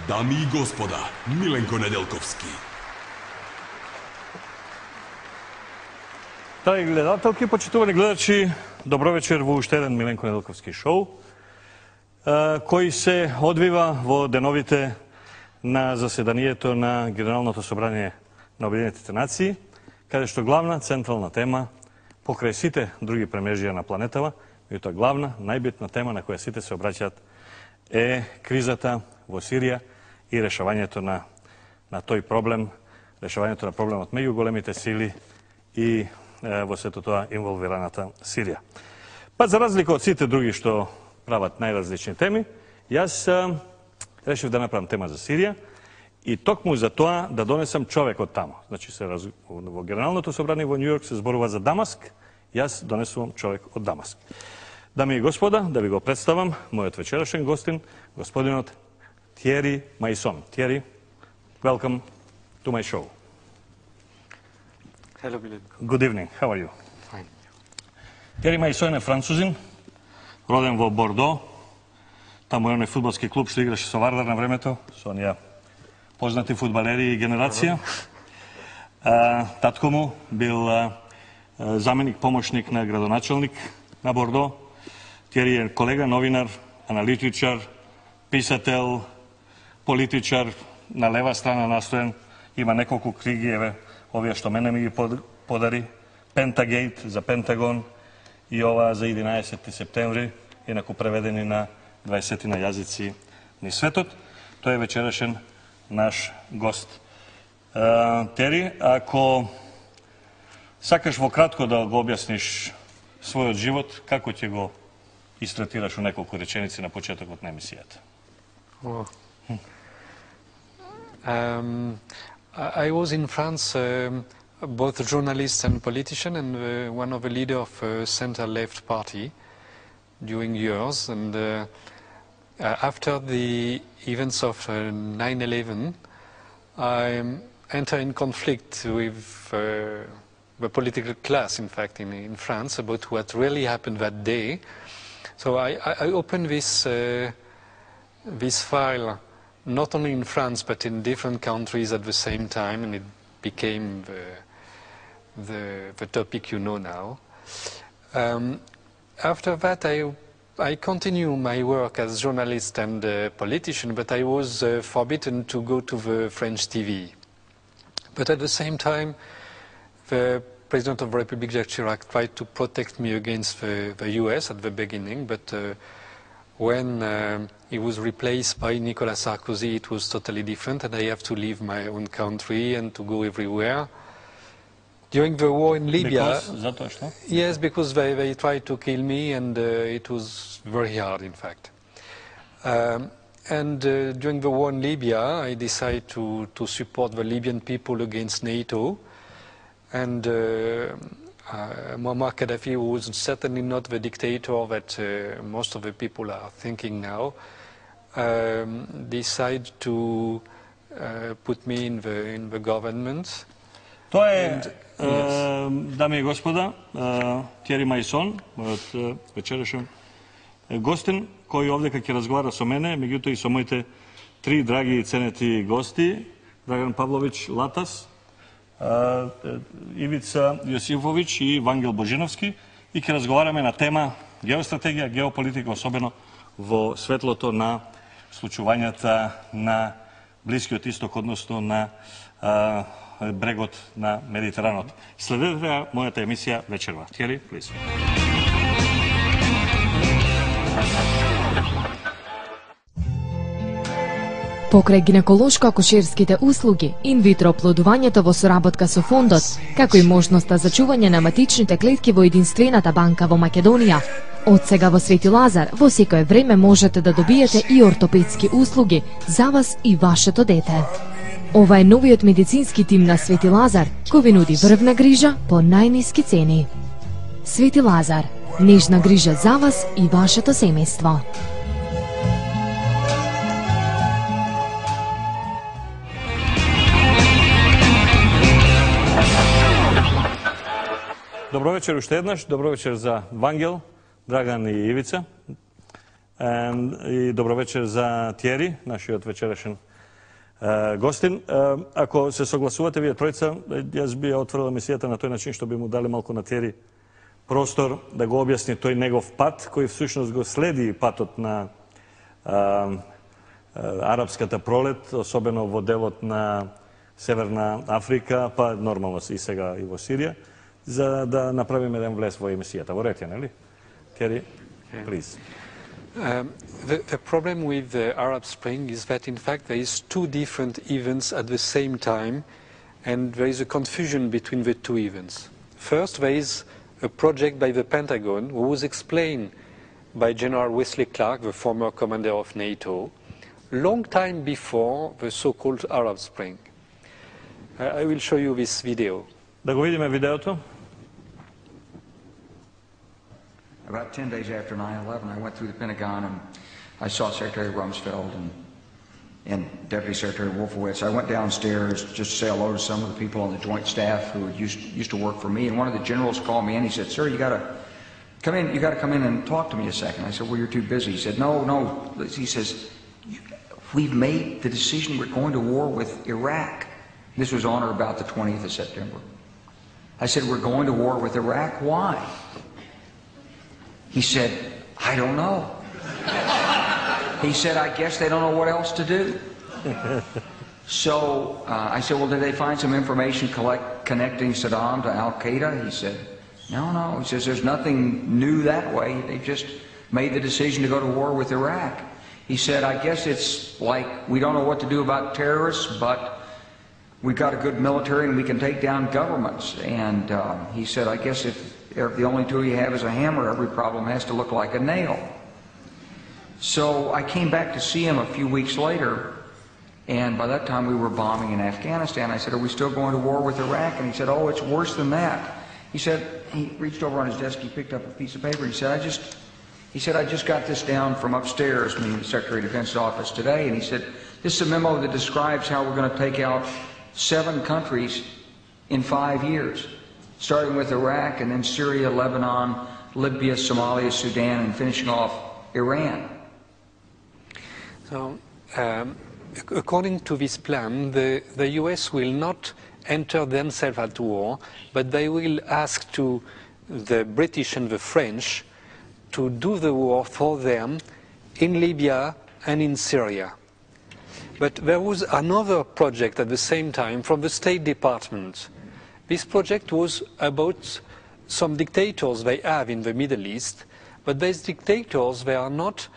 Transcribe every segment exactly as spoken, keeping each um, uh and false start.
Дами и господа, Миленко Неделковски. Драги гледателки, почитувани гледачи, добро вечер во уште еден Миленко Неделковски шоу, кој се одвива во деновите на заседанието на Генералното собрание на Обединетите нации, каде што главна централна тема покрај сите други премежија на планетава, меѓутоа главна, најбитна тема на која сите се обраќаат е кризата во Сирија и решавањето на, на тој проблем, решавањето на проблемот меѓу големите сили и е, во сето тоа инволвираната Сирија. Па за разлика од сите други што прават најразлични теми, јас е, решив да направам тема за Сирија и токму за тоа да донесам човек од тамо. Значи се раз... во Генералното собрание во Њујорк се зборува за Дамаск, јас донесувам човек од Дамаск. Дами и господа, да ви го представам мојот вечерашен гостин, господинот Тиери Мајсон. Тиери, welcome to my show. Hello, Milenko. Good evening. How are you? Fine. Тиери Мајсон е французин, роден во Бордо. Таму е оној фудбалски клуб што играше со Вардар на времето, со оние познати фудбалери и генерација. А, татко му бил а, заменик помошник на градоначалник на Бордо. Тиери е колега, новинар, аналитичар, писател, политичар, на лева страна настоен, има неколку книги, еве, овие што мене ми ги подари, Пентагейт за Пентагон и ова за единаесети септември, инаку преведени на дваесет на јазици ни светот. Тој е вечерашен наш гост. Uh, Тери, ако сакаш во кратко да го објасниш својот живот, како ќе го истратираш у неколку реченици на почетокот на емисијата? Oh. Um, I was in France um, both a journalist and politician and uh, one of the leader of a center-left party during years. And uh, uh, after the events of uh, nine eleven, I entered in conflict with uh, the political class, in fact, in, in France, about what really happened that day. So I, I opened this, uh, this file not only in France but in different countries at the same time, and it became the, the, the topic you know now. Um, after that, I, I continue my work as journalist and uh, politician, but I was uh, forbidden to go to the French T V. But at the same time, the President of the Republic, Jacques Chirac, tried to protect me against the, the U S at the beginning, but uh, when uh, he was replaced by Nicolas Sarkozy, it was totally different, and I have to leave my own country and to go everywhere. During the war in Libya, Because, yes, because they, they tried to kill me, and uh, it was very hard, in fact. Um, and uh, during the war in Libya, I decided to, to support the Libyan people against NATO. And uh, uh, Muammar Gaddafi was certainly not the dictator that uh, most of the people are thinking now, um, decided to uh, put me in the, in the government. Тоа е, yes. Дами и господа, Тиери Мајсон, мојот вечерашен гостин, кој овдека ќе разговара со мене, меѓутоа и со моите три драги и ценети гости, Драган Павлович Латас, Ивица Јосифович и Вангел Божиновски, и ќе разговараме на тема геостратегија, геополитика, особено во светлото на случувањата на Блискиот Исток, односно на а, брегот на Медитеранот. Следете мојата емисија вечерва. Тиери, плиз. Покрај гинеколошко-акушерските услуги, инвитро оплодувањето во соработка со фондот, како и можноста за чување на матичните клетки во единствената банка во Македонија. Од сега во Свети Лазар, во секое време можете да добиете и ортопедски услуги за вас и вашето дете. Ова е новиот медицински тим на Свети Лазар, кој ви нуди врвна грижа по најниски цени. Свети Лазар, нежна грижа за вас и вашето семејство. Добро вечер уште еднаш, добро вечер за Вангел, Драган и Ивица. И добро вечер за Тиери, нашиот вечерашен Uh, Гостин, uh, ако се согласувате вие тројца, јас би ја отворила мисијата на тој начин што би му дали малку на Тери простор да го објасни тој негов пат, кој всушност го следи патот на uh, арапската пролет, особено во делот на Северна Африка, па нормално и сега и во Сирија, за да направиме еден влез во емисијата. Во ред, нели? Тери, please. Um, the, the problem with the Arab Spring is that in fact there is two different events at the same time, and there is a confusion between the two events. First, there is a project by the Pentagon who was explained by General Wesley Clark, the former commander of NATO, long time before the so-called Arab Spring. Uh, I will show you this video. Да го видиме видеото. About ten days after nine eleven, I went through the Pentagon and I saw Secretary Rumsfeld and, and Deputy Secretary Wolfowitz. I went downstairs just to say hello to some of the people on the joint staff who used, used to work for me. And one of the generals called me in. He said, "Sir, you got to come in. You got to come in and talk to me a second." I said, "Well, you're too busy." He said, "No, no." He says, "We've made the decision. We're going to war with Iraq." This was on or about the twentieth of September. I said, "We're going to war with Iraq. Why?" He said, "I don't know." He said, "I guess they don't know what else to do." So uh, I said, "Well, did they find some information collect, connecting Saddam to Al-Qaeda?" He said, "No, no." He says, "There's nothing new that way. They just made the decision to go to war with Iraq." He said, "I guess it's like we don't know what to do about terrorists, but we've got a good military and we can take down governments." And uh, he said, "I guess if If the only tool you have is a hammer, every problem has to look like a nail." So I came back to see him a few weeks later, and by that time we were bombing in Afghanistan. I said, "Are we still going to war with Iraq?" And he said, "Oh, it's worse than that." He said, he reached over on his desk, he picked up a piece of paper, he said, I just, he said, "I just got this down from upstairs," meaning the Secretary of Defense's office today, and he said, "This is a memo that describes how we're going to take out seven countries in five years. Starting with Iraq and then Syria, Lebanon, Libya, Somalia, Sudan, and finishing off Iran." So, um, according to this plan, the, the U S will not enter themselves at war, but they will ask to the British and the French to do the war for them in Libya and in Syria. But there was another project at the same time from the State Department. This project was about some dictators they have in the Middle East, but these dictators, they are not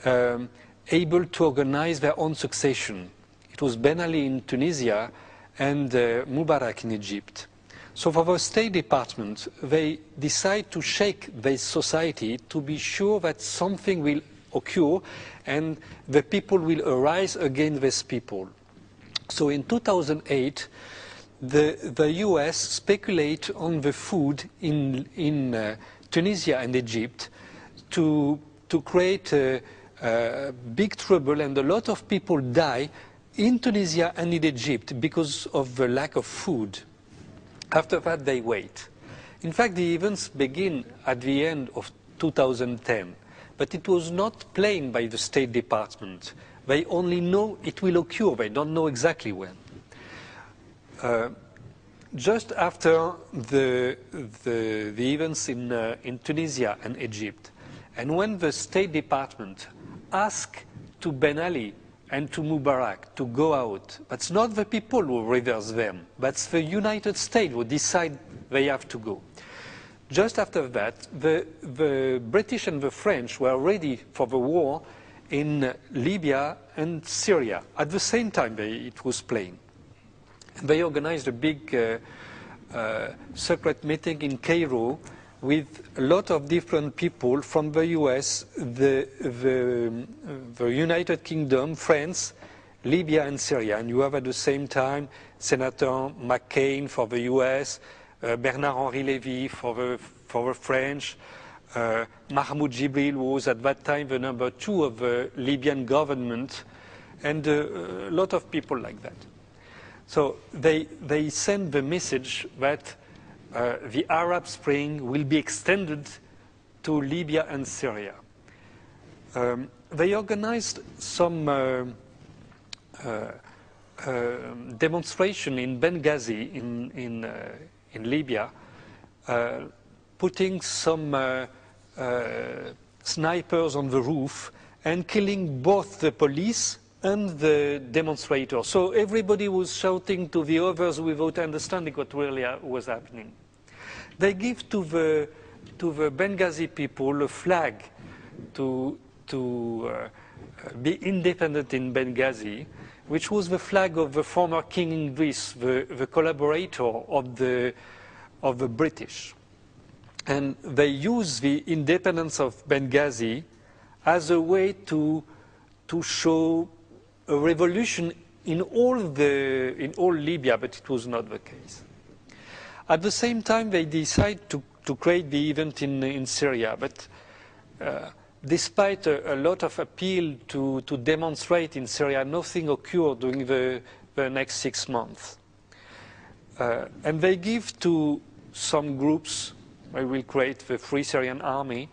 um, able to organize their own succession. It was Ben Ali in Tunisia and uh, Mubarak in Egypt. So for the State Department, they decide to shake this society to be sure that something will occur and the people will arise against these people. So in two thousand eight, The, the U S speculate on the food in, in uh, Tunisia and Egypt to, to create uh, uh, big trouble, and a lot of people die in Tunisia and in Egypt because of the lack of food. After that, they wait. In fact, the events begin at the end of two thousand ten, but it was not planned by the State Department. They only know it will occur. They don't know exactly when. Uh, just after the, the, the events in, uh, in Tunisia and Egypt, and when the State Department asked to Ben Ali and to Mubarak to go out, that's not the people who reverse them, that's the United States who decide they have to go. Just after that, the, the British and the French were ready for the war in Libya and Syria. At the same time, they, it was playing. They organized a big uh, uh, secret meeting in Cairo with a lot of different people from the U S, the, the, the United Kingdom, France, Libya and Syria. And you have at the same time Senator McCain for the U S, uh, Bernard-Henri Lévy for the, for the French, uh, Mahmoud Jibril, who was at that time the number two of the Libyan government, and uh, a lot of people like that. So they, they send the message that uh, the Arab Spring will be extended to Libya and Syria. Um, they organized some uh, uh, uh, demonstration in Benghazi, in, in, uh, in Libya, uh, putting some uh, uh, snipers on the roof and killing both the police and the demonstrators. So everybody was shouting to the others without understanding what really was happening. They give to the, to the Benghazi people a flag to, to uh, be independent in Benghazi, which was the flag of the former King Idris, the, the collaborator of the, of the British. And they use the independence of Benghazi as a way to, to show a revolution in all, the, in all Libya, but it was not the case. At the same time, they decide to, to create the event in, in Syria, but uh, despite a, a lot of appeal to, to demonstrate in Syria, nothing occurred during the, the next six months. Uh, and they give to some groups, they will create the Free Syrian Army,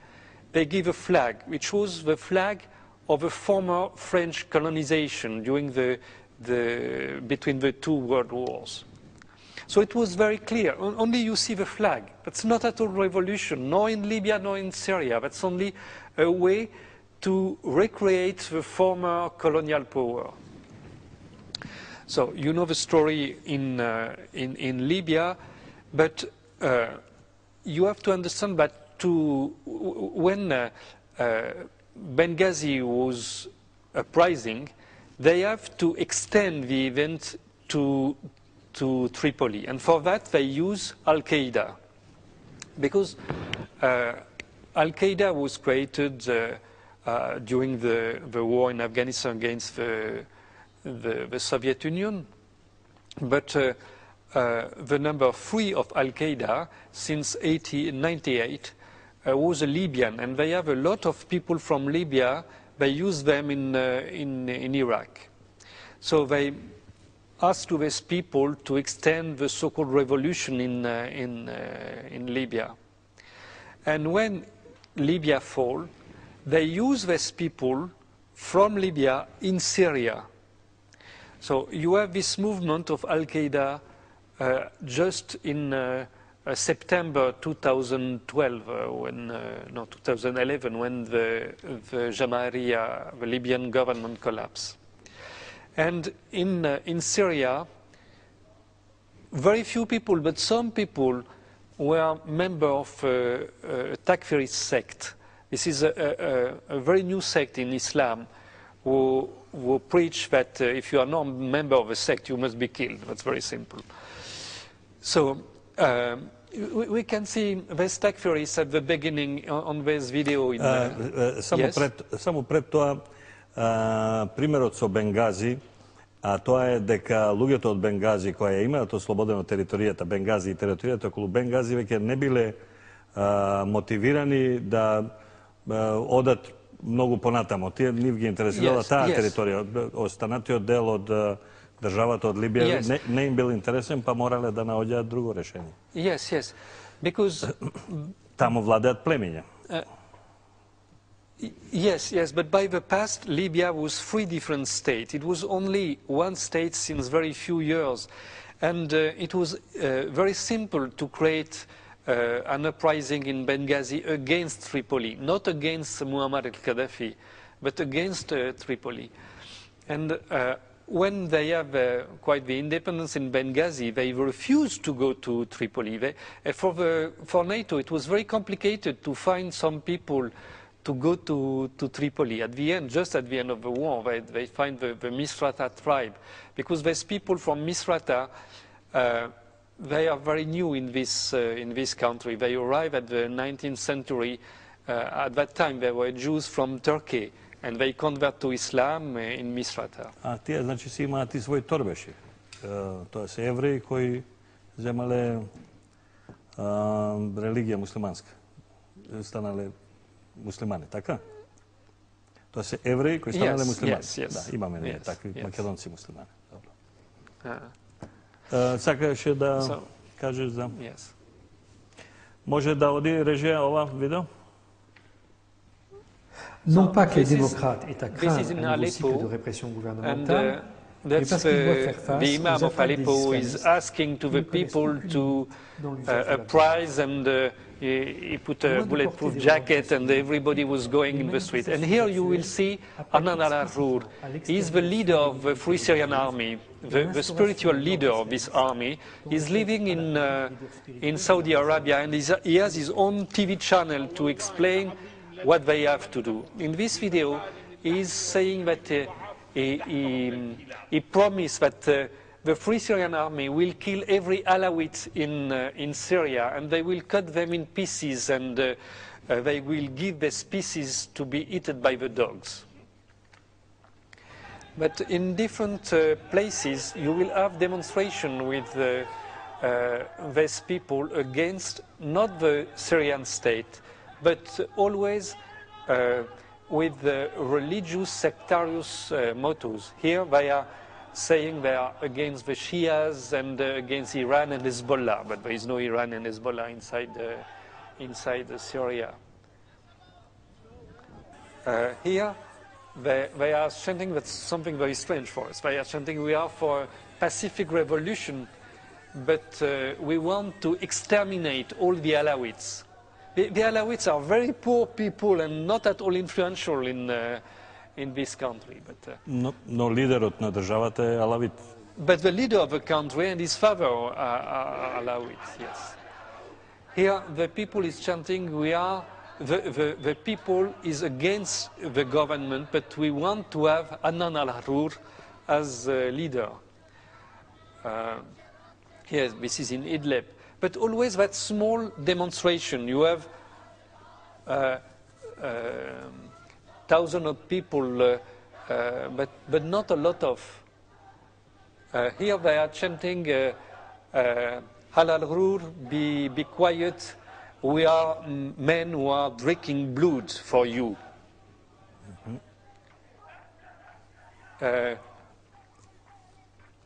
they give a flag, which was the flag of a former French colonization during the, the, between the two world wars. So it was very clear. Only you see the flag. That's not at all revolution, nor in Libya, nor in Syria. That's only a way to recreate the former colonial power. So you know the story in, uh, in, in Libya, but uh, you have to understand that to, when uh, uh, Benghazi was uprising, they have to extend the event to, to Tripoli. And for that, they use Al-Qaeda. Because uh, Al-Qaeda was created uh, uh, during the, the war in Afghanistan against the, the, the Soviet Union. But uh, uh, the number three of Al-Qaeda since ninety-eight uh, was a Libyan. And they have a lot of people from Libya. They use them in, uh, in, in Iraq. So they asked to these people to extend the so-called revolution in, uh, in, uh, in Libya. And when Libya fall, they use these people from Libya in Syria. So you have this movement of Al-Qaeda uh, just in uh, uh, September two thousand twelve, uh, when, uh, no, two thousand eleven, when the, the Jamahiriya, the Libyan government collapsed. And in, uh, in Syria, very few people, but some people were members of uh, a Takfiri sect. This is a, a, a very new sect in Islam who, who preach that uh, if you are not a member of a sect, you must be killed. That's very simple. So um, we, we can see these Takfiris at the beginning on, on this video. In, uh, uh, uh, samo, yes? pred, samo pred тоа, Uh, примерот со Бенгази, а тоа е дека луѓето од Бенгази кои имаат ослободено територијата Бенгази и територијата околу Бенгази веќе не биле uh, мотивирани да uh, одат многу понатамо. Тие нив ги интересирала yes, таа yes. територија. Останатиот дел од uh, државата од Либија yes. не, не им бил интересен, па морале да наоѓаат друго решение. Yes, yes. Because Таму владеат племиња. Uh, Yes, yes, but by the past, Libya was three different states. It was only one state since very few years. And uh, it was uh, very simple to create uh, an uprising in Benghazi against Tripoli, not against Muammar al-Gaddafi, but against uh, Tripoli. And uh, when they have uh, quite the independence in Benghazi, they refused to go to Tripoli. They, uh, for, the, for NATO, it was very complicated to find some people to go to, to Tripoli. At the end, just at the end of the war, they, they find the, the Misrata tribe. Because there's people from Misrata, uh, they are very new in this, uh, in this country. They arrived at the nineteenth century. Uh, at that time, they were Jews from Turkey, and they convert to Islam uh, in Misrata. А тие, значи, си имаат и своји торбеши. Тоа се евреи кои земале религија муслиманска. Станале муслимани, така? Тоа се евреи кои станале yes, муслимани. Yes, yes. Да, имаме ние yes, такви yes. македонци муслимани. Добро. Uh, Uh, сакаше да so, кажеш за... yes. Може да оди режија ова видео? Non So, pas que les this is- démocrates aient à this craindre is in un nouveau cycle Aleppo, de répression And gouvernementale, uh, That's parce qu'il doit the, faire face the aux Imam of attaques des Aleppo is islamistes. asking to Ils the ne connaissent people aucune to dans uh, l'usage de a la prize, and uh, he, he put a Loin de bulletproof porter des jacket, and revendications, everybody was going in the street. And here you will see Hanan al-Arur. He is the leader of the Free Syrian Army, the, the spiritual leader of this army. He's living in, uh, in Saudi Arabia, and he's, he has his own T V channel to explain what they have to do. In this video, he's saying that uh, he, he, he promised that uh, the Free Syrian Army will kill every Alawite in, uh, in Syria, and they will cut them in pieces, and uh, uh, they will give the pieces to be eaten by the dogs. But in different uh, places, you will have demonstration with uh, uh, these people against not the Syrian state, but always uh, with the religious sectarious uh, mottos. Here they are saying they are against the Shias and uh, against Iran and Hezbollah, but there is no Iran and Hezbollah inside, uh, inside uh, Syria. Uh, here they, they are chanting that's something very strange for us. They are chanting we are for a pacific revolution, but uh, we want to exterminate all the Alawites. The, the Alawites are very poor people and not at all influential in uh, in this country. But, uh, Но, но лидерот на државата е алавит. but the leader of the country and his father are, are Alawites, yes. Here the people is chanting, we are, the, the, the people is against the government, but we want to have Hanan al-Arur as uh, leader. Uh, yes, this is in Idlib. But always that small demonstration, you have uh, uh, thousands of people, uh, uh, but, but not a lot of. Uh, here they are chanting, uh, uh, Al-Arur, be, be quiet, we are men who are drinking blood for you. Mm-hmm. uh,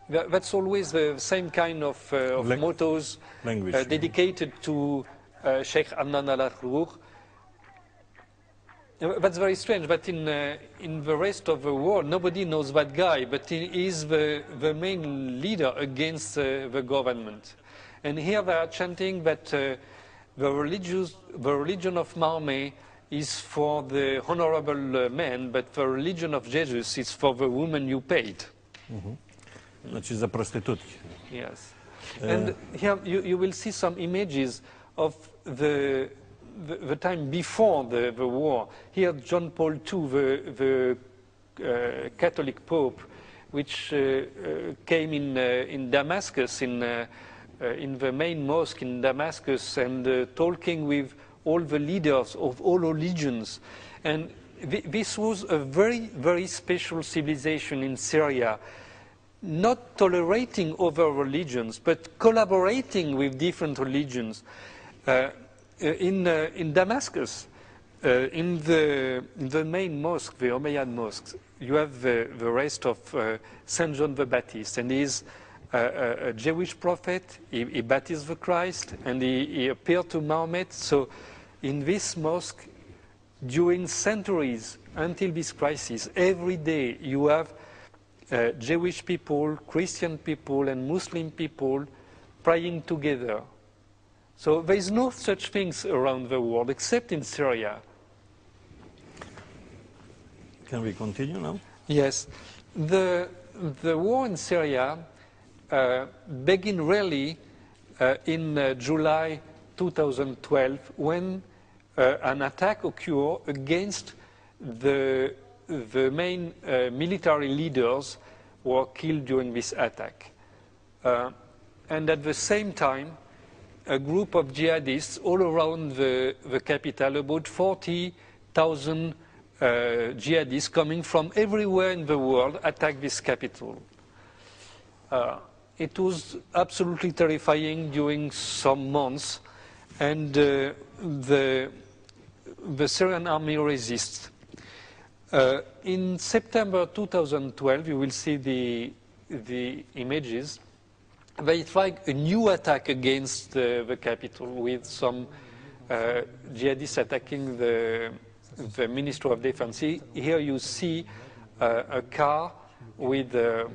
that, that's always the same kind of, uh, of Lang mottos language, uh, dedicated to uh, Sheikh Hanan al-Arur. That's very strange, but in, uh, in the rest of the world, nobody knows that guy, but he is the, the main leader against uh, the government. And here they are chanting that uh, the, religious, the religion of Mahomet is for the honorable uh, man, but the religion of Jesus is for the woman you paid. Mm-hmm. Значи за проститутки. Yes. Uh, and here you, you will see some images of the The, the time before the, the war. Here John Paul the Second, the, the uh, Catholic Pope, which uh, uh, came in, uh, in Damascus, in, uh, uh, in the main mosque in Damascus, and uh, talking with all the leaders of all religions. And th this was a very, very special civilization in Syria, not tolerating other religions, but collaborating with different religions. Uh, In, uh, in Damascus, uh, in, the, in the main mosque, the Umayyad mosque, you have the, the rest of uh, Saint John the Baptist, and he's uh, a, a Jewish prophet. He, he baptized the Christ, and he, he appeared to Muhammad. So in this mosque, during centuries, until this crisis, every day you have uh, Jewish people, Christian people, and Muslim people praying together. So there is no such things around the world except in Syria. Can we continue now? Yes. The, the war in Syria uh, began really uh, in uh, July two thousand twelve when uh, an attack occurred against the, the main uh, military leaders who were killed during this attack. Uh, and at the same time, a group of jihadists all around the, the capital, about forty thousand uh, jihadists coming from everywhere in the world, attacked this capital. Uh, it was absolutely terrifying during some months, and uh, the, the Syrian army resists. Uh, in September two thousand twelve, you will see the, the images, they tried a new attack against uh, the capital with some uh, jihadists attacking the, the Ministry of Defense. Here you see uh, a car with uh, uh,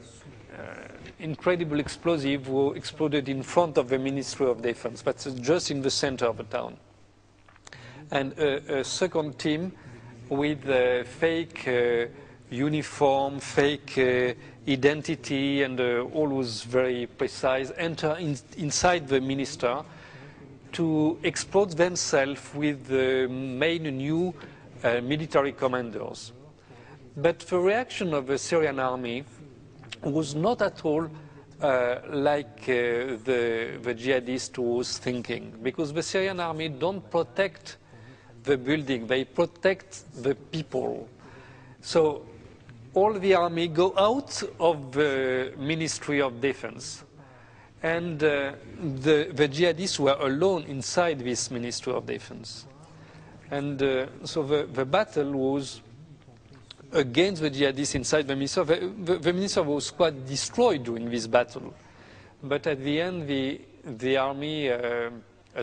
incredible explosive who exploded in front of the Ministry of Defense, but just in the center of the town. And a, a second team with uh, fake uh, uniform, fake uh, identity, and uh, all was very precise, enter in, inside the minister to explode themselves with the main new uh, military commanders. But the reaction of the Syrian army was not at all uh, like uh, the, the jihadist was thinking, because the Syrian army don't protect the building, they protect the people. So all the army go out of the Ministry of Defense, and uh, the, the jihadists were alone inside this Ministry of Defense. And uh, so the, the battle was against the jihadists inside the minister. The, the, the minister was quite destroyed during this battle. But at the end, the, the army uh,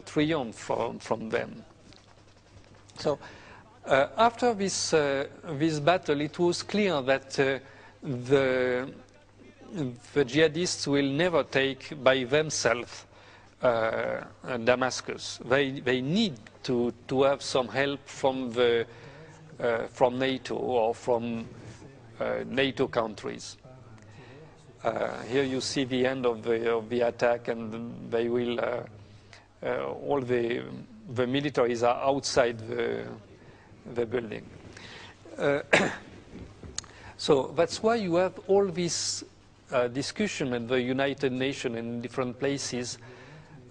triumphed from, from them. So uh, after this, uh, this battle, it was clear that uh, the, the jihadists will never take by themselves uh, Damascus. They, they need to, to have some help from the Uh, from NATO or from uh, NATO countries. Uh, here you see the end of the, of the attack, and they will, uh, uh, all the, the militaries are outside the, the building. Uh, so that's why you have all this uh, discussion at the United Nations in different places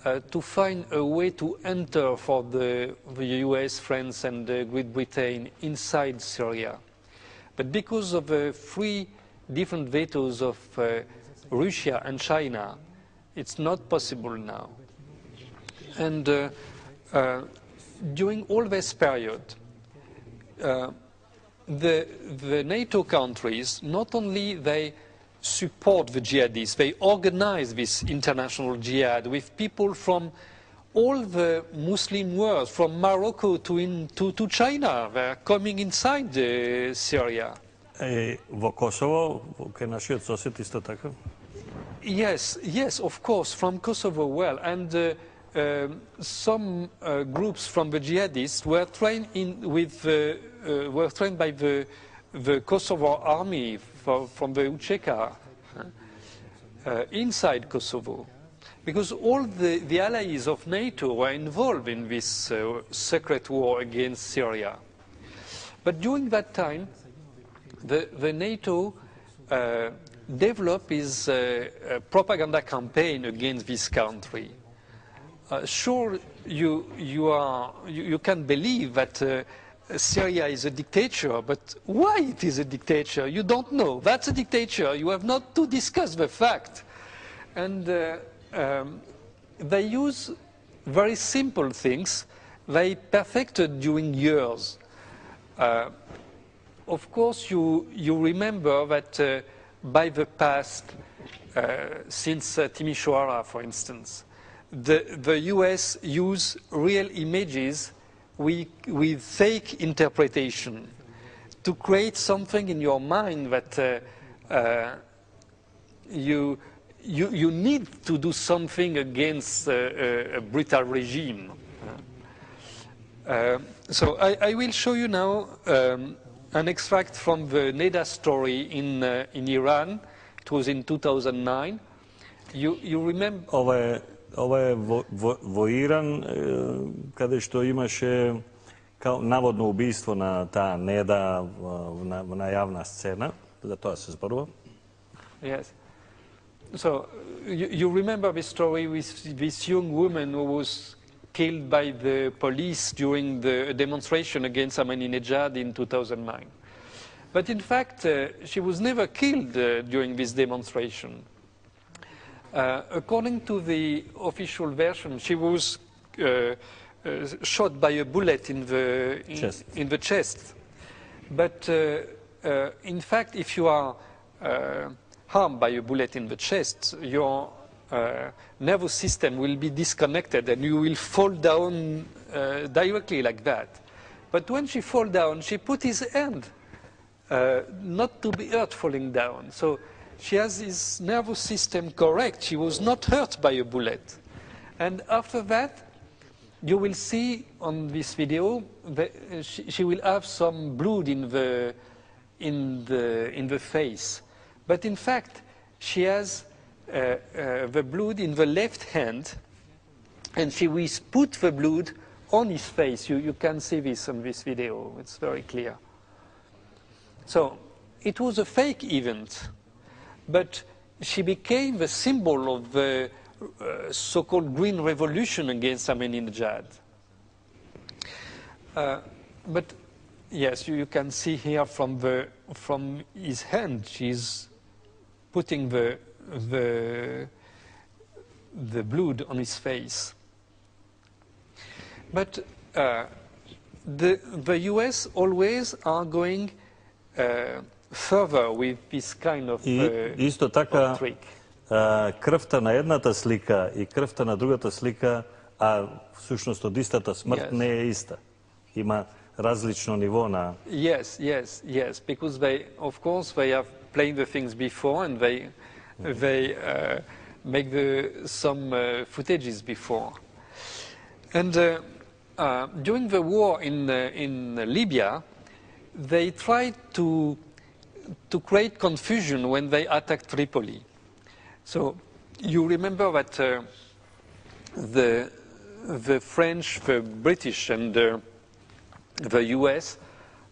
Uh, to find a way to enter for the, the U S, France, and uh, Great Britain inside Syria. But because of the three different vetoes of uh, Russia and China, it's not possible now. And uh, uh, during all this period, uh, the, the NATO countries, not only they support the jihadists, they organize this international jihad with people from all the Muslim world, from Morocco to, in, to, to China. They're coming inside uh, Syria. Е, во Косово, кај нашиот сосед исто така? Yes, yes, of course, from Kosovo well. And uh, uh, some uh, groups from the jihadists were trained in with, uh, uh, were trained by the, the Kosovo army for, from the U C E C A uh, inside Kosovo. Because all the, the allies of NATO were involved in this uh, secret war against Syria. But during that time, the, the NATO uh, developed its uh, uh, propaganda campaign against this country. Uh, sure, you, you, are, you, you can believe that uh, Syria is a dictator, but why it is a dictator, you don't know. That's a dictator. You have not to discuss the fact. And uh, um, they use very simple things they perfected during years. Uh, of course, you, you remember that uh, by the past, uh, since uh, Timisoara, for instance, the, the U S use real images with, with fake interpretation to create something in your mind that uh, uh, you, you, you need to do something against uh, a, a brutal regime. Uh, so I, I will show you now um, an extract from the Neda story in, uh, in Iran. It was in two thousand nine. You, you remember... Ова е, ова е во, во, во Иран, е, каде што имаше као наводно убийство на таа Неда на, на јавна сцена. За тоа се зборува. Yes. So you, you remember the story with this young woman who was killed by the police during the demonstration against Ahmadinejad in two thousand nine. But in fact, uh, she was never killed uh, during this demonstration. Uh, according to the official version, she was uh, uh, shot by a bullet in the, in, chest. in the chest. But uh, uh, in fact, if you are uh, harmed by a bullet in the chest, your uh, nervous system will be disconnected and you will fall down uh, directly like that. But when she fell down, she put his hand uh, not to be hurt falling down. So she has his nervous system correct. She was not hurt by a bullet. And after that, you will see on this video that she, she will have some blood in the, in, the, in the face. But in fact, she has uh, uh, the blood in the left hand, and she will put the blood on his face. You, you can see this on this video. It's very clear. So it was a fake event, but she became the symbol of the uh, so-called Green Revolution against Ahmadinejad. Uh, but yes, you, you can see here from, the, from his hand, she's putting the, the, the blood on his face. But uh, the, the U S always are going uh, further with this kind of, И uh, исто така of trick. а, крвта на едната слика и крвта на другата слика, а всушност од истата смрт Yes. не е иста. Има различно ниво на... Yes, yes, yes, because they, of course, they have played the things before and they, they uh, make the, some uh, footages before. And uh, uh, during the war in, uh, in Libya, they tried to, to create confusion when they attacked Tripoli. So you remember that uh, the, the French, the British, and uh, the U S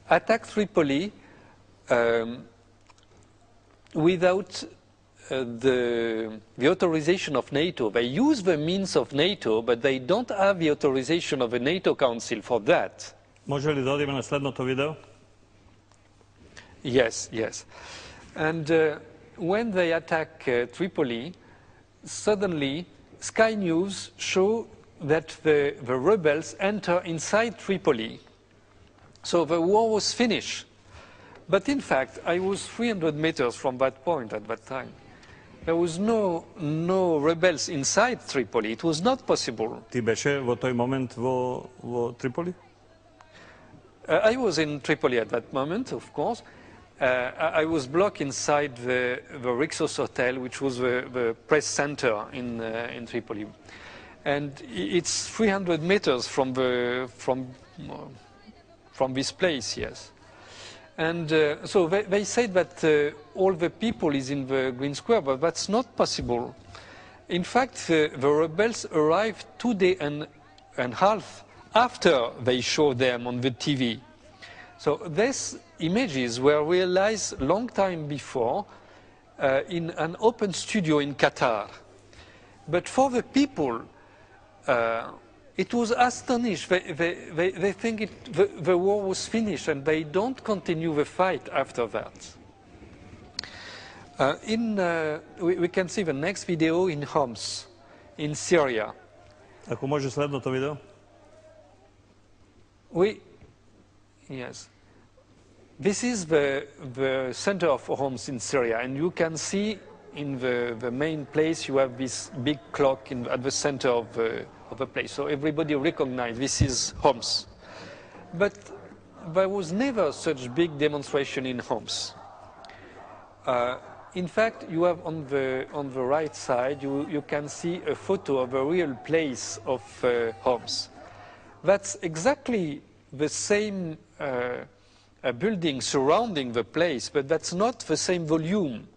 attacked Tripoli um, without uh, the, the authorization of NATO. They use the means of NATO, but they don't have the authorization of the NATO Council for that. Може ли да одиме на следното видео? Yes, yes. And uh, when they attack uh, Tripoli, suddenly Sky News show that the, the rebels enter inside Tripoli. So the war was finished. But in fact, I was three hundred meters from that point at that time. There was no, no rebels inside Tripoli. It was not possible. Ти беше во тој момент во, во Триполи? Uh, I was in Tripoli at that moment, of course. Uh, I I was blocked inside the, the Rixos Hotel, which was the, the press center in, uh, in Tripoli. And i- it's three hundred meters from, the, from, uh, from this place, yes. And uh, so they, they said that uh, all the people is in the Green Square, but that's not possible. In fact, uh, the rebels arrived two days and, and a half after they showed them on the T V. So these images were realized a long time before uh, in an open studio in Qatar. But for the people, uh, it was astonished. They, they, they, they think it, the, the war was finished and they don't continue the fight after that. Uh, in, uh, we, we can see the next video in Homs, in Syria. Ако може следното видео? We, yes. This is the, the center of Homs in Syria, and you can see in the, the main place you have this big clock in, at the center of the, of the place. So everybody recognizes this is Homs. But there was never such big demonstration in Homs. Uh, in fact, you have on the, on the right side, you, you can see a photo of a real place of uh, Homs. That's exactly the same uh, uh, building surrounding the place, but that's not the same volume.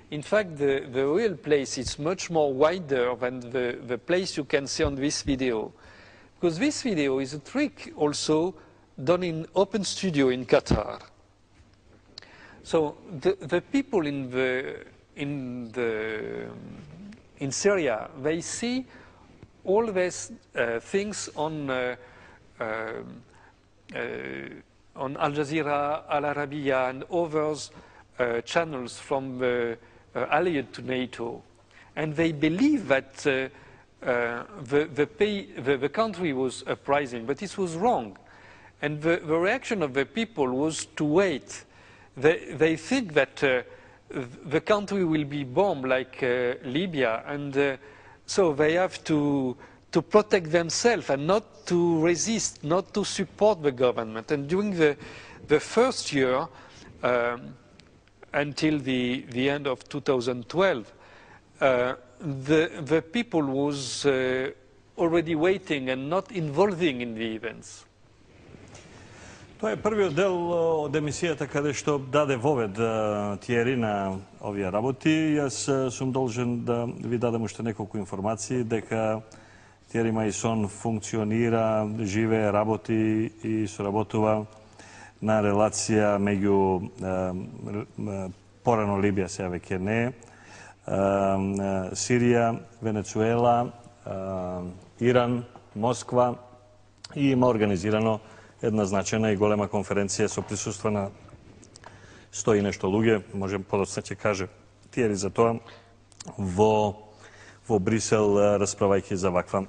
In fact, the, the real place is much more wider than the, the place you can see on this video. Because this video is a trick also done in open studio in Qatar. So the, the people in, the, in, the, in Syria, they see all these uh, things on, uh, uh, uh, on Al Jazeera, Al Arabiya, and others uh, channels from the uh, allied to NATO. And they believe that uh, uh, the, the, pay, the, the country was uprising, but this was wrong. And the, the reaction of the people was to wait. They, they think that uh, the country will be bombed like uh, Libya, and uh, so they have to, to protect themselves and not to resist, not to support the government. And during the, the first year, um, until the, the end of two thousand twelve, uh, the, the people was uh, already waiting and not involving in the events. Тоа е првиот дел од емисијата каде што даде вовед Тиери на овие работи. Јас сум должен да ви дадам уште неколку информации дека Тиери Мајсон функционира, живее, работи и соработува на релација меѓу порано Либија, сега веќе не, Сирија, Венецуела, Иран, Москва и има организирано една значајна и голема конференција со присуство на сто и нешто луѓе, може подоцна ќе каже Тиери за тоа, во, во Брисел, расправајќи за ваква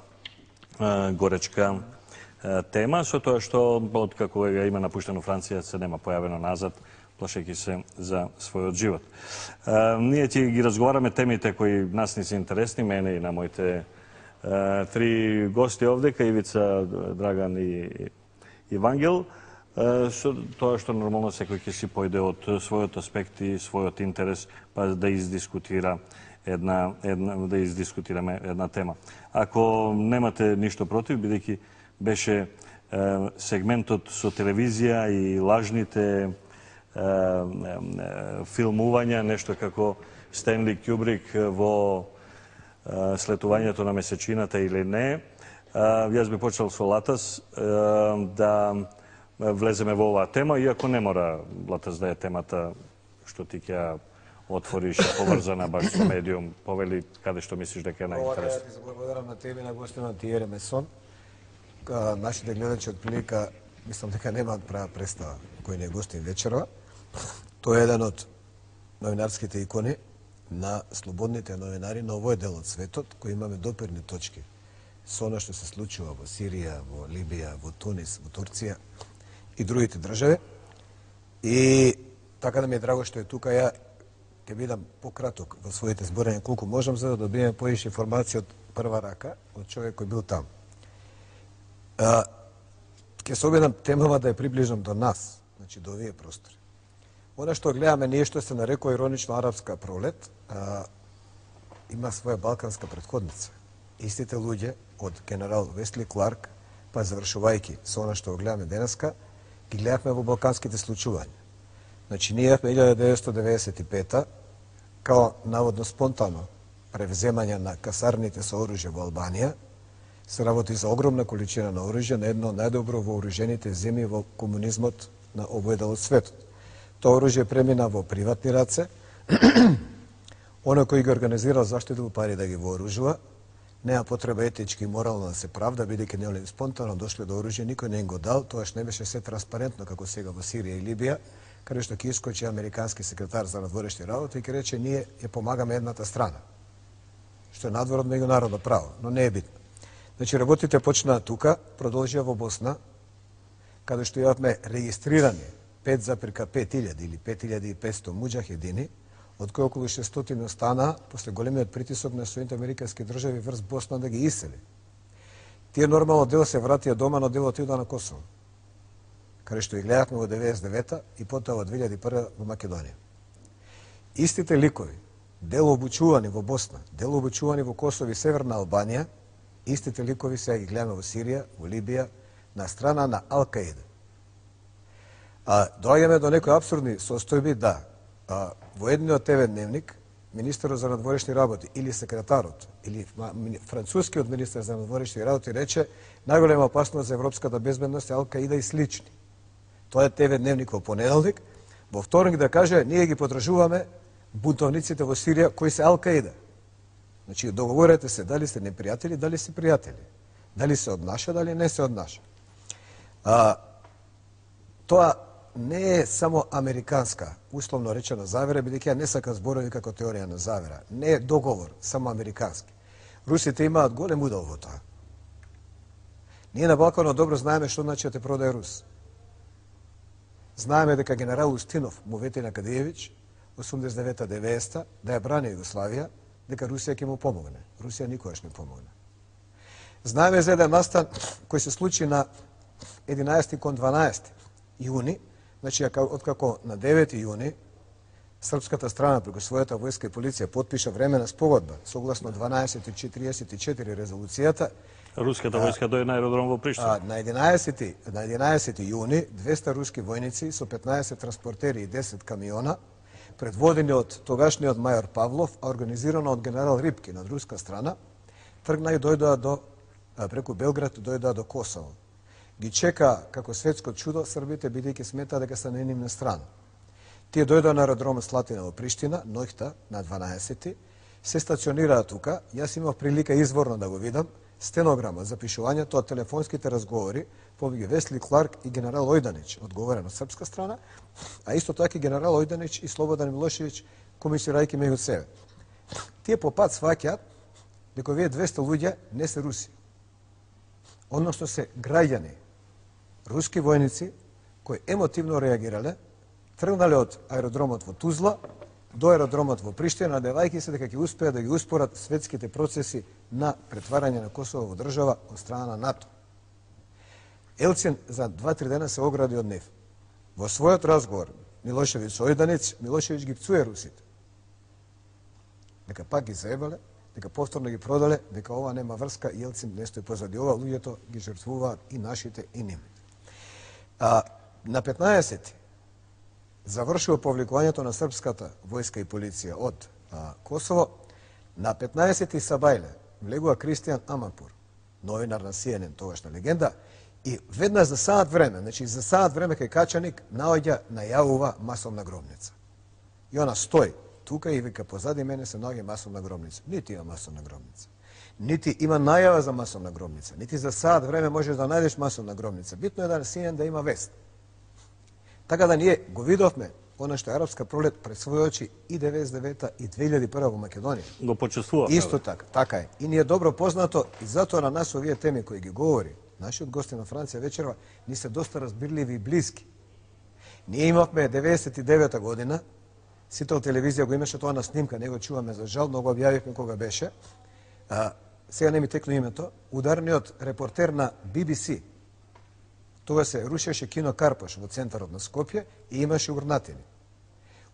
а, горечка а, тема, со тоа што од како ја има напуштено Франција се нема појавено назад, плашејќи се за својот живот. А, ние ќе ги разговараме темите кои нас ни се интересни, мене и на моите а, три гости овде, Ивица, Драган и и Вангел, со тоа што нормално секој ќе си појде од својот аспект и својот интерес, па да издискутира една, една да издискутираме една тема. Ако немате ништо против, бидејќи беше е, сегментот со телевизија и лажните е, е, филмувања, нешто како Стенли Кјубрик во е, слетувањето на месечината или не, јас би почел со Латас да влеземе во оваа тема, иако не мора Латас да е темата што ти ќе отвориш поврзана баш со медиум, повели каде што мислиш дека е најинтересно. Ова, ја благодарам на тебе и на гостина Тиери Мајсон. Нашите гледачи од прилика, мислам дека немаат права представа кој не е гостин вечерва. Тој е еден од новинарските икони на слободните новинари на овој дел од светот, кои имаме допирни точки со она што се случува во Сирија, во Либија, во Тунис, во Турција и другите држави. И така да ми е драго што е тука, ја ќе бидам пократок во своите зборења колку можам, за да добиеме поише информација од прва рака, од човек кој бил там. А, ќе се обидам темава да ја приближам до нас, значи до овие простори. Она што гледаме ние што се нарекува иронично арапска пролет, а, има своја балканска претходница. Истите луѓе од генерал Весли Кларк, па завршувајќи со она што го гледаме денеска, ги гледавме во балканските случувања. Значи, ние во илјада деветстотини деветдесет и пета, као наводно спонтано превземање на касарните со оружје во Албанија, се работи за огромна количина на оружје на едно најдобро вооружените земји во комунизмот на овој дел од светот. Тоа оружје премина во приватни раце, оној кој ги организирал заштитил пари да ги вооружува, нема потреба етички и морално да се правда, бидејќи не спонтано дошле до оружје, никој не им го дал, тоаш не беше се транспарентно како сега во Сирија и Либија, каде што ќе искочи американски секретар за надворешни работи и ќе рече ние ја помагаме едната страна, што е надвор од меѓународно право, но не е битно. Значи работите почнаа тука, продолжија во Босна, каде што имавме регистрирани пет запирка пет илјади или пет илјади и петсто муџахедини, од кои околу шестстотини останаа после големиот притисок на Соединетите американски држави врз Босна да ги исели. Тие нормално дел се вратија дома, но делот отида на Косово, каде што ги гледавме во деветдесет и девета и потоа во две илјади и прва во Македонија. Истите ликови, дел обучувани во Босна, дел обучувани во Косово и Северна Албанија, истите ликови сега ги гледаме во Сирија, во Либија, на страна на Ал-Каида. А доаѓаме до некои апсурдни состојби, да, а, во едниот Те Ве дневник, министерот за надворешни работи или секретарот, или францускиот министер за надворешни работи рече најголема опасност за европската безбедност е Ал-Каида и слични. Тоа е Те Ве дневник во понеделник, во вторник да каже ние ги подржуваме бунтовниците во Сирија кои се Ал-Каида. Значи договорете се дали сте непријатели, дали се пријатели. Дали се од наша, дали не се од наша. А, тоа не е само американска, условно речена завера, бидејќи ја не сакам зборови како теорија на завера. Не е договор само американски. Русите имаат голем удел во тоа. Ние на Балканот добро знаеме што значи да те продаде Рус. Знаеме дека генерал Устинов му вети на Кадиевич осумдесет и девета деветдесета да ја брани Југославија, дека Русија ќе му помогне. Русија никогаш не помогне. Знаеме за еден настан кој се случи на единаесети кон дванаесети јуни Значи, откако на девети јуни српската страна преку својата војска и полиција потпиша времена спогодба согласно дванаесет четириесет и четири резолуцијата, Руската војска дојде на аеродром во Приштина. на единаесети на единаесети јуни двеста руски војници со петнаесет транспортери и десет камиона, предводени од тогашниот мајор Павлов, а организирано од генерал Рипкин од руска страна, тргна и дојдоа до преку Белград дојдоа до Косово. Ги чека како светско чудо србите, бидејќи сметаа дека се на нивна страна. Тие дојдоа на аеродромот Слатина во Приштина, ноќта на дванаесети, се стационираа тука. Јас имав прилика изворно да го видам стенограма, запишувањето од телефонските разговори помеѓу Весли Кларк и генерал Ојданич, одговорен од српска страна, а исто така и генерал Ојданич и Слободан Милошевиќ комисирајќи меѓу себе. Тие по пат сваќаат дека овие двеста луѓе не се руси, односно се граѓани, руски војници кои емотивно реагирале, тргнале од аеродромот во Тузла до аеродромот во Приштина, надевајќи се дека ќе успеат да ги успорат светските процеси на претварање на Косово во држава од страна на НАТО. Елцин за два-три дена се огради од нив. Во својот разговор Милошевиќ со Ојданич, Милошевиќ ги пцуе русите. Дека пак ги заебале, дека повторно ги продале, дека ова нема врска и Елцин не стои позади ова, луѓето ги жртвуваат и нашите и нивните. А на петнаесети завршува повлекувањето на српската војска и полиција од а, Косово. На петнаесети Сабајле влегува Кристијан Амапур, новинар на Си Ен Ен, тогашна легенда, и веднаш за саат време, значи за саат време кај Качаник, наоѓа, најавува масовна гробница. И она стои тука и вика, позади мене се наоѓа масовна гробница. Нити има масовна гробница. Нити има најава за масовна гробница. Нити за саат време можеш да најдеш масовна гробница. Битно е да Си Ен Ен да има вест. Така да ние го видовме она што е арапска пролет пред своји очи и деветдесет и девета и две илјади и прва во Македонија. Го почувствува. Исто така, така е. И ни е добро познато и затоа на нас овие теми кои ги говори нашиот гости на Франција вечерва ни се доста разбирливи и блиски. Ние имавме деветдесет и девета година, Сител телевизија го имаше тоа на снимка, не го чуваме за жал, но го објавивме кога беше. А, сега не ми текно името, ударниот репортер на Би Би Си. Тоа се рушеше кино Карпаш во центарот на Скопје и имаше урнатини.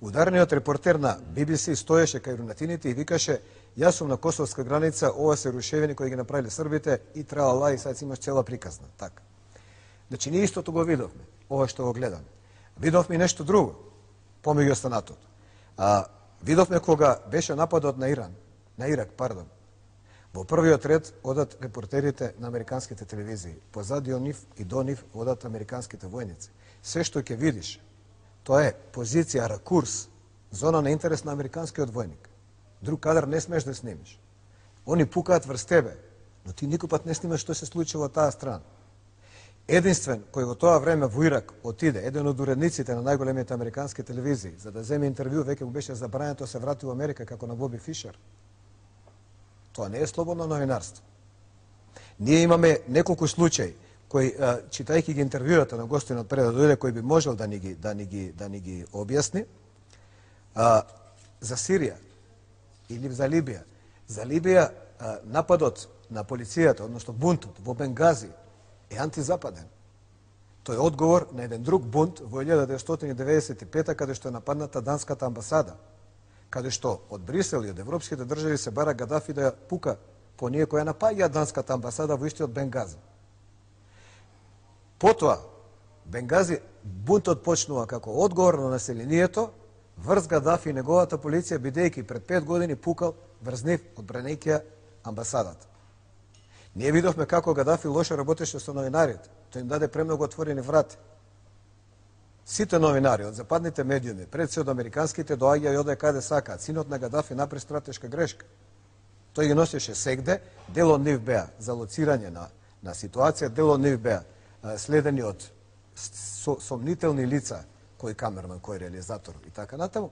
Ударниот репортер на Би Би Си стоеше кај урнатините и викаше: "Јас сум на косовска граница, ова се рушевини кои ги направиле србите и тралала и сега имаш цела приказна." Така. Значи ние истото го видовме, ова што го гледаме. Видовме и нешто друго помеѓу останатото. А видовме кога беше нападот на Иран, на Ирак, пардон. Во првиот ред одат репортерите на американските телевизии. Позади од нив и до нив одат американските војници. Се што ќе видиш, тоа е позиција, ракурс, зона на интерес на американскиот војник. Друг кадар не смеш да снимиш. Они пукаат врз тебе, но ти никој пат не снимаш што се случи во таа страна. Единствен кој во тоа време во Ирак отиде, еден од уредниците на најголемите американски телевизии, за да земе интервју, веќе му беше забрането, се врати во Америка како на Боби Фишер. Тоа не е слободно новинарство. Ние имаме неколку случаи кои, читајќи ги интервјуата на гостинот пред да дојде, кој би можел да ни ги, да ни ги, да ни ги објасни, а, за Сирија или за Либија. За Либија а, нападот на полицијата, односно бунтот во Бенгази, е антизападен. Тој е одговор на еден друг бунт во илјада деветстотини деветдесет и пета, каде што е нападната данската амбасада, каде што од Брисел и од европските држави се бара Гадафи да ја пука по ние која напаѓа данската амбасада во истиот Бенгази. Потоа, Бенгази бунтот почнува како одговор на населението врз Гадафи и неговата полиција, бидејќи пред пет години пукал врз нив одбранејќи амбасадата. Ние видовме како Гадафи лошо работеше со новинарите. Тој им даде премногу отворени врати. Сите новинари од западните медиуми, пред се од американските, доаѓа и оде каде сакаат. Синот на Гадафи направи стратешка грешка. Тој ги носеше сегде, дел од нив беа за лоцирање на, на ситуација, дел од нив беа следени од со, сомнителни лица, кој камерман, кој реализатор и така натаму.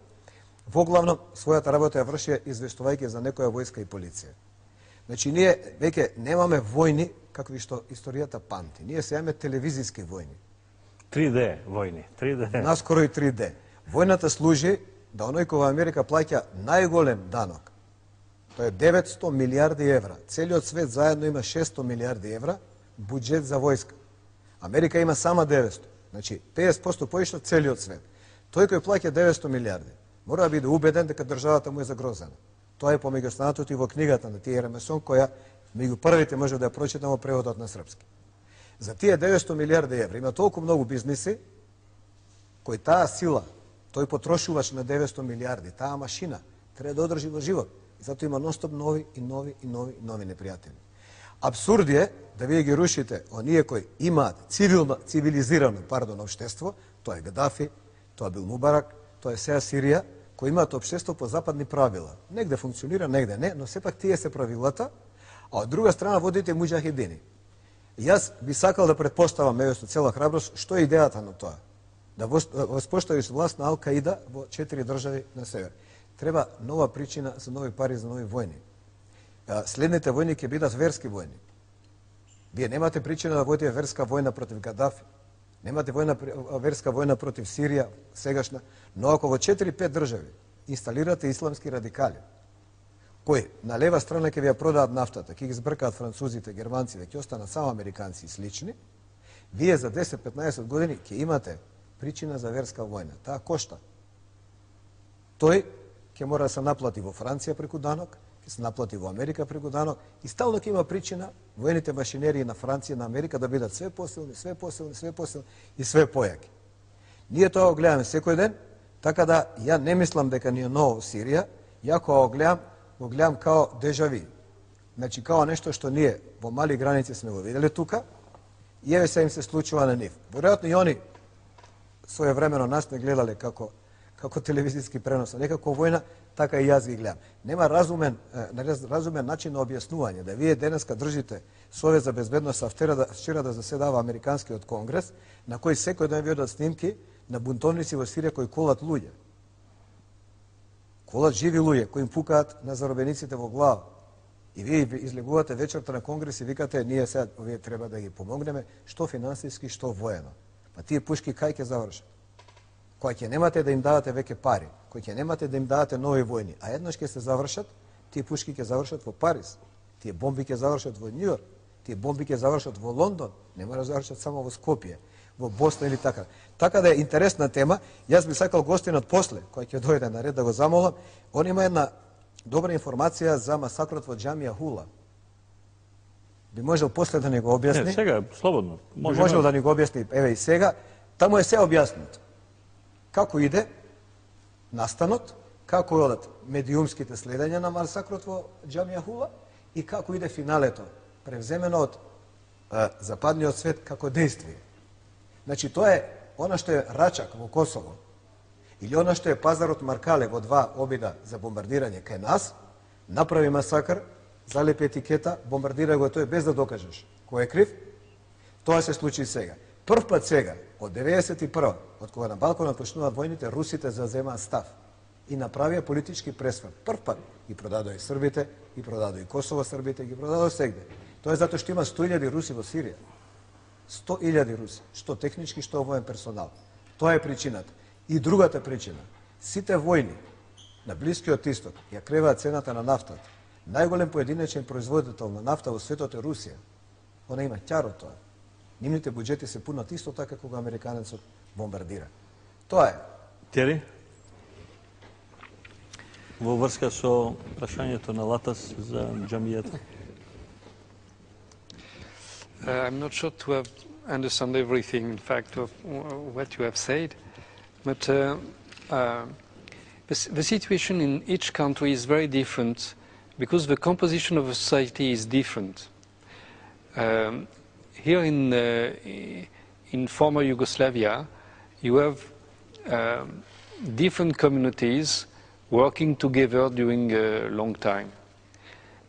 Во главно, својата работа ја врши известувајќи за некоја војска и полиција. Значи, ние веќе немаме војни какви што историјата памти. Ние се имаме телевизиски војни. три Д војни, три Д. Наскоро и три Д. Војната служи да оној кој во Америка плаќа најголем данок. Тоа е деветсто милијарди евра. Целиот свет заедно има шестстотини милијарди евра буџет за војска. Америка има само деветсто. Значи, педесет проценти поишто целиот свет. Тој кој плаќа деветсто милиарди, мора да биде убеден дека државата му е загрозена. Тоа е помеѓу останатото и во книгата на Тијер Месон, која меѓу првите може да ја прочитам во преводот на српски. За тие деветсто милиарди евра има толку многу бизниси, кој таа сила, тој потрошувач на деветсто милиарди, таа машина, треба да одржи во живот. И затоа има ностоп нови и нови и нови и нови непријатели. Абсурд е да вие ги рушите оние кои имаат цивилно, цивилизирано, пардон, општество, тоа е Гадафи, тоа бил Мубарак, тоа е сеја Сирија, кои имаат општество по западни правила. Негде функционира, негде не, но сепак тие се правилата, а од друга страна водите муџахидини. Јас би сакал да предпоставам, еве со цела храброст, што е идејата на тоа? Да воспоставиш власт на Ал-Каида во четири држави на север. Треба нова причина за нови пари, за нови војни. Следните војни ќе бидат верски војни. Вие немате причина да водите верска војна против Гадафи, немате војна, верска војна против Сирија, сегашна, но ако во четири-пет држави инсталирате исламски радикали, кои на лева страна ќе ви ја продаат нафтата, ќе ги збркаат французите, германците, ќе останат само американци и слични, вие за десет-петнаесет години ќе имате причина за верска војна. Таа кошта. Тој ќе мора да се наплати во Франција преку данок, ќе се наплати во Америка преку данок и стално ќе има причина воените машинерии на Франција, на Америка да бидат све посилни, све посилни, све посилни и све појаки. Ние тоа го гледаме секој ден, така да ја не мислам дека ни е ново Сирија, ја кога го гледам, го гледам као дежави. Значи, као нешто што ние во мали граници сме го виделе тука и еве се им се случува на нив. Веројатно и они своевремено нас не гледале како како телевизиски пренос, не како војна, така и јас ги гледам. Нема разумен, разумен начин на објаснување, да вие денеска држите Совет за безбедност, а вчера да, вчера да заседава Американскиот конгрес, на кој секој ден ви одат снимки на бунтовници во Сирија кои колат луѓе. Колат живи луѓе, кои им пукаат на заробениците во глава. И вие излегувате вечерта на конгрес и викате, ние сега овие треба да ги помогнеме, што финансиски, што воено. Па тие пушки кај ќе завршат? Кој ќе немате да им давате веќе пари, кој ќе немате да им давате нови војни, а еднаш ќе се завршат, тие пушки ќе завршат во Париз, тие бомби ќе завршат во Њујорк, тие бомби ќе завршат во Лондон, не мора да завршат само во Скопје, во Босна или така. Така да е интересна тема, јас би сакал гостинот после, кој ќе дојде на ред да го замолам, он има една добра информација за масакрот во џамија Хула. Би можел после да ни го објасни? Не, сега, слободно. Би можел да ни го објасни, еве и сега, таму е се објаснато. Како иде настанот, како одат медиумските следења на масакрот во џамија Хула и како иде финалето, превземено од е, западниот свет како действие. Значи, тоа е она што е Рачак во Косово, или она што е пазарот Маркале во два обида за бомбардирање кај нас, направи масакр, залепи етикета, бомбардира го тој без да докажеш кој е крив, тоа се случи сега. Прв пат сега, од деветдесет и прва, од кога на Балканот почнуваат војните, русите заземаат став и направија политички пресврт. Прв пат ги продадоа и србите, ги продадоа и Косово србите, ги продадоа сегде. Тоа е затоа што има сто илјади руси во Сирија. сто илјади руси, што технички, што воен персонал. Тоа е причината. И другата причина, сите војни на Блискиот исток ја креваат цената на нафтата. Најголем поединечен производител на нафта во светот е Русија. Она има ќаро тоа. Нивните буџети се пунат исто така кога американецот бомбардира. Тоа е. Тери? Во врска со прашањето на Латас за џамијата. Uh, I'm not sure to have understand everything, in fact, of what you have said, but uh, uh, the, the situation in each country is very different because the composition of a society is different. Um, here in, uh, in former Yugoslavia, you have um, different communities working together during a long time.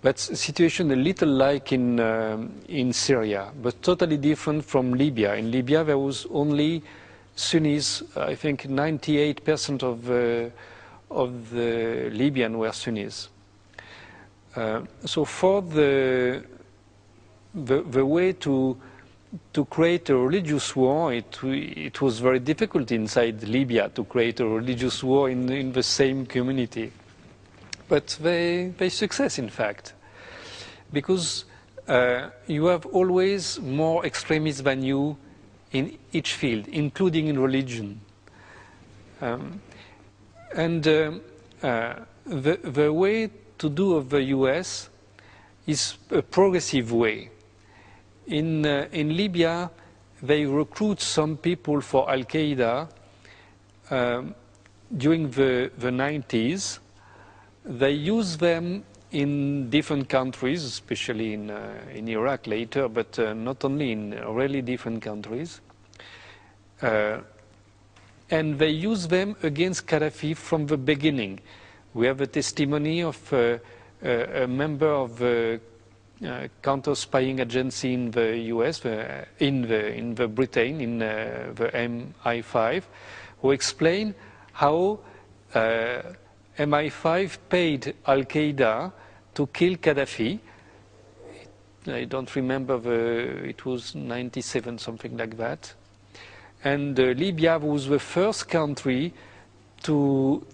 But situation a little like in, uh, in Syria, but totally different from Libya. In Libya there was only Sunnis. I think ninety-eight percent of, uh, of the Libyan were Sunnis. Uh, so for the, the, the way to, to create a religious war, it, it was very difficult inside Libya to create a religious war in, in the same community. But they, they success, in fact, because uh, you have always more extremists than you in each field, including in religion. Um, and uh, uh, the, the way to do of the U S is a progressive way. In, uh, in Libya, they recruit some people for Al-Qaeda um, during the, the nineties. They use them in different countries, especially in, uh, in Iraq later, but uh, not only in really different countries. Uh, and they use them against Gaddafi from the beginning. We have a testimony of uh, a, a member of the uh, counter-spying agency in the U S, uh, in, the, in the Britain, in uh, the M I five, who explained how uh, M I five paid Al-Qaeda to kill Gaddafi. I don't remember, the, it was ninety-seven, something like that. And uh, Libya was the first country to,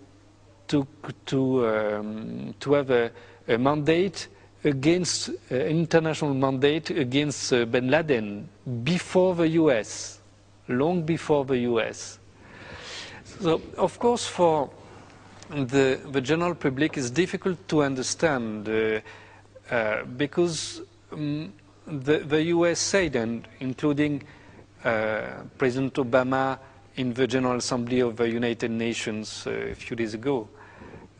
to, to, um, to have a, a mandate against, uh, international mandate against uh, bin Laden before the U S, long before the U S. So, of course, for The, the general public is difficult to understand uh, uh, because um, the, the U S said, and including uh, President Obama in the General Assembly of the United Nations uh, a few days ago,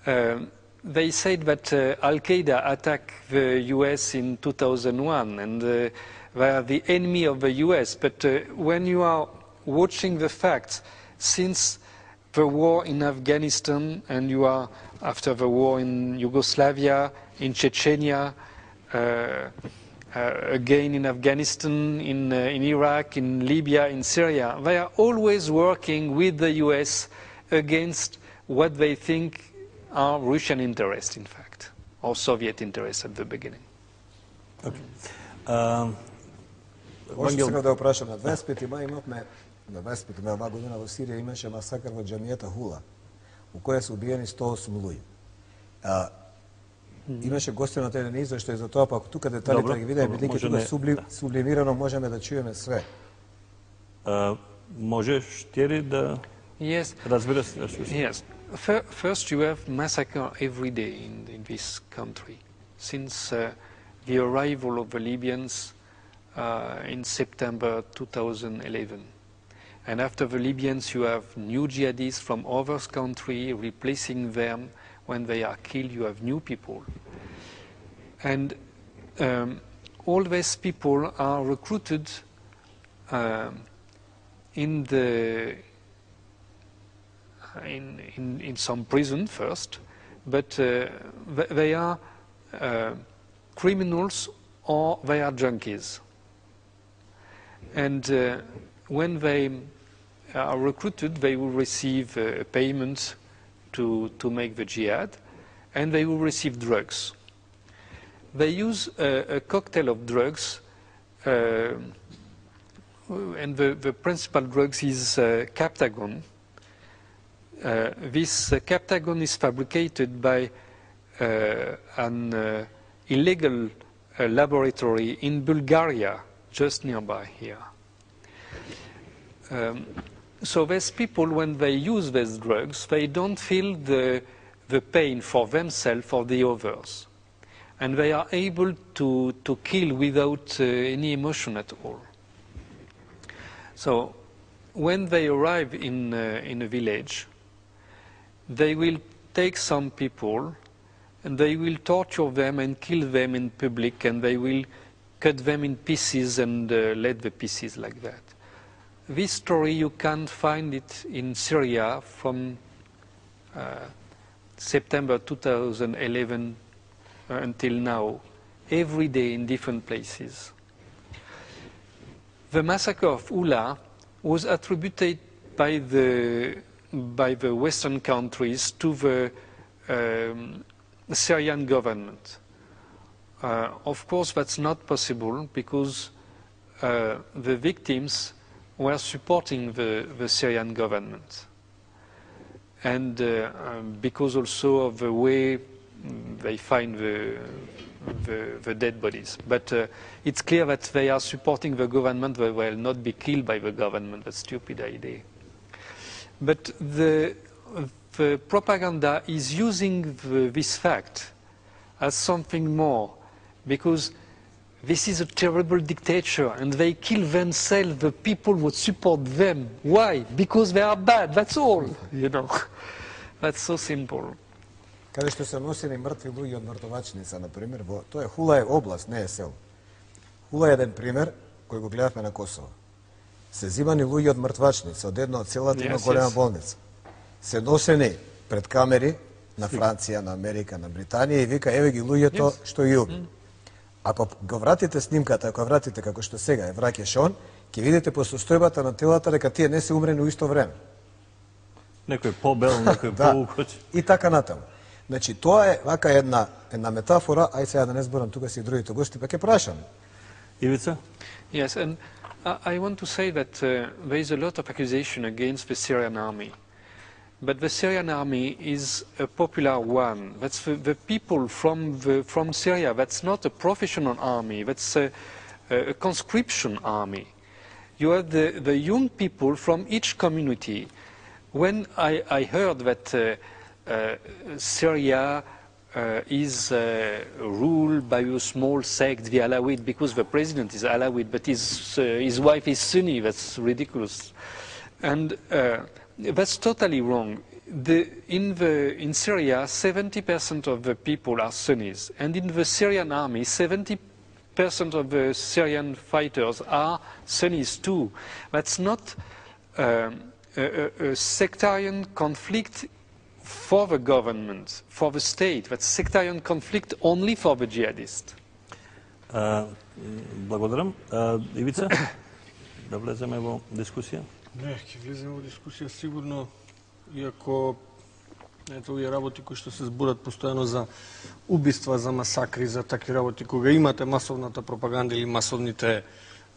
uh, they said that uh, Al-Qaeda attacked the U S in two thousand one and uh, they are the enemy of the U S. But uh, when you are watching the facts, since the war in Afghanistan, and you are after the war in Yugoslavia, in Chechnya, uh, uh, again in Afghanistan, in, uh, in Iraq, in Libya, in Syria. They are always working with the U S against what they think are Russian interests, in fact, or Soviet interests at the beginning. Okay. Um, Може сега да опрашам, на дваесет пети мај имавме на дваесет пети мај оваа година во Сирија имаше масакар во џамијата Хула, у која се убиени сто осум луѓе. А, имаше гости на телен извештај за тоа, па ако тука деталите да ги видиме, бидејќи тука не... субли... сублимирано можеме да чуеме све. Uh, можеш ти да yes. разбереш? Yes. First, you have massacre every day in, in this country since uh, the arrival of the Libyans uh, in September two thousand eleven. And after the Libyans, you have new jihadists from other countries replacing them. When they are killed, you have new people. And um, all these people are recruited uh, in the in, in, in some prison first, but uh, they are uh, criminals or they are junkies. And uh, when they are recruited, they will receive uh, payment to, to make the jihad, and they will receive drugs. They use a, a cocktail of drugs, uh, and the, the principal drugs is uh, Captagon. Uh, this uh, Captagon is fabricated by uh, an uh, illegal uh, laboratory in Bulgaria, just nearby here. Um, so these people, when they use these drugs, they don't feel the, the pain for themselves or the others. And they are able to, to kill without uh, any emotion at all. So when they arrive in, uh, in a village, they will take some people and they will torture them and kill them in public, and they will cut them in pieces and uh, let the pieces like that. This story, you can find it in Syria from uh, September two thousand eleven uh, until now, every day in different places. The massacre of Ula was attributed by the by the Western countries to the um, Syrian government. Uh, of course, that's not possible because uh, the victims were supporting the, the Syrian government. And uh, um, because also of the way they find the, the, the dead bodies. But uh, it's clear that they are supporting the government. They will not be killed by the government. That's a stupid idea. But the, the propaganda is using the, this fact as something more, because this is a terrible dictator, and they kill themselves, the people who support them. Why? Because they are bad, that's all, you know. That's so simple. Каде што се носени мртви луѓе од мртовачница, например, во тоа е Хула е област, не е сел. Хула е еден пример кој го гледавме на Косово. Се зимани луѓе од мртвачница, од една од селата има Yes, голема yes. болница. Се носени пред камери на Франција, на Америка, на Британија и вика еве ги луѓето Yes. што ги уби. Ако го вратите снимката, ако ја вратите како што сега е враќаш он, ќе видите по состојбата на телата дека тие не се умрени у исто време. Некој по-бел, некој Да. по-укоч. И така натаму. Значи тоа е вака една една метафора, ај сега да не зборам тука си и другите гости, па ќе прашам. Ивица? Yes, and I I want to say that uh, there is a lot of accusation against the Syrian army. But the Syrian army is a popular one. That's the, the people from, the, from Syria. That's not a professional army. That's a, a conscription army. You have the, the young people from each community. When I, I heard that uh, uh, Syria uh, is uh, ruled by a small sect, the Alawid, because the president is Alawid, but his, uh, his wife is Sunni, that's ridiculous. And uh, that's totally wrong. The, in, the, in Syria, seventy percent of the people are Sunnis. And in the Syrian army, seventy percent of the Syrian fighters are Sunnis too. That's not um, a, a, a sectarian conflict for the government, for the state. That's sectarian conflict only for the jihadists. А, благодарам. А, Ивица, да влеземе во дискусија? Не, ќе влеземе во дискусија сигурно, иако ето овие работи кои што се зборат постојано за убиства, за масакри, за такви работи, кога имате масовната пропаганда или масовните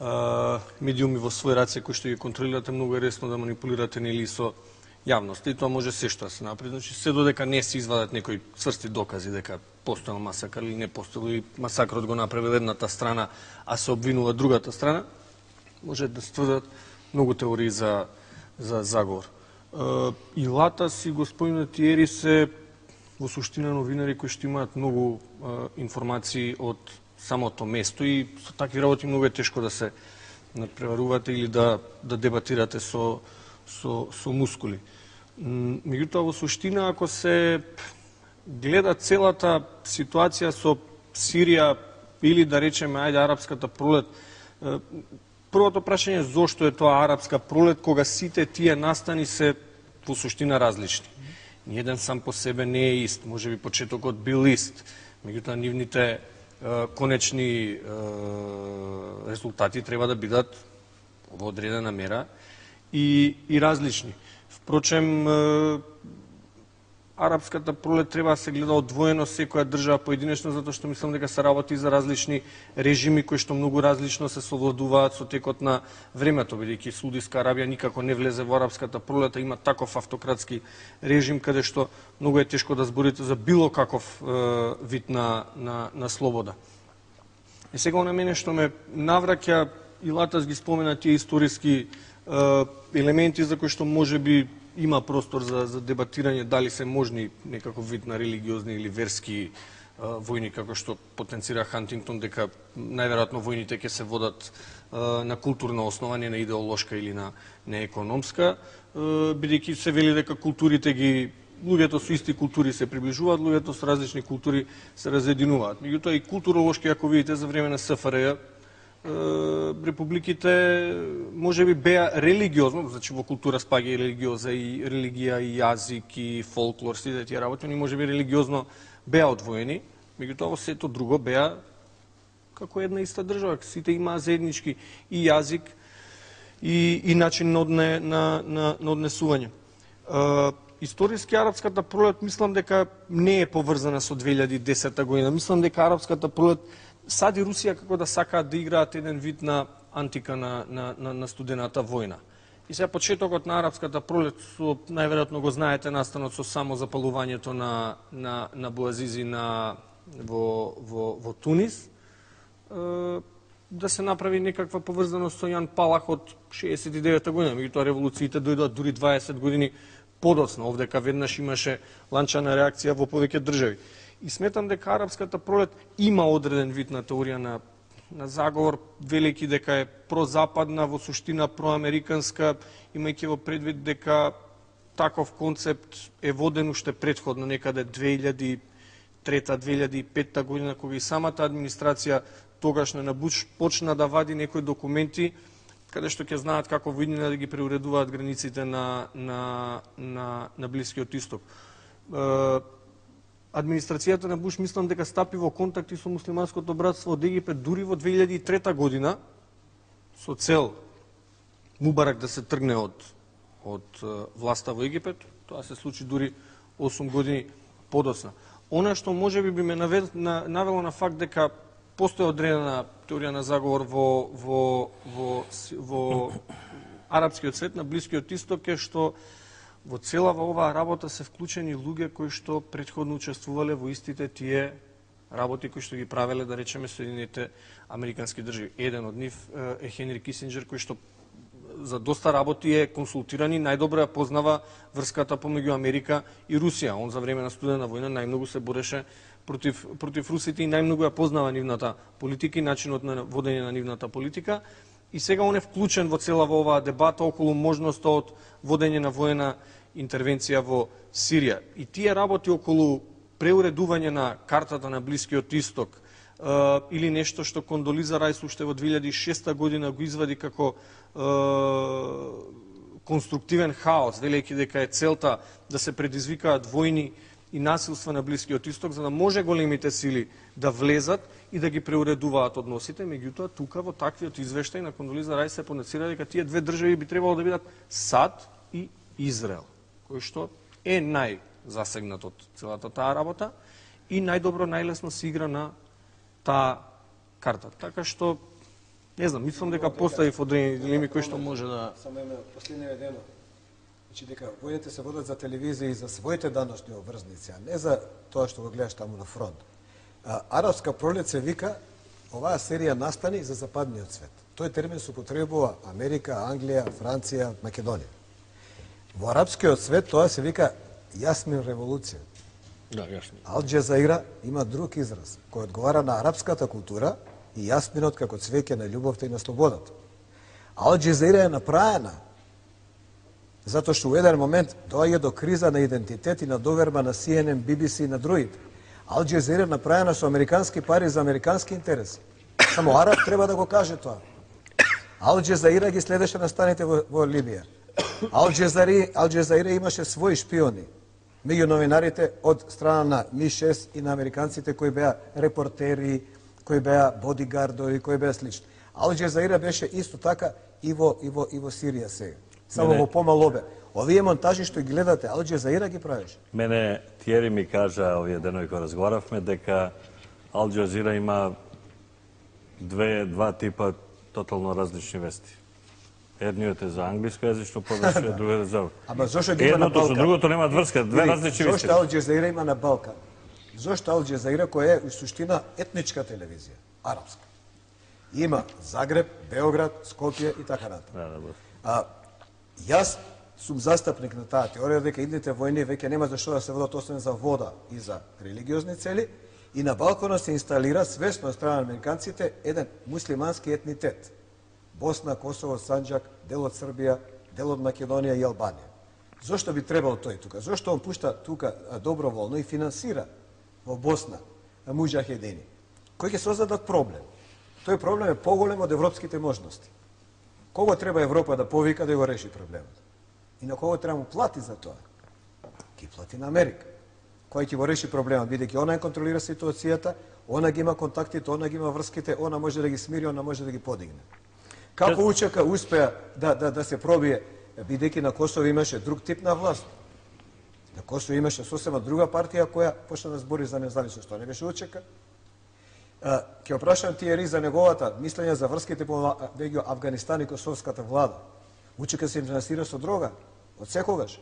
а, медиуми во свој раце кои што ги контролирате, многу е ресно да манипулирате нели со јавноста, и тоа може се што да се направи. Значи, се додека не се извадат некои цврсти докази дека постоел масакар или не постоел, или масакрот го направила едната страна, а се обвинува другата страна, може да се тврдат многу теории за, за заговор. Uh, и Латас и господинот Тиери се во суштина новинари кои што имаат многу uh, информации од самото место, и со такви работи многу е тешко да се надпреварувате или да, да дебатирате со, со, со мускули. Меѓутоа, во суштина, ако се гледа целата ситуација со Сирија или да речеме, ајде, арапската пролет, uh, првото прашање е зошто е тоа арапска пролет, кога сите тие настани се во суштина различни. Ниеден сам по себе не е ист, може би почетокот бил ист, меѓутоа нивните е, конечни е, резултати треба да бидат во одредена мера и, и различни. Впрочем, е, арапската пролет треба да се гледа одвоено секоја држава поединечно, затоа што мислам дека се работи за различни режими кои што многу различно се совладуваат со текот на времето, бидејќи Саудиска Арабија никако не влезе во арапската пролет, има таков автократски режим каде што многу е тешко да зборите за било каков е, вид на, на, на слобода. И сега на мене што ме навраќа, и Латас ги спомена тие историски е, елементи за кои што може би има простор за, за дебатирање дали се можни некаков вид на религиозни или верски а, војни, како што потенцира Хантингтон, дека најверојатно војните ќе се водат а, на културна основа, не на идеолошка или на, на економска, бидејќи се вели дека културите ги луѓето со исти култури се приближуваат, луѓето со различни култури се разединуваат. Меѓутоа и културолошки, ако видите за време на СФРЈ, републиките може би беа религиозно, значи во култура спаѓа и религиоза, и религија, и јазик, и фолклор, сите тие работи, они може би религиозно беа одвоени, меѓутоа во сето друго беа како една иста држава, сите имаа заеднички и јазик, и, и начин на, одне, на, на, на однесување. Uh, историски арапската пролет мислам дека не е поврзана со две илјади и десета година. Мислам дека арапската пролет САД и Русија како да сакаат да играат еден вид на антика на, на, на, на студената војна. И сега почетокот на арапската пролет, со, најверојатно го знаете, настанот со само запалувањето на, на, на буазизи на, во, во, во Тунис, е, да се направи некаква поврзаност со Јан Палах од шеесет и девета година. Меѓутоа револуциите дојдоа дури дваесет години подоцна. Овдека веднаш имаше ланчана реакција во повеќе држави. И сметам дека арапската пролет има одреден вид на теорија на на заговор, велики дека е прозападна, во суштина проамериканска, имајќи во предвид дека таков концепт е воден уште предходно, некаде две илјади и трета - две илјади и петта година, кога и самата администрација тогашна на Буш почна да вади некои документи, каде што ќе знаат како во иднина да ги преуредуваат границите на, на, на, на Блискиот Исток. Администрацијата на Буш мислам дека стапи во контакти со муслиманското братство од Египет дури во две илјади и трета година со цел Мубарак да се тргне од од власта во Египет. Тоа се случи дури осум години подоцна. Она што можеби би ме навело на факт дека постои одредена теорија на заговор во во во во арапскиот свет на Блискиот Исток е што во целава оваа работа се вклучени луѓе кои што претходно учествувале во истите тие работи кои што ги правеле, да речеме, Соединените Американски држави. Еден од нив е Хенри Кисинџер, кој што за доста работи е консултиран и најдобро ја познава врската помеѓу Америка и Русија. Он за време на студена војна најмногу се бореше против против русите и најмногу ја познава нивната политика и начинот на водење на нивната политика. И сега он е вклучен во целава оваа дебата околу можноста од водење на воена интервенција во Сирија. И тие работи околу преуредување на картата на Блискиот Исток е, или нешто што Кондолиза Рајс уште во две илјади и шеста година го извади како е, конструктивен хаос, велејќи дека е целта да се предизвикаат војни и насилства на Блискиот Исток, за да може големите сили да влезат и да ги преуредуваат односите. Меѓутоа, тука во таквиот извештај на Кондолиза Рајс се понацира дека тие две држави би требало да бидат САД и Израел, кој што е најзасегнат од целата таа работа и најдобро, најлесно се игра на таа карта. Така што, не знам, мислам дека постави одредени дилеми кои што може да... Само име, последниот ден, значи дека војните се водат за телевизија и за своите даношни обврзници, а не за тоа што го гледаш таму на фронт. А, арапска пролет се вика, оваа серија настани за западниот свет. Тој термин се употребува Америка, Англија, Франција, Македонија. Во арапскиот свет тоа се вика Јасмин револуција. Да, јасно. Ал Џезаира има друг израз, кој одговара на арапската култура и јасминот како цвеќе на љубовта и на слободата. Ал Џезаира е направена затоа што во еден момент доаѓа до криза на идентитет и на доверба на Си Ен Ен, Би Би Си и на другите. Ал Џезаира е направена со американски пари за американски интереси. Само араб треба да го каже тоа. Ал Џезаира ги следеше настаните во, во Либија. Ал Џезаира, Ал Џезаира имаше своји шпиони меѓу новинарите од страна на Ми шест и на американците кои беа репортери, кои беа бодигардови, кои беа слични. Ал Џезаира беше исто така и во и во и во Сирија сега. Само Мене... во помал обем. Овие монтажи што ги гледате, Ал Џезаира ги правеше. Мене Тиери ми кажа овие денови кога разговаравме дека Ал Џезаира има две два типа тотално различни вести. Едниот е за англискојазично подоцна, другиот е за... Ама зошто ги има на Едното со Балкан? другото нема врска, две различни вести. Зошто Ал Џезаира има на Балкан? Зошто Ал Џезаира која е у суштина етничка телевизија, арапска? Има Загреб, Београд, Скопје и така натаму. Да, да, А јас сум застапник на таа теорија дека идните војни веќе нема зашто да се водат освен за вода и за религиозни цели и на Балканот се инсталира свесно од страна на американците еден муслимански етнитет. Босна, Косово, Санџак, дел од Србија, дел од Македонија и Албанија. Зошто би требало тој тука? Зошто он пушта тука доброволно и финансира во Босна муџахедини? Кој ќе создадат проблем? Тој проблем е поголем од европските можности. Кого треба Европа да повика да го реши проблемот? И на кого треба му плати за тоа? Ги плати на Америка. Кој ќе го реши проблемот, бидејќи она контролира ситуацијата, она ги има контактите, она ги има врските, она може да ги смири, она може да ги подигне. Како Учека успеа да, да, да се пробие, бидејќи на Косово имаше друг тип на власт. На Косово имаше сосема друга партија која почна да збори за независност. Тоа не беше Учека. Ќе опрашам Тиери за неговата мислење за врските меѓу Авганистан и косовската влада. Учека се им финансира со дрога, од секогаш.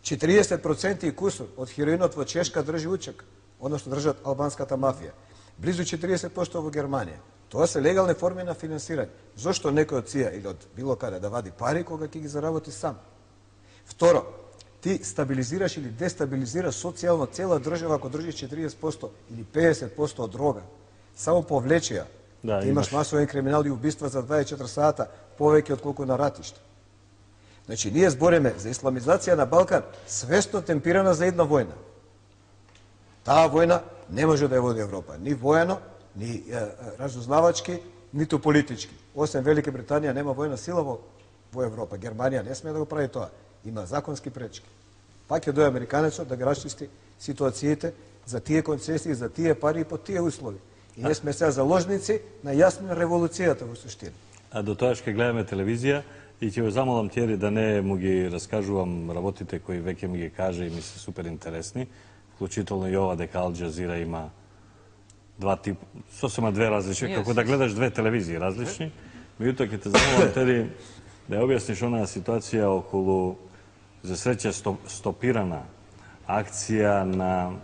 четириесет проценти и кусор од хероинот во Чешка држи Учек, односно држат албанската мафија. Близу четириесет проценти во Германија. Тоа се легални форми на финансирање. Зошто некој од ција или од било каде да вади пари кога ќе ги заработи сам? Второ, ти стабилизираш или дестабилизираш социјално цела држава ако држиш четириесет проценти или педесет проценти од дрога. Само повлечија. Да, ти имаш имаш масовен криминал и убиства за дваесет и четири сата повеќе од колку на ратиште. Значи, ние збориме за исламизација на Балкан свесно темпирана за една војна. Таа војна не може да ја води Европа. Ни воено, ни е, разузнавачки, ниту политички. Осем Велика Британија нема војна сила во, во Европа. Германија не смее да го прави тоа. Има законски пречки. Пак ќе дојде американецот да ги расчисти ситуациите за тие концесии, за тие пари и по тие услови. И не сме сега заложници на јасна револуцијата во суштина. А до тоа ќе гледаме телевизија и ќе го замолам Тиери да не му ги раскажувам работите кои веќе ми ги каже и ми се супер интересни, вклучително и ова дека Ал Джазира има два тип, сосема две различни, Yes, како да yes. гледаш две телевизии различни. Меѓутоа ќе те замолам Тери да ја објасниш онаа ситуација околу за среќа стоп, стопирана акција на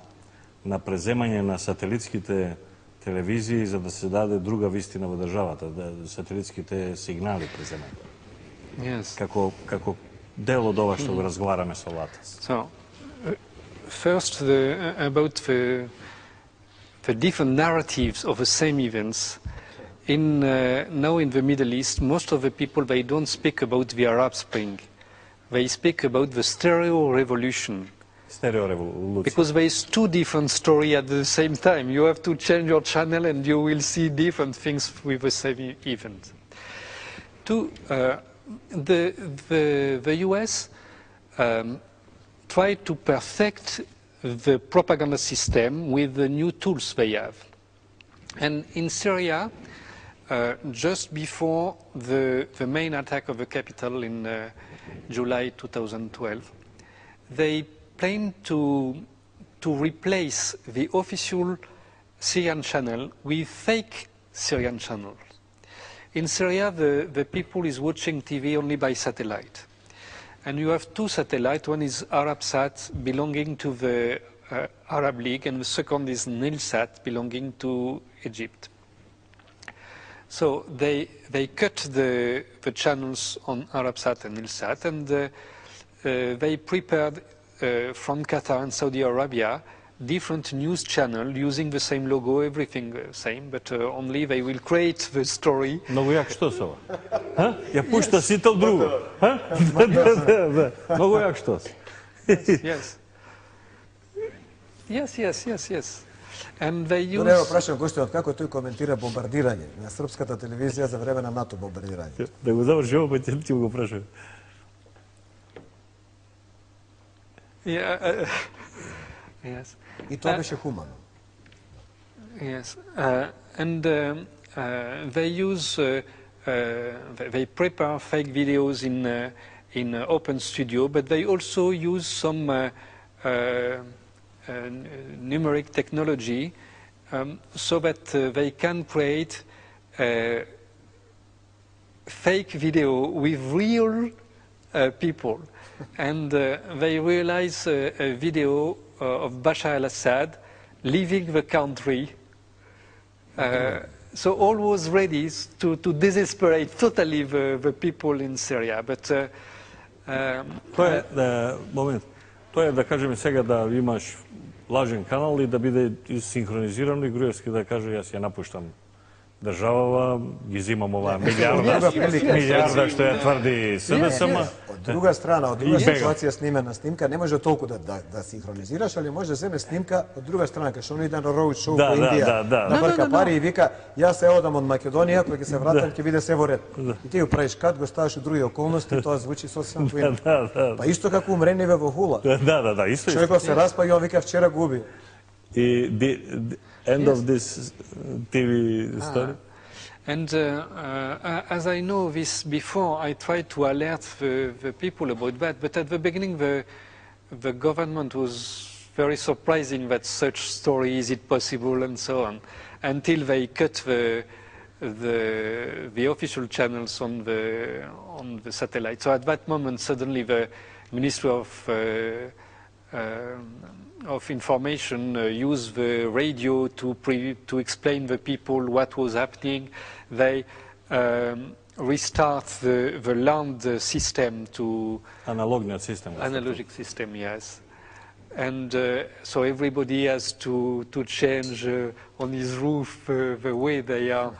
на преземање на сателитските телевизии за да се даде друга вистина во државата, да сателитските сигнали преземање. Yes. Како како дел од ова што го разговараме со Латас. So, uh, first the, uh, about the, the different narratives of the same events. In, uh, now in the Middle East, most of the people, they don't speak about the Arab Spring. They speak about the stereo revolution. Стереореволуција. Because there is two different stories at the same time. You have to change your channel and you will see different things with the same e- event. Two, uh, the, the, the U S um, tried to perfect the propaganda system with the new tools they have. And in Syria, uh, just before the, the main attack of the capital in uh, July two thousand twelve, they planned to, to replace the official Syrian channel with fake Syrian channels. In Syria, the, the people is watching T V only by satellite. And you have two satellites. One is Arabsat, belonging to the uh, Arab League, and the second is Nilsat, belonging to Egypt. So they, they cut the, the channels on Arabsat and Nilsat, and uh, uh, they prepared uh, from Qatar and Saudi Arabia different news channel using the same logo, everything uh, same, but uh, only they will create the story. Многу јак што се ова? Ха? Ја пушта сител друго. Ха? Да, да, да, да. Многу јак што се. Yes. Yes, yes, yes, yes. And they use... Добре, прашам гостинот како тој коментира бомбардирање на српската телевизија за време на НАТО бомбардирање. Да го заврши ово, па ќе ти го прашам. Yeah, uh, yes. И тоа Uh, беше хумано. Yes, uh, and um, uh, they use, uh, uh, they- they prepare fake videos in uh, in uh, Open Studio, but they also use some uh, uh, uh, numeric technology um, so that uh, they can create uh, fake video with real uh, people, and uh, they realize uh, a video uh, of Bashar al-Assad leaving the country. Uh, so all was ready to, to desperate totally the, the people in Syria. But uh, um, Тоа е, да, момент, тоа е да кажеме сега да имаш лажен канал и да биде синхронизирано и Груевски да каже јас ја напуштам државава, ги зимам оваа милиарда, милиарда што ја тврди СДСМ. Од друга страна, од друга И бега. ситуација снимена снимка, не може толку да, да, да синхронизираш, али може да земе снимка од друга страна, кај што он иде на роуд шоу Да, по да, Индија, да, да. на Да, брка да, да. пари и вика, јас се одам од Македонија, кога ќе се вратам, ќе биде се во ред. И ти го правиш кат, го ставаш у други околности, тоа звучи сосема поинаку. Да, да, Па исто како умрениве во Хула. да, да, да, исто. Човекот се распа и он вика вчера го уби. И the, the end of this T V story. and uh, uh, as I know this before, I tried to alert the, the people about that. But at the beginning, the the government was very surprising that such story is it possible and so on, until they cut the the the official channels on the on the satellite. So at that moment, suddenly the Ministry of uh, uh, of Information uh, used the radio to pre to explain the people what was happening. They um, restart the the land system to Analogni system. analogic system, yes. And uh, so everybody has to, to change uh, on his roof uh, the way they are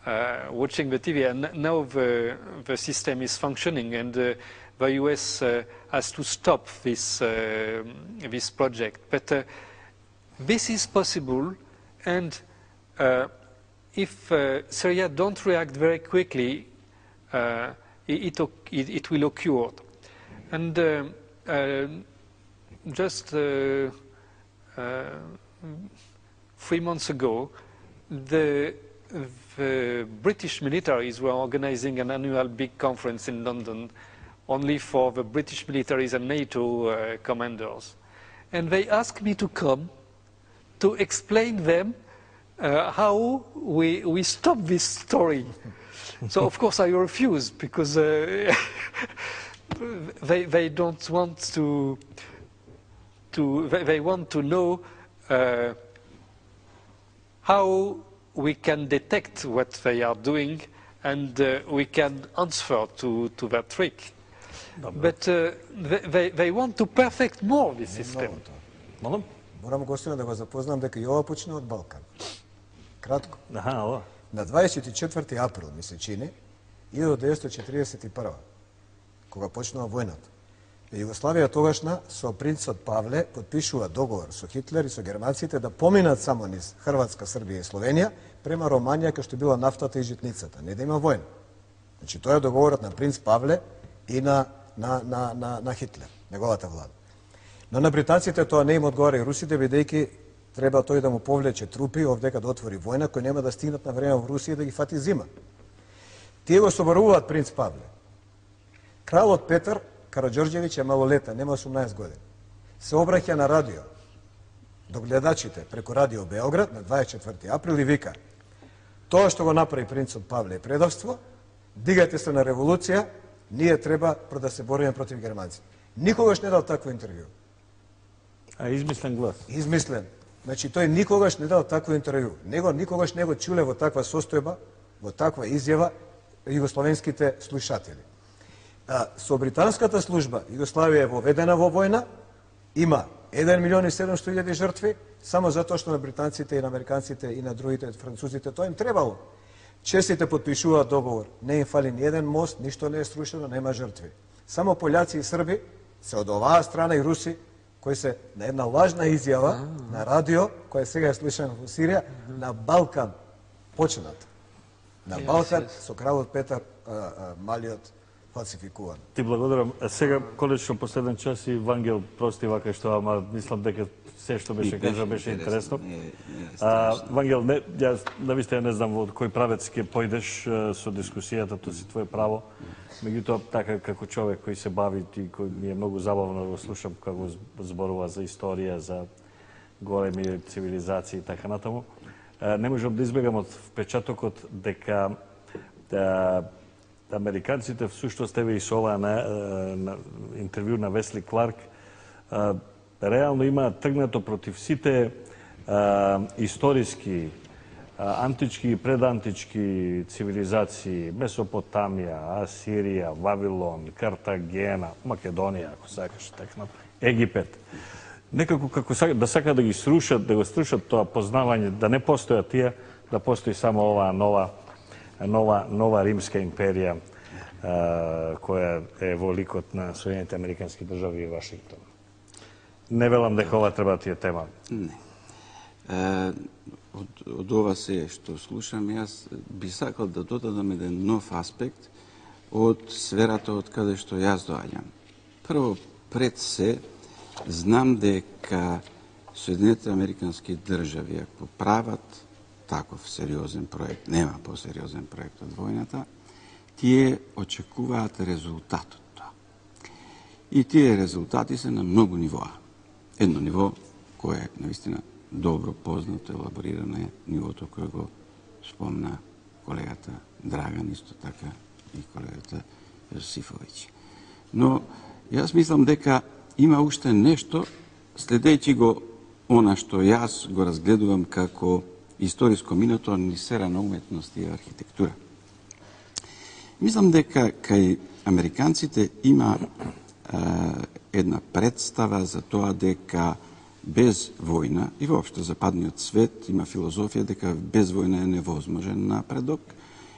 uh, watching the T V. And now the, the system is functioning, and uh, the U S uh, has to stop this, uh, this project. But uh, this is possible, and uh, if uh, Syria don't react very quickly, uh, it, it, it will occur. And uh, uh, Just uh, uh, three months ago, the, the British militaries were organizing an annual big conference in London only for the British militaries and NATO uh, commanders. And they asked me to come to explain them uh, how we, we stop this story. So of course I refused, because uh, they, they don't want to To, they want to know uh, how we can detect what they are doing, and uh, we can answer to, to that trick. But uh, they, they want to perfect more the system. Молам? Морам гостина да го запознам дека и ова почна од Балкан. Кратко. Аха, ова. На дваесет и четврти април, ми се чини, илјада деветстотини четиридесет и прва, кога почнува војната, Југославија тогашна со принцот Павле подпишува договор со Хитлер и со германците да поминат само низ Хрватска, Србија и Словенија према Романија, кај што била нафтата и житницата, не да има војна. Значи тоа е договорот на принц Павле и на на на на, на Хитлер, неговата влада. Но на британците тоа не им одговара и русите, бидејќи треба тој да му повлече трупи овдека да отвори војна, кои нема да стигнат на време во Русија да ги фати зима. Тие го соборуваат принц Павле. Кралот Петар Караѓорđević е малолетен, нема осумнаесет години. Се обраќа на радио до гледачите преку Радио Београд на дваесет и четврти април и вика: тоа што го направи принцот Павле е предавство, дигајте се на револуција, ние треба да се бориме против германците. Никогаш не дал такво интервју. А измислен глас. Измислен. Значи тој никогаш не дал такво интервју. Него никогаш не го чуле во таква состојба, во таква изјава југословенските слушатели. А, со британската служба Југославија е воведена во војна, има еден милион и седумстотини илјади жртви, само затоа што на британците и на американците и на другите французите тоа им требало. Честите подпишуваат договор, не им фали ни еден мост, ништо не е срушено, нема жртви. Само пољаци и срби се од оваа страна и руси, кои се на една лажна изјава на радио, која сега е слушана во Сирија, на Балкан почнат. На Балкан со кралот Петар а, а, Малиот фалсификуван. Ти благодарам. Сега, конечно, последен час и Вангел прости вака што, ама мислам дека се што беше кажа беше интересно. А, Вангел, не, јас навистина не знам од кој правец ќе појдеш со дискусијата, тоа си твое право. Меѓутоа, така како човек кој се бави и кој ми е многу забавно да го слушам како зборува за историја, за големи цивилизации и така натаму, не можам да избегам од впечатокот дека да, американците всушност еве и со оваа на, на интервју на Весли Кларк а, реално имаат тргнато против сите а, историски, а, антички и предантички цивилизации, Месопотамија, Асирија, Вавилон, Картагена, Македонија, ако сакаш, така, Египет. Некако како да сака да ги срушат, да го срушат тоа познавање, да не постојат тие, да постои само оваа нова нова нова римска империја а, која е во ликот на Соединените американски држави и Вашингтон. Не велам дека ова треба да ти е тема. Не. Е, од, од ова се што слушам, јас би сакал да додадам еден нов аспект од сферата од каде што јас доаѓам. Прво, пред се, знам дека Соединените американски држави, ако прават таков сериозен проект, нема посериозен проект од војната, тие очекуваат резултат од тоа. И тие резултати се на многу нивоа. Едно ниво кое е наистина добро познато, елаборирано е нивото кое го спомна колегата Драган, исто така и колегата Јосифовиќ. Но јас мислам дека има уште нешто, следејќи го она што јас го разгледувам како историско минато ни сфера на уметност и архитектура. Мислам дека кај американците има е, една представа за тоа дека без војна и воопшто западниот свет има филозофија дека без војна е невозможен напредок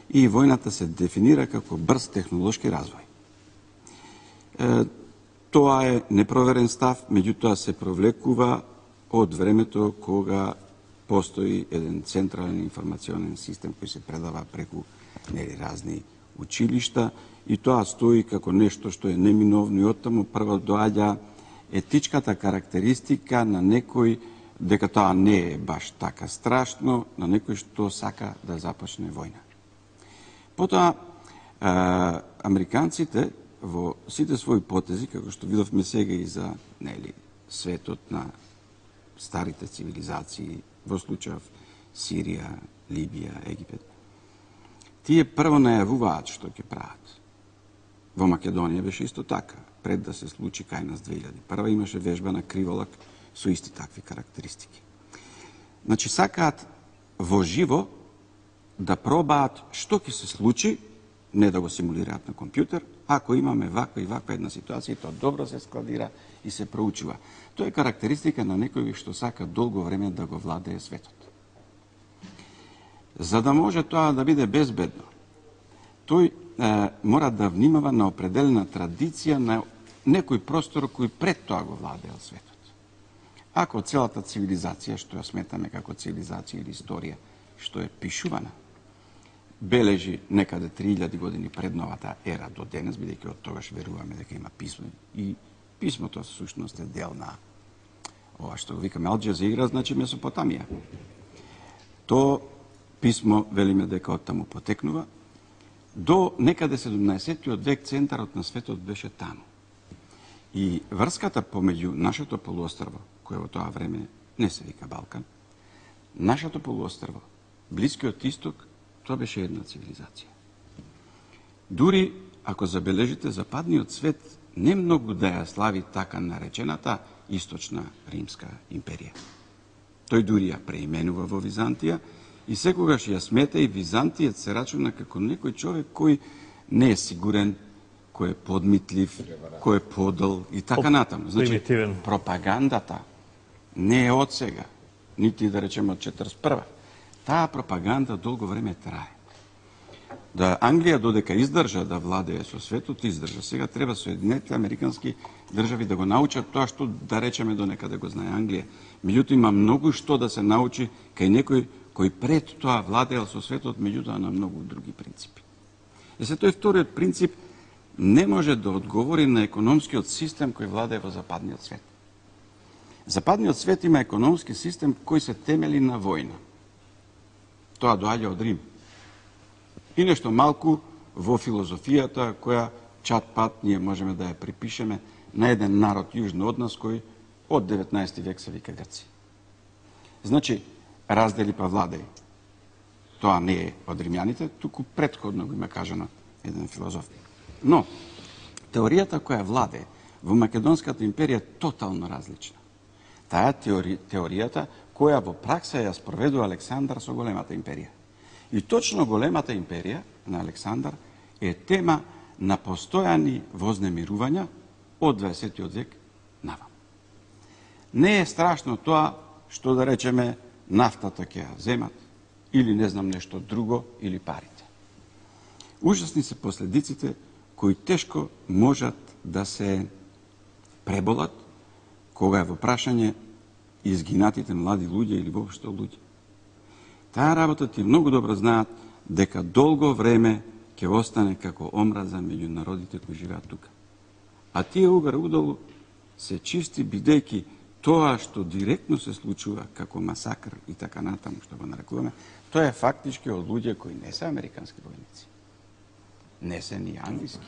и војната се дефинира како брз технолошки развој. Е, тоа е непроверен став, меѓутоа се провлекува од времето кога постои еден централен информационен систем кој се предава преку нели разни училишта и тоа стои како нешто што е неминовно и оттаму прво доаѓа етичката карактеристика на некој дека тоа не е баш така страшно, на некој што сака да започне војна. Потоа, е, американците во сите своји потези, како што видовме сега и за нели, светот на старите цивилизации, во случајов Сирија, Либија, Египет, тие прво најавуваат што ќе прават. Во Македонија беше исто така. Пред да се случи кај нас две илјади прва имаше вежба на Криволак со исти такви карактеристики. Значи, сакаат во живо да пробаат што ќе се случи, не да го симулираат на компјутер, ако имаме ваква и ваква една ситуација, тоа добро се складира и се проучува. Тоа е карактеристика на некој што сака долго време да го владее светот. За да може тоа да биде безбедно, тој е, мора да внимава на определена традиција на некој простор кој пред тоа го владеел светот. Ако целата цивилизација, што ја сметаме како цивилизација или историја, што е пишувана, бележи некаде три илјади години пред новата ера до денес, бидејќи од тогаш веруваме дека има писмо и писмото всушност е дел на ова што го викаме Ал Џазира, значи Месопотамија. То писмо велиме дека оттаму потекнува. До некаде седумнаесеттиот век центарот на светот беше таму. И врската помеѓу нашето полуострво, кое во тоа време не се вика Балкан, нашето полуострво, Блискиот исток, тоа беше една цивилизација. Дури, ако забележите, западниот свет не многу да ја слави така наречената Источна Римска империја. Тој дури ја преименува во Византија и секогаш ја смета и Византијец се рачуна како некој човек кој не е сигурен, кој е подмитлив, кој е подол и така натаму. Значи, пропагандата не е од сега, нити да речеме од четридесет и прва. Таа пропаганда долго време трае. Да Англија додека издржа да владее со светот, издржа. Сега треба Соединетите американски држави да го научат тоа што да речеме до некаде го знае Англија. Меѓутоа има многу што да се научи кај некој кој пред тоа владеел со светот, меѓутоа на многу други принципи. И се тој вториот принцип не може да одговори на економскиот систем кој владее во западниот свет. Западниот свет има економски систем кој се темели на војна. Тоа доаѓа од Рим. И нешто малку во филозофијата која чат-пат ние можеме да ја припишеме на еден народ јужно од нас кој од деветнаесети век се вика Грци. Значи, раздели па владеј. Тоа не е од римјаните, туку претходно го има кажано еден филозоф. Но, теоријата која владее во Македонската империја е тотално различна. Таа теори, теоријата која во пракса ја спроведува Александар со големата империја. И точно големата империја на Александар е тема на постојани вознемирувања од дваесеттиот век навам. Не е страшно тоа што да речеме нафтата ќе ја земат или не знам нешто друго или парите. Ужасни се последиците кои тешко можат да се преболат кога е во прашање изгинатите млади луѓе или воопшто луѓе. Таа работа ти многу добро знаат дека долго време ќе остане како омраза меѓу народите кои живеат тука. А тие угар удолу се чисти бидејќи тоа што директно се случува како масакр и така натаму што го нарекуваме, тоа е фактички од луѓе кои не се американски војници. Не се ни англиски.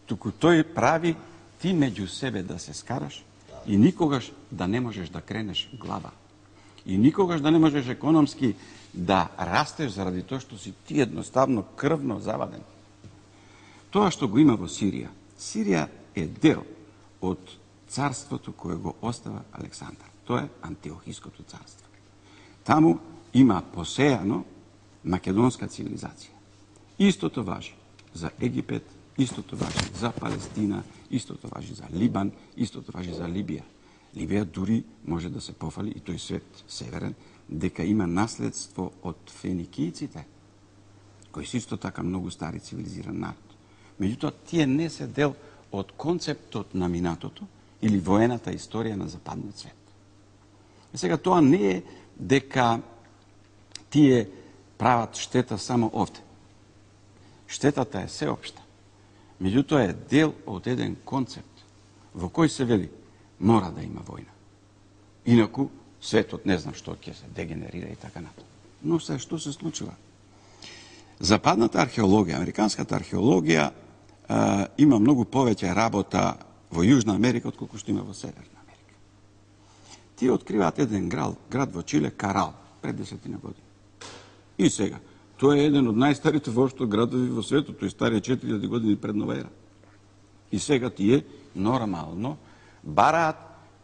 Туку тој прави ти меѓу себе да се скараш и никогаш да не можеш да кренеш глава. И никогаш да не можеш економски да растеш заради тоа што си ти едноставно крвно заваден. Тоа што го има во Сирија, Сирија е дел од царството кое го остава Александар. Тоа е Антиохиското царство. Таму има посејано македонска цивилизација. Истото важи за Египет, истото важи за Палестина, истото важи за Либан, истото важи за Либија. Либија дури може да се пофали, и тој свет северен, дека има наследство од феникијците, кои се исто така многу стари цивилизиран народ. Меѓутоа, тие не се дел од концептот на минатото или воената историја на западниот свет. И сега тоа не е дека тие прават штета само овде. Штетата е сеопшта. Меѓутоа е дел од еден концепт во кој се вели мора да има војна. Инаку светот не знам што ќе се дегенерира и така натаму. Но се што се случува? Западната археологија, американската археологија е, има многу повеќе работа во Јужна Америка отколку што има во Северна Америка. Тие откриваат еден град, град во Чиле, Карал, пред десетина години. И сега, тоа е еден од најстарите воопшто градови во светот, тој старија четири илјади години пред нова ера. И сега тие нормално бараат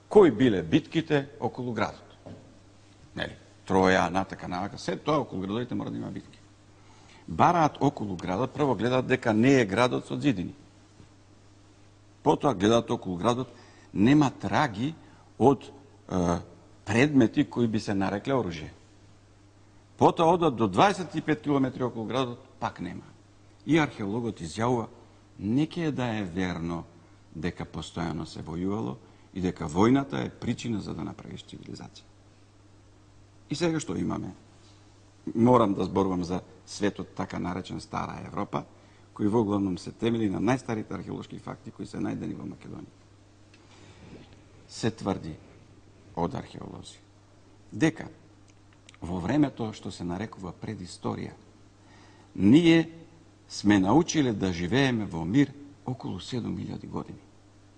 кои биле битките околу градот. Нели, Троја, натака, навака, се тоа околу градовите мора да има битки. Бараат околу градот, прво гледаат дека не е градот со зидини. Потоа гледаат околу градот, нема траги од е, предмети кои би се нарекле оружје. Потоа одат до дваесет и пет километри околу градот, пак нема. И археологот изјавува, неќе да е верно дека постојано се војувало и дека војната е причина за да направиш цивилизација. И сега што имаме? Морам да зборувам за светот така наречен Стара Европа, кој во главном се темели на најстарите археолошки факти кои се најдени во Македонија. Се тврди од археолози дека во времето што се нарекува предисторија, ние сме научиле да живееме во мир околу седум илјади години.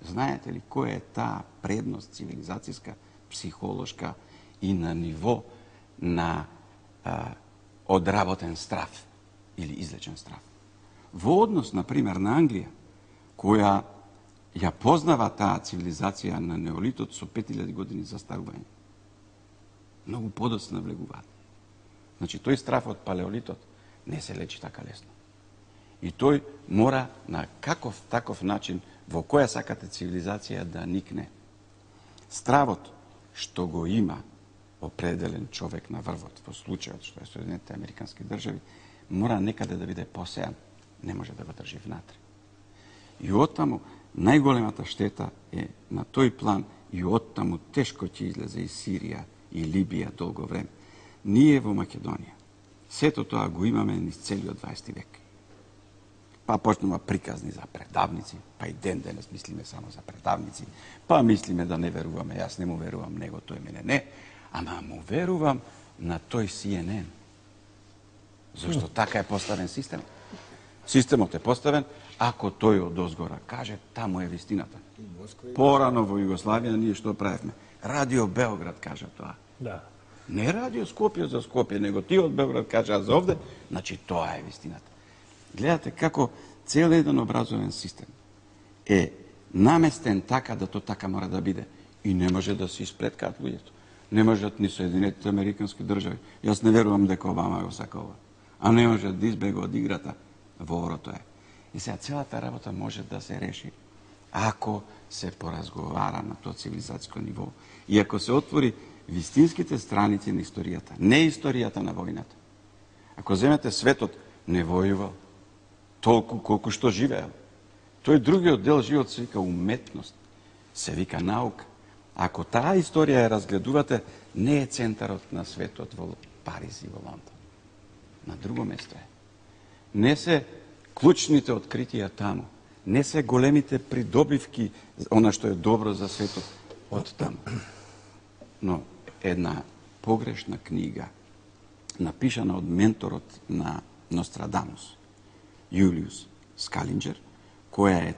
Знаете ли која е таа предност цивилизацијска, психолошка и на ниво на а, одработен страв или излечен страв? Во однос, например, на Англија, која ја познава таа цивилизација на неолитот со пет илјади години застарување. Многу подоцна влегуваат. Значи, тој страв од палеолитот не се лечи така лесно. И тој мора на каков таков начин, во која сакате цивилизација да никне. Стравот што го има определен човек на врвот, во случајот што е Соединетите Американски држави, мора некаде да биде посеан, не може да го држи внатре. И оттаму најголемата штета е на тој план и оттаму тешко ќе излезе и Сирија и Либија долго време. Ние во Македонија сето тоа го имаме низ целиот дваесети век. Па почнува приказни за предавници, па и ден денес мислиме само за предавници, па мислиме да не веруваме, јас не му верувам него, тој мене не, ама му верувам на тој Си Ен Ен. Зошто така е поставен систем? Системот е поставен, ако тој од озгора каже, таму е вистината. Порано во Југославија ние што правевме? Радио Београд кажа тоа. Да. Не Радио Скопје за Скопје, него ти од Београд кажа за овде, значи тоа е вистината. Гледате како цел еден образовен систем е наместен така да то така мора да биде. И не може да се испреткаат луѓето. Не можат ни Соединетите Американски држави. Јас не верувам дека Обама го сака ова. А не можат да избега од играта. Воорото е. И сега целата работа може да се реши ако се поразговара на тоа цивилизацијско ниво и ако се отвори вистинските страници на историјата, не историјата на војната. Ако земете светот не војувал толку колку што живеел. Тој другиот дел живот се вика уметност, се вика наука. Ако таа историја ја разгледувате, не е центарот на светот во Париз и во Лондон. На друго место е. Не се клучните откритија таму. Не се големите придобивки, она што е добро за светот, од таму. Но една погрешна книга, напишана од менторот на Нострадамус, Јулиус Скалинџер, која е,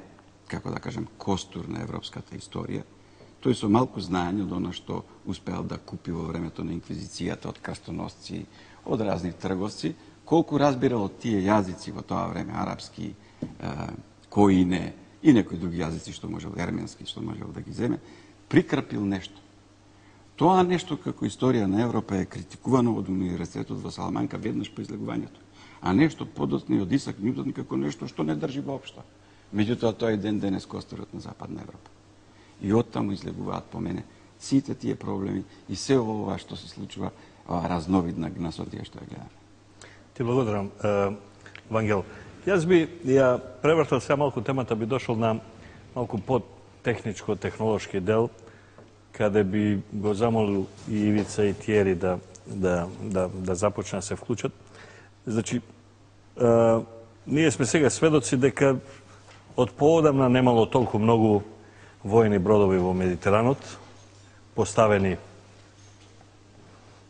како да кажем, костур на европската историја, тој со малку знаење од она што успеал да купи во времето на инквизицијата од крстоносци, од разни трговци, колку разбирал од тие јазици во тоа време, арапски, коине и некои други јазици што можел, ерменски, што можел да ги земе, прикрапил нешто. Тоа нешто како историја на Европа е критикувано од Универзитетот во Саламанка веднаш по излегувањето, а нешто подоцна од Исак Њутон како нешто што не држи воопшто. Меѓутоа, тоа е ден денес костурот на Западна Европа. И оттаму излегуваат по мене сите тие проблеми и се ова што се случува, ова разновидна гнасотија што ја гледаме. Ти благодарам, Вангел. Јас би ја превртал сега малку темата, би дошол на малку по-техничко, технолошки дел, каде би го замолил и Ивица и Тиери да, да, да, да започне да се вклучат. Значи, е, ние сме сега сведоци дека од поодамна немало толку многу војни бродови во Медитеранот, поставени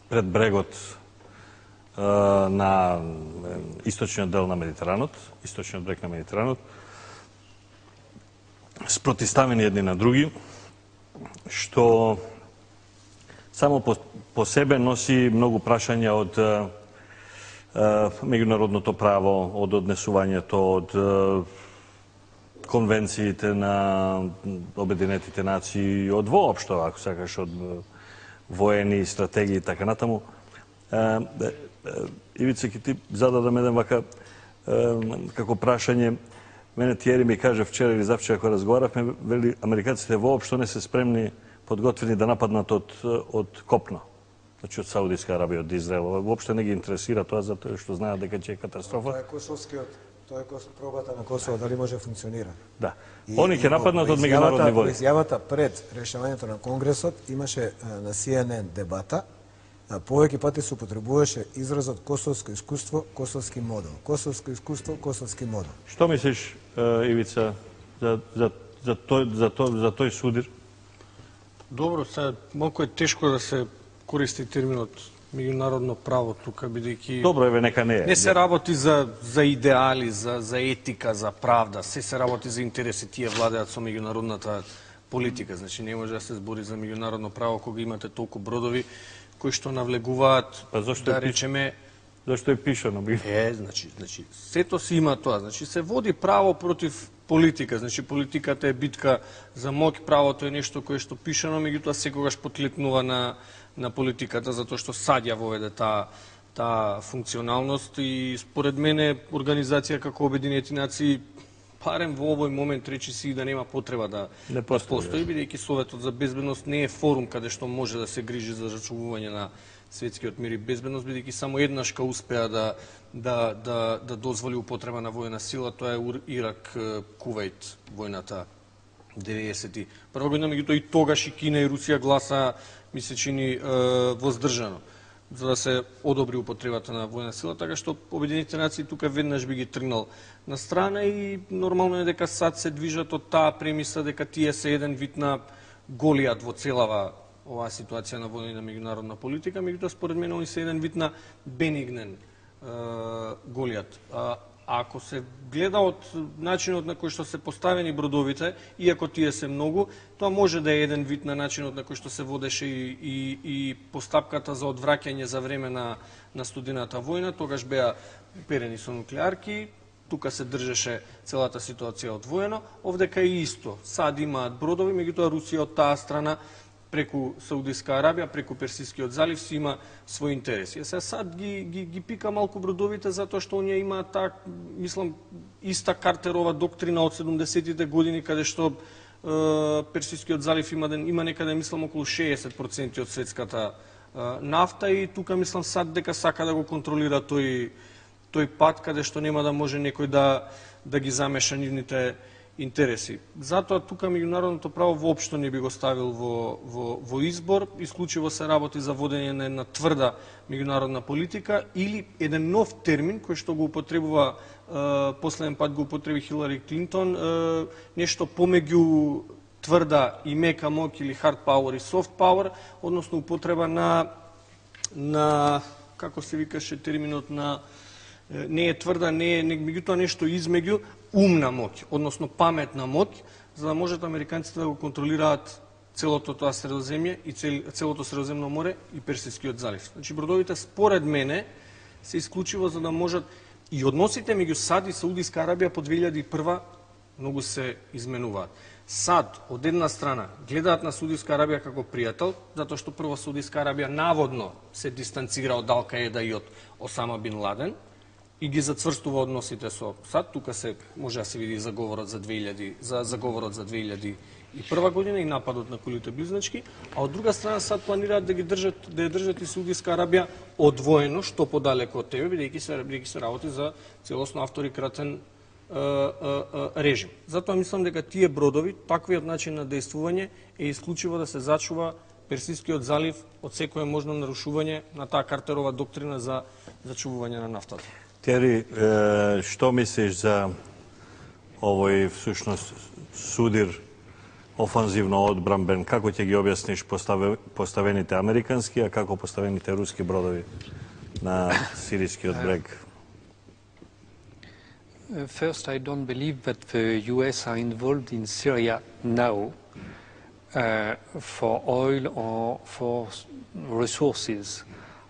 пред брегот е, на источниот дел на Медитеранот, источниот брег на Медитеранот, спротиставени едни на други, што само по, по себе носи многу прашања од е, меѓународното право, од однесувањето, од е, конвенциите на Обединетите нации, од воопшто, ако сакаш, од воени стратегии и така натаму. Е, е, Ивица, ки ти зададам еден вака е, како прашање. Мене Тиери ми каже вчера или завчера кога разговаравме, вели американците воопшто не се спремни, подготвени да нападнат од, од копно. Значи од Саудиска Арабија, од Израел. Воопшто не ги интересира тоа, затоа што знаат дека ќе е катастрофа. Тоа е косовскиот, тоа е пробата на Косово, дали може да функционира. Да. Они ќе нападнат од меѓународни води. Изјавата пред решавањето на Конгресот имаше на Си Ен Ен дебата. Повеќе пати се употребуваше изразот косовско искуство, косовски модел. Косовско искуство, косовски модел. Што мислиш, Ивица, за, за, за, тој, за, тој, за тој судир? Добро, сега малку е тешко да се користи терминот меѓународно право тука, бидејќи Добро, еве, нека не е. Не се работи за, за идеали, за, за етика, за правда, се се работи за интереси, тие владеат со меѓународната политика. Значи не може да се збори за меѓународно право кога имате толку бродови кои што навлегуваат, па зашто да речеме... Зашто е пишано? Е, значи, значи, сето си има тоа. Значи, се води право против политика. Значи, политиката е битка за моќ, правото е нешто кое што пишано, меѓутоа секогаш потлетнува на, на политиката, затоа што саѓа воведе таа таа функционалност и според мене организација како Обединети нации барем во овој момент речи си да нема потреба да, не да постои, постои, бидејќи Советот за безбедност не е форум каде што може да се грижи за зачувување на светскиот мир и безбедност, бидејќи само еднашка успеа да, да, да, да дозволи употреба на војна сила, тоа е Ирак, Кувајт, војната деветдесет и прва година, меѓутоа и тогаш и Кина и Русија гласа, ми се чини, воздржано, за да се одобри употребата на војна сила, така што Обединетите нации тука веднаш би ги тргнал на страна и нормално е дека сад се движат од таа премиса дека тие се еден вид на Голијат во целава оваа ситуација на војна меѓународна политика, меѓутоа според мене они се еден вид на бенигнен е, Голијат. А, ако се гледа од начинот на кој што се поставени бродовите, иако тие се многу, тоа може да е еден вид на начинот на кој што се водеше и, и, и постапката за одвраќање за време на, на студената војна, тогаш беа перени со нуклеарки, тука се држеше целата ситуација одвоено, овдека е исто. Сад имаат бродови, меѓутоа Русија од таа страна преку Саудиска Арабија, преку Персискиот залив си има своји интереси. Сега сад ги, ги, ги пика малку бродовите затоа што оние имаат таа, мислам, иста картерова доктрина од седумдесетите години, каде што е, Персискиот залив има, има некаде, мислам, околу шеесет проценти од светската е, нафта и тука, мислам, сад дека сака да го контролира тој, тој пат, каде што нема да може некој да, да ги замеша нивните интереси. Затоа тука меѓународното право воопшто не би го ставил во, во, во избор, исклучиво се работи за водење на една тврда меѓународна политика или еден нов термин кој што го употребува, е, последен пат го употреби Хилари Клинтон, е, нешто помеѓу тврда и мека моќ или hard power и soft power, односно употреба на, на како се викаше терминот на не е тврда, не е, меѓутоа нешто измеѓу умна моќ, односно паметна моќ, за да можат американците да го контролираат целото тоа Средоземје и цел, целото Средоземно море и Персискиот залив. Значи бродовите според мене се исклучиво за да можат и односите меѓу САД и Саудиска Арабија по две илјади и прва многу се изменуваат. САД од една страна гледаат на Саудиска Арабија како пријател, затоа што прво Саудиска Арабија наводно се дистанцира од Ал Каеда и од Осама бин Ладен и ги зацврстува односите со САД. Тука се може да се види заговорот за две илјади за заговорот за две илјади и прва година и нападот на кулите близначки, а од друга страна САД планираат да ги држат да ја држат и Саудиска Арабија одвоено, што подалеку од тебе, бидејќи се бидејќи се работи за целосно авторитратен режим. Затоа мислам дека тие бродови, таквиот начин на действување е исклучиво да се зачува Персискиот залив од секое можно нарушување на таа картерова доктрина за зачувување на нафтата. Тери, што мислиш за овој всушност судир офанзивно одбранбен? Како ќе ги објасниш поставените американски, а како поставените руски бродови на сирискиот брег? Uh, first, I don't believe that the U S are involved in Syria now uh, for oil or for resources.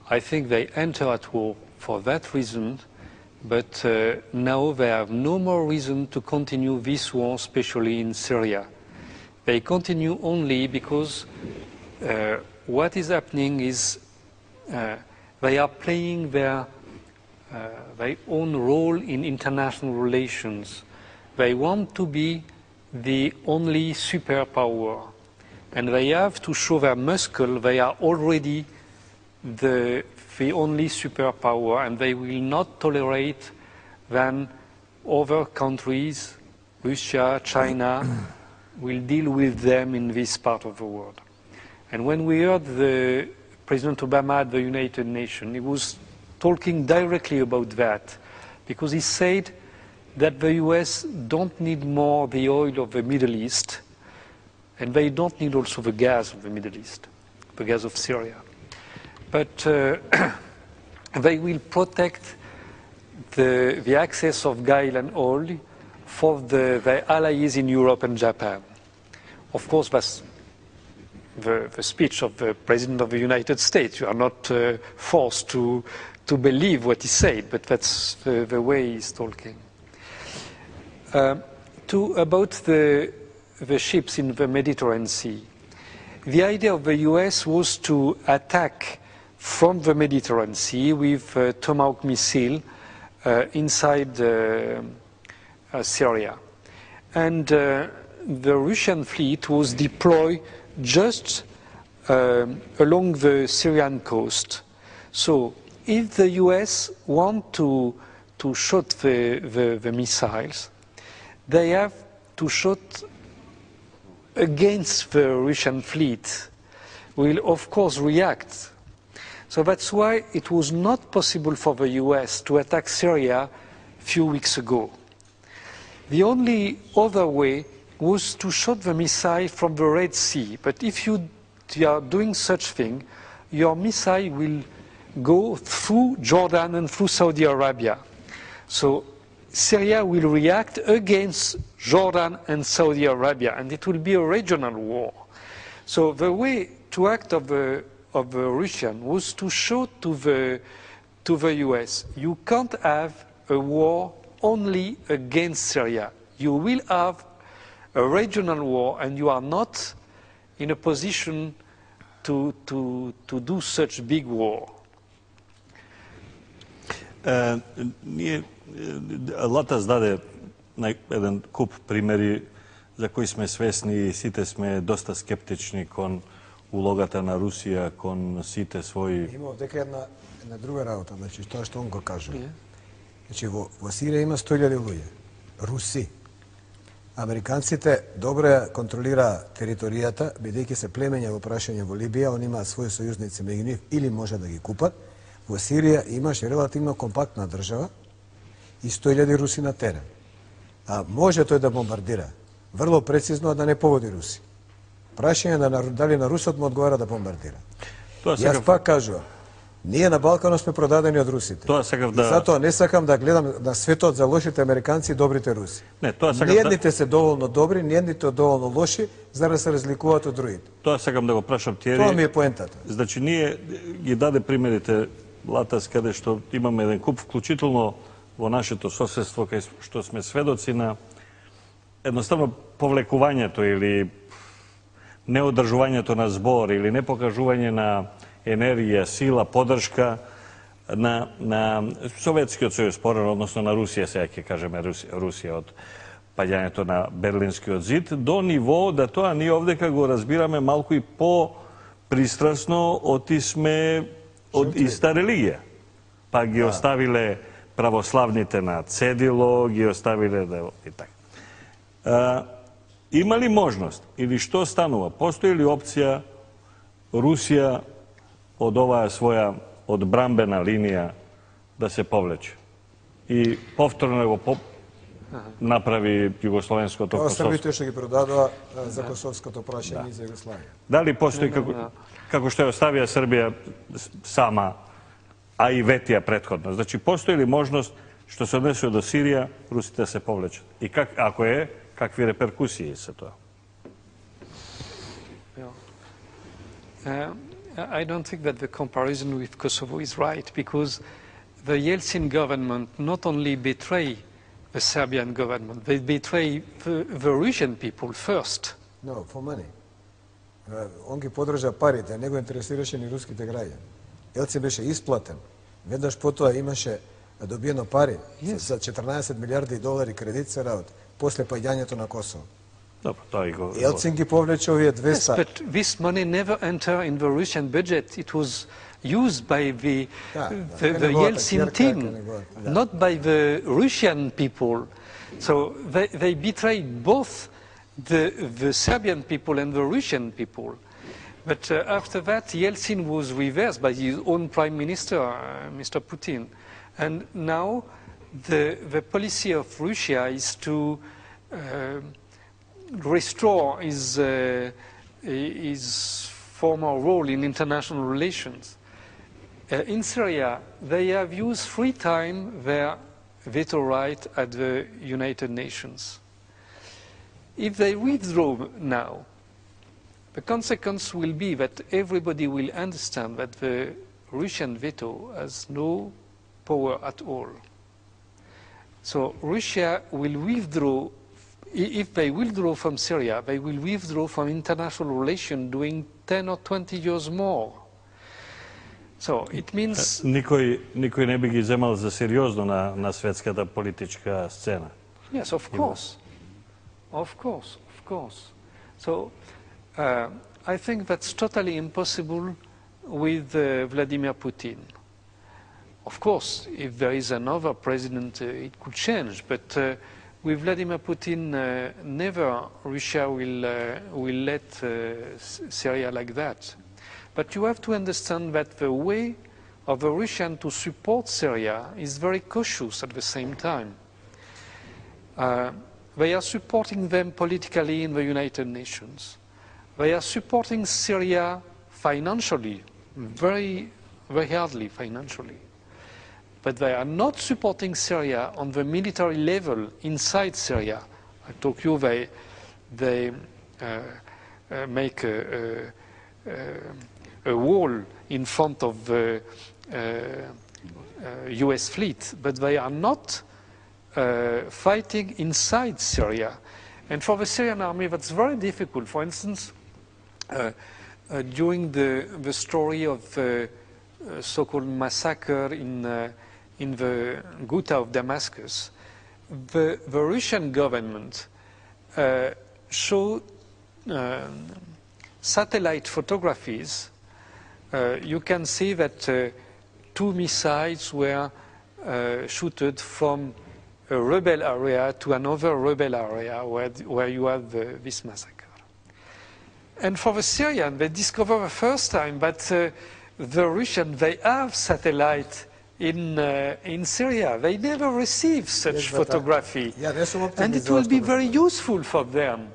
I think they enter at war for that reason, but uh, now they have no more reason to continue this war, especially in Syria. They continue only because uh, what is happening is uh, they are playing their Uh, their own role in international relations. They want to be the only superpower, and they have to show their muscle. They are already the, the only superpower, and they will not tolerate that other countries, Russia, China, will deal with them in this part of the world. And when we heard the President Obama at the United Nations, he was talking directly about that, because he said that the U S don't need more the oil of the Middle East, and they don't need also the gas of the Middle East, the gas of Syria. But uh, they will protect the, the access of gas and oil for the, the allies in Europe and Japan. Of course, that's the, the speech of the President of the United States. You are not uh, forced to to believe what he said, but that's the, the way he's talking. Uh, to, about the, the ships in the Mediterranean Sea, the idea of the U S was to attack from the Mediterranean Sea with uh, Tomahawk missile uh, inside uh, uh, Syria. And uh, the Russian fleet was deployed just uh, along the Syrian coast. So if the U S want to, to shoot the, the, the missiles, they have to shoot against the Russian fleet, will of course react. So that's why it was not possible for the U S to attack Syria a few weeks ago. The only other way was to shoot the missile from the Red Sea. But if you are doing such thing, your missile will go through Jordan and through Saudi Arabia. So Syria will react against Jordan and Saudi Arabia, and it will be a regional war. So the way to act of the, of the Russian was to show to the, to the U S, you can't have a war only against Syria. You will have a regional war, and you are not in a position to, to, to do such big war. Е, ние, Латас даде еден куп примери за кои сме свесни и сите сме доста скептични кон улогата на Русија, кон сите своји... Има дека една, една друга работа, значи тоа што он го кажа. Значи во, во Сирија има сто илјади луѓе, руси. Американците добро ја контролира територијата, бидејќи се племења во прашање во Либија, они имаат своји сојузници меѓу нив или може да ги купат. Во Сирија имаше релативно компактна држава и сто илјади руси на терен. А може тој да бомбардира, врло прецизно, а да не погоди руси. Прашање на дали на русот му одговара да бомбардира. Тоа Јас сега... пак кажувам, Ние на Балканот сме продадени од русите. Тоа сакав да... И затоа не сакам да гледам на светот за лошите американци и добрите руси. Не, тоа сакам Ниедните да... се доволно добри, ниедните доволно лоши, за да се разликуваат од другите. Тоа сакам да го прашам Тиери. Тоа ми е поентата. Значи, ние ги даде примерите Латас, каде што имаме еден куп, вклучително во нашето соседство, кај што сме сведоци на едноставно повлекувањето или неодржувањето на збор или непокажување на енергија, сила, поддршка на, на Советскиот сојуз, порано, односно на Русија, сега ќе кажеме Русија, Русија од паѓањето на Берлинскиот зид, до ниво да тоа ние овдека го разбираме малку и по-пристрасно, оти сме од иста религија. Па ги оставиле православните на цедило, ги оставиле да и така. А, има ли можност или што станува? Постои ли опција Русија од оваа своја одбрамбена линија да се повлече и повторно го по... направи југословенското Ова Косовско? Србите што ги продадоа за косовското прашање и за Југославија. Дали постои како, како што ја оставија Србија сама, а и ветија претходно? Значи, постои ли можност што се однесува до Сирија, русите се повлечат? И как, ако е, какви реперкусии се тоа? Uh, I don't think that the comparison with Kosovo is right, because the Yeltsin government not only betrayed the Serbian government, they betrayed the, the Russian people first. No, for money. Uh, он ги подржа парите, не го интересираше ни руските граѓани. Елцин беше исплатен. Веднаш потоа имаше добиено пари yes. за четрнаесет милиарди долари кредит се работи, после паѓањето на Косово. Добро, тоа и го... Елцин ги повлече овие двеста. Yes, but this money never entered in the Russian budget. It was used by the, Да, the, да, the го, Yeltsin така, team, да. not by the Russian people. So they, they betrayed both the, the Serbian people and the Russian people. But uh, after that, Yeltsin was reversed by his own prime minister, uh, Mister Putin. And now the, the policy of Russia is to uh, restore his, uh, his former role in international relations. Uh, in Syria, they have used three times their veto right at the United Nations. If they withdraw now, the consequence will be that everybody will understand that the Russian veto has no power at all. So Russia will withdraw. If they withdraw from Syria, they will withdraw from international relations doing ten or twenty years more. So it means... Никој, никој не би ги земал за сериозно на, на светската политичка сцена. Yes, of course. Of course, of course. So uh, I think that's totally impossible with uh, Vladimir Putin. Of course, if there is another president, uh, it could change, but uh, with Vladimir Putin, uh, never Russia will, uh, will let uh, Syria like that. But you have to understand that the way of the Russian to support Syria is very cautious at the same time. Uh, they are supporting them politically in the United Nations. They are supporting Syria financially, very, very hardly financially. But they are not supporting Syria on the military level inside Syria. I told you they, they uh, uh, make a, a, a wall in front of the uh, uh, U S fleet, but they are not uh, fighting inside Syria. And for the Syrian army, that's very difficult. For instance, uh, uh, during the, the story of the uh, so-called massacre in uh, in the Ghouta of Damascus, the, the Russian government uh, showed uh, satellite photographies. Uh, you can see that uh, two missiles were uh, shooted from a rebel area to another rebel area where, where you have the, this massacre. And for the Syrians, they discovered the first time that uh, the Russians, they have satellite in, uh, in Syria. They never received such Yes, photography. Yeah, there's some and it will be very useful for them.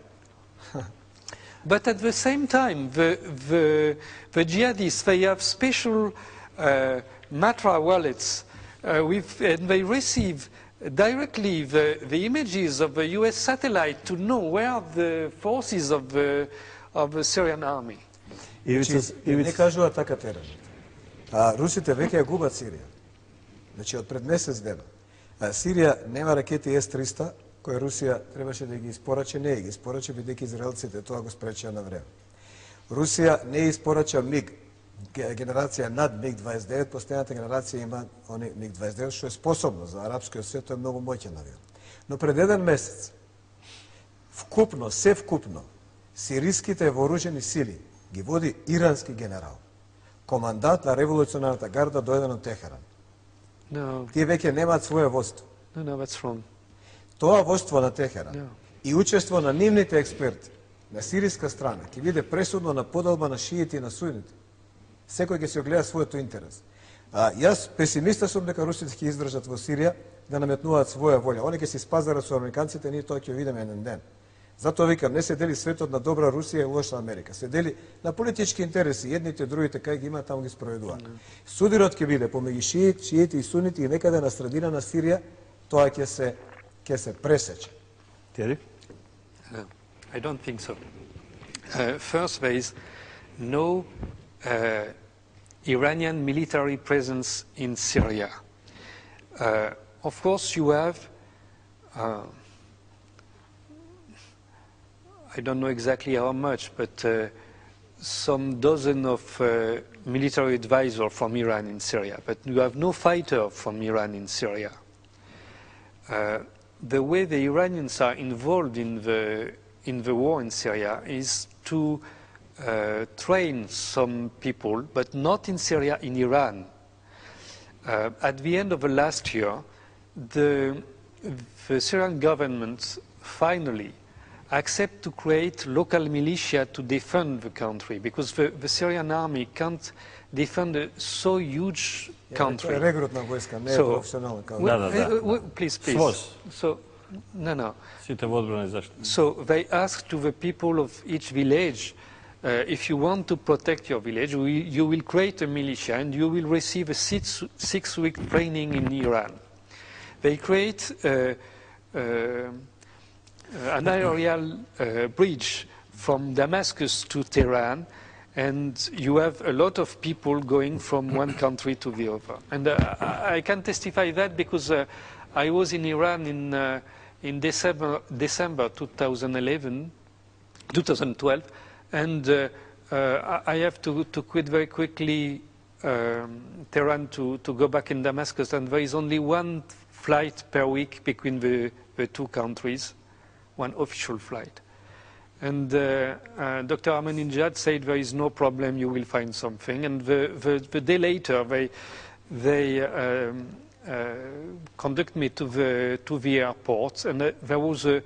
But at the same time, the, the, the jihadists, they have special uh, Matra wallets, uh, with, and they receive directly the, the images of the U S satellite to know where the forces of the, of the Syrian army. Значи, не кажува така терен. А русите веќе ја губат Сирија. Значи, од пред месец дена. А Сирија нема ракети Ес триста, кои Русија требаше да ги испорачи, не ги испорачи, бидејќи израелците тоа го спречија на време. Русија не испорача МиГ, генерација над МиГ дваесет и девет, последната генерација има они МиГ дваесет и девет, што е способно за арапскиот свет, тоа е многу моќен авион. Но пред еден месец, вкупно, се вкупно, сириските вооружени сили ги води ирански генерал, командант на револуционарната гарда дојден од Техеран. No. Тие веќе немаат своје воство. No, no, that's wrong. Тоа воство на Техеран No. и учество на нивните експерти на сириска страна ќе биде пресудно на поделба на шиите и на суните. Секој ќе се огледа својот интерес. А, јас песимиста сум дека русите ќе издржат во Сирија да наметнуваат своја волја. Они ќе се спазарат со американците, ние тоа ќе видиме еден ден. Затоа викам, не се дели светот на добра Русија и лоша Америка. Се дели на политички интереси, едните, другите, кај ги има, таму ги спроведуваат. Судирот ќе биде помеѓу шиит, шиити и сунити и некаде на средина на Сирија, тоа ќе се ќе се пресече. Тери? No, I don't think so. Uh, first, there is no uh, Iranian military presence in Syria. Uh, of course, you have, uh, I don't know exactly how much, but uh, some dozen of uh, military advisors from Iran in Syria, but you have no fighter from Iran in Syria. Uh, the way the Iranians are involved in the, in the war in Syria is to uh, train some people, but not in Syria, in Iran. Uh, at the end of the last year, the, the Syrian government finally accept to create local militia to defend the country, because the, the Syrian army can't defend a so huge country. Регрутна војска, не е So, професионална као. well, Да, да, да. uh, uh, please, please. Своз. So, no, no. Сите во одбрана и заштита. So they ask to the people of each village, uh, if you want to protect your village, we, you will create a militia and you will receive a six, six week training in Iran. They create uh, uh, an aerial uh, bridge from Damascus to Tehran, and you have a lot of people going from one country to the other. And uh, I can testify that because uh, I was in Iran in, uh, in December, December two thousand eleven, two thousand twelve, and uh, uh, I have to, to quit very quickly um, Tehran to, to go back in Damascus, and there is only one flight per week between the, the two countries, one official flight. And uh, uh, Doctor Ahmadinejad said there is no problem, you will find something. And the, the, the day later, they, they um, uh, conduct me to the, to the airport, and uh, there was a,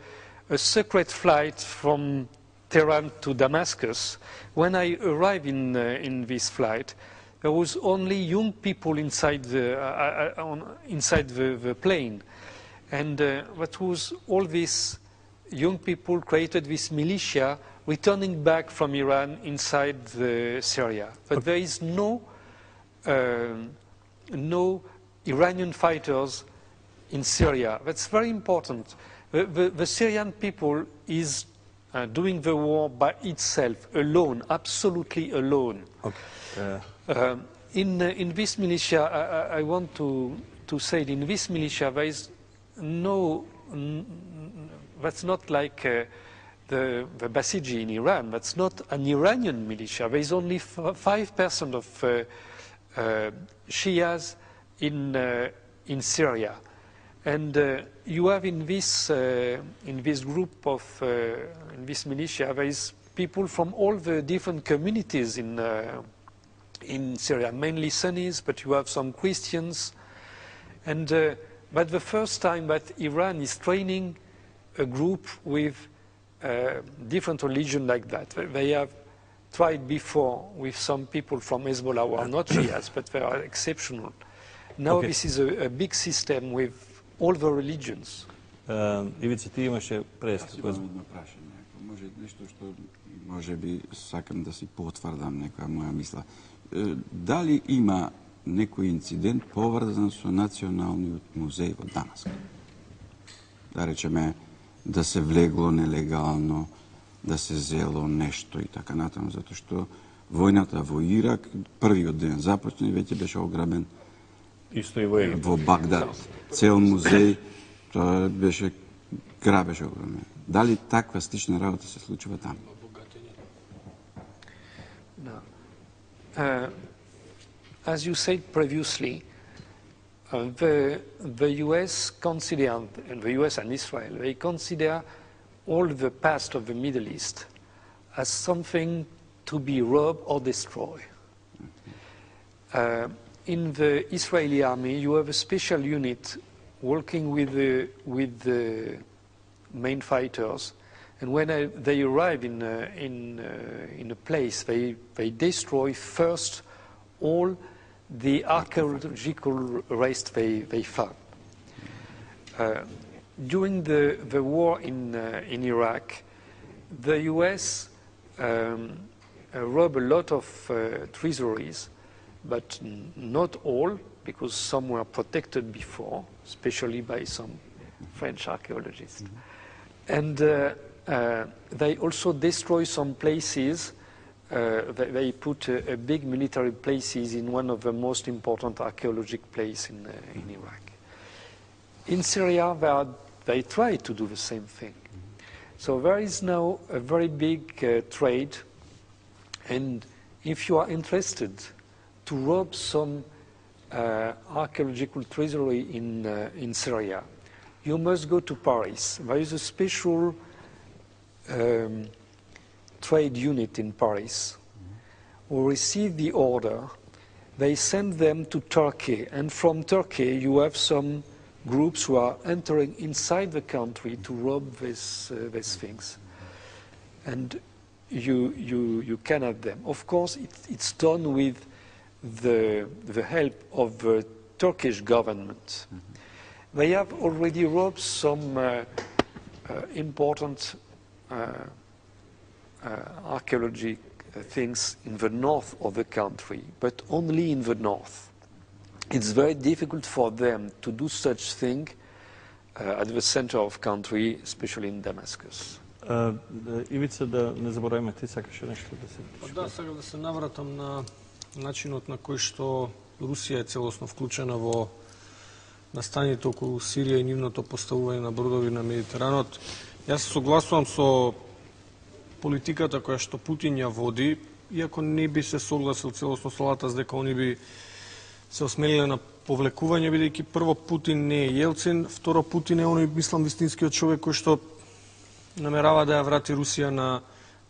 a secret flight from Tehran to Damascus. When I arrived in, uh, in this flight, there was only young people inside the, uh, uh, on, inside the, the plane. And uh, what was all this young people created this militia returning back from Iran inside the Syria. But there is no, uh, no Iranian fighters in Syria. That's very important. The, the, the Syrian people is uh, doing the war by itself, alone, absolutely alone. Okay. Uh, Um, in, uh, in this militia, I, I- I want to, to say that in this militia there is no, n- n- that's not like uh, the, the Basiji in Iran, that's not an Iranian militia. There is only five percent of uh, uh, Shias in, uh, in Syria. And uh, you have in this, uh, in this group of, uh, in this militia, there is people from all the different communities in uh, in Syria, mainly Sunnis, but you have some Christians. And uh, but the first time that Iran is training a group with uh, different religion like that. They have tried before with some people from Hezbollah who are not Shias, but they are exceptional. Now Okay. this is a, a big system with all the religions. uh, Ивица, ти имаше Јас преска. имам едно прашање. Ако може нешто што може би сакам да си потврдам некоја моја мисла. Е, Дали има некој инцидент поврзан со Националниот музеј во Дамаск. Да речеме, да се влегло нелегално, да се зело нешто и така натаму, затоа што војната во Ирак првиот ден започна и веќе беше ограбен Исто и во Египет. Во Багдад. Цел музеј, тоа беше грабеж огромен. Дали таква слична работа се случува таму? No. Uh, as you said previously, uh, the, the U S consider, and the U S and Israel, they consider all the past of the Middle East as something to be robbed or destroyed. Uh, in the Israeli army, you have a special unit working with the, with the main fighters, and when uh, they arrive in, uh, in, uh, in a place, they, they destroy first all the archaeological rest they, they found. Uh, during the, the war in, uh, in Iraq, the U S um, uh, robbed a lot of uh, treasuries, but n not all, because some were protected before, especially by some French archaeologists. Mm-hmm. And uh, uh, they also destroy some places. Uh, they, they put a, a big military places in one of the most important archaeological places in, uh, in Iraq. In Syria, they, are, they try to do the same thing. So there is now a very big uh, trade, and if you are interested to rob some uh, archaeological treasury in, uh, in Syria, you must go to Paris. There is a special um, trade unit in Paris who receive the order. They send them to Turkey, and from Turkey you have some groups who are entering inside the country to rob this, uh, these things. And you, you, you can have them. Of course, it, it's done with the, the help of the Turkish government. Mm-hmm. They have already robbed some uh, uh, important uh, uh, archaeology things in the north of the country, but only in the north. It's very difficult for them to do such thing uh, at the center of country, especially in Damascus. Uh, Ивица, да не забораваме, ти сакаше нешто да се... Па да, сакам да се навратам на начинот на кој што Русија е целосно вклучена во настаните околу Сирија и нивното поставување на бродови на Медитеранот. Јас се согласувам со политиката која што Путин ја води, иако не би се согласил целосно со Латас дека они би се осмелиле на повлекување, бидејќи прво Путин не е Јелцин, второ Путин е оној, мислам, вистинскиот човек кој што намерава да ја врати Русија на,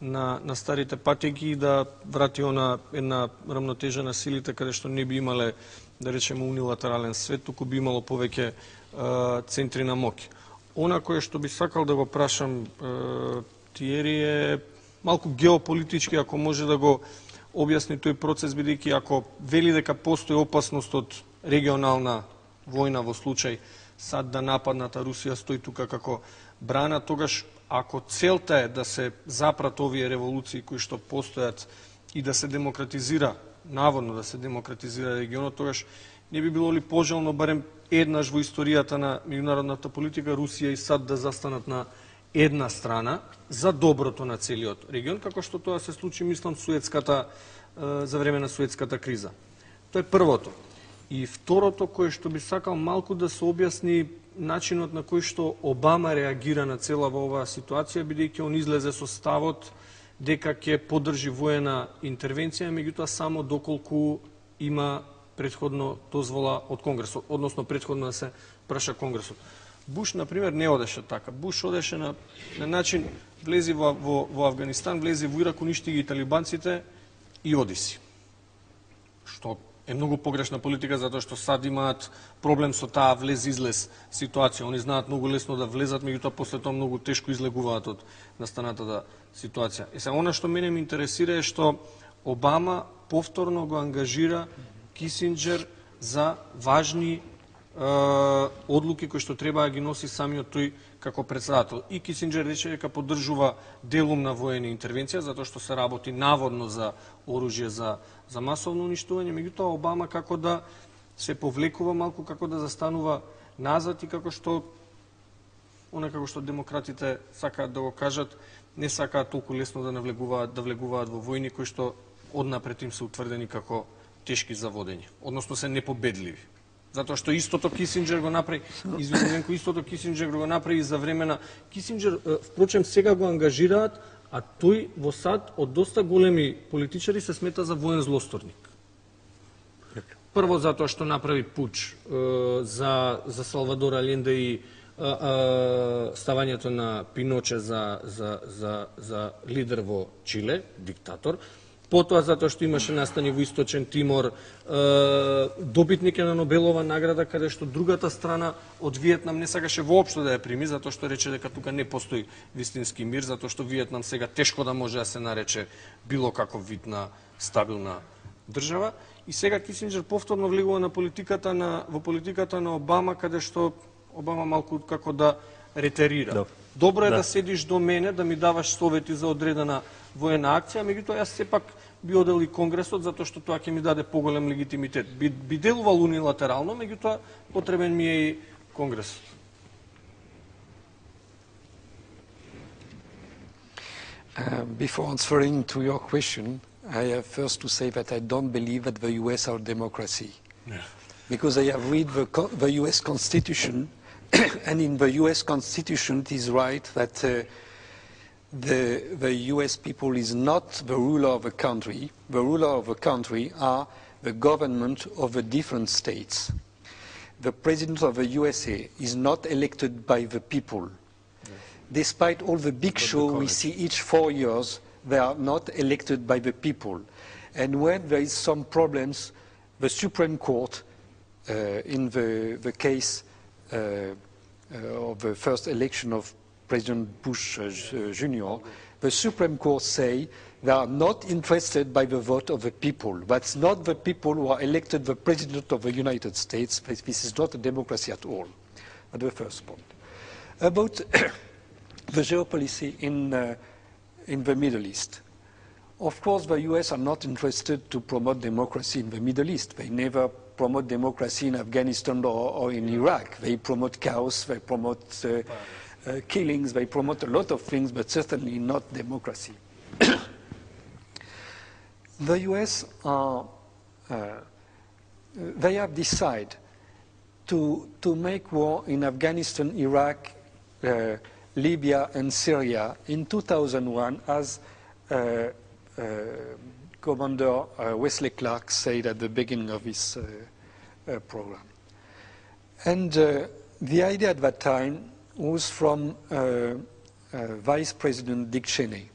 на, на старите патеки и да врати она една рамнотежа на силите каде што не би имале, да речеме, унилатерален свет, туку би имало повеќе е, центри на моќ. Она кое што би сакал да го прашам е, Тиери е малку геополитички, ако може да го објасни тој процес, бидејќи ако вели дека постои опасност од регионална војна во случај сад да нападната Русија стои тука како брана, тогаш ако целта е да се запрат овие револуции кои што постојат и да се демократизира, наводно да се демократизира регионот, тогаш не би било ли пожелно барем еднаш во историјата на меѓународната политика Русија и САД да застанат на една страна за доброто на целиот регион, како што тоа се случи, мислам, суетската, за време на суетската криза. Тоа е првото. И второто, кое што би сакал малку да се објасни начинот на кој што Обама реагира на цела во оваа ситуација, бидејќи он излезе со ставот дека ќе поддржи воена интервенција, меѓутоа само доколку има претходно дозвола од Конгресот, односно претходно да се праша Конгресот. Буш, например, не одеше така. Буш одеше на, на начин, влези во, во, во Афганистан, влези во Ирак, уништи ги талибанците и одиси. Што е многу погрешна политика, затоа што САД имаат проблем со таа влез-излез ситуација. Они знаат многу лесно да влезат, меѓутоа после тоа многу тешко излегуваат од настанатата ситуација. И сега, она што мене ме интересира е што Обама повторно го ангажира Кисинџер за важни одлуки кои што треба да ги носи самиот тој како председател. И Кисинџер рече дека поддржува делумна воена интервенција, затоа што се работи наводно за оружје за, за масовно уништување, меѓутоа Обама како да се повлекува малку, како да застанува назад и како што онакако што демократите сакаат да го кажат, не сакаат толку лесно да навлегуваат, да влегуваат во војни кои што однапред им се утврдени како тешки за водење, односно се непобедливи. Затоа што истото Кисинџер го направи, извинувам, истото Кисинџер го направи за време на Кисинџер, впрочем сега го ангажираат, а тој во САД од доста големи политичари се смета за воен злосторник. Прво затоа што направи пуч е, за, за Салвадор Аленде и е, е, ставањето на Пиноче за, за, за, за лидер во Чиле, диктатор. Потоа затоа што имаше настани во Источен Тимор, е, добитник е на Нобелова награда, каде што другата страна од Виетнам не сакаше воопшто да ја прими, затоа што рече дека тука не постои вистински мир, затоа што Виетнам сега тешко да може да се нарече било каков вид на стабилна држава. И сега Кисинџер повторно влегува на политиката на, во политиката на Обама, каде што Обама малку како да ретерира. Да. Добро е да. Да. да седиш до мене, да ми даваш совети за одредена воена акција, меѓутоа јас сепак би одел и Конгресот, затоа што тоа ќе ми даде поголем легитимитет. Би, би делувал унилатерално, меѓутоа потребен ми е и Конгресот. Uh, before answering to your question, I have first to say that I don't believe that the U S are a democracy. Yeah. Because I have read the, co the U S Constitution, and in the U S Constitution it is right that uh, the, the U S people is not the ruler of the country. The ruler of the country are the government of the different states. The president of the U S A is not elected by the people. Despite all the big show we see each four years, they are not elected by the people. And when there is some problems, the Supreme Court, uh, in the, the case uh, uh, of the first election of President Bush uh, Junior, the Supreme Court say they are not interested by the vote of the people. That's not the people who are elected the President of the United States. This is not a democracy at all. That's the first point. About the geopolicy in, uh, in the Middle East. Of course, the U S are not interested to promote democracy in the Middle East. They never promote democracy in Afghanistan or, or in Iraq. They promote chaos, they promote uh, uh, killings, they promote a lot of things, but certainly not democracy. The U S are, uh, they have decided to, to make war in Afghanistan, Iraq, uh, Libya and Syria in two thousand one, as uh, uh, Commander uh, Wesley Clark said at the beginning of his uh, uh, program. And uh, the idea at that time was from uh, uh, Vice President Dick Cheney.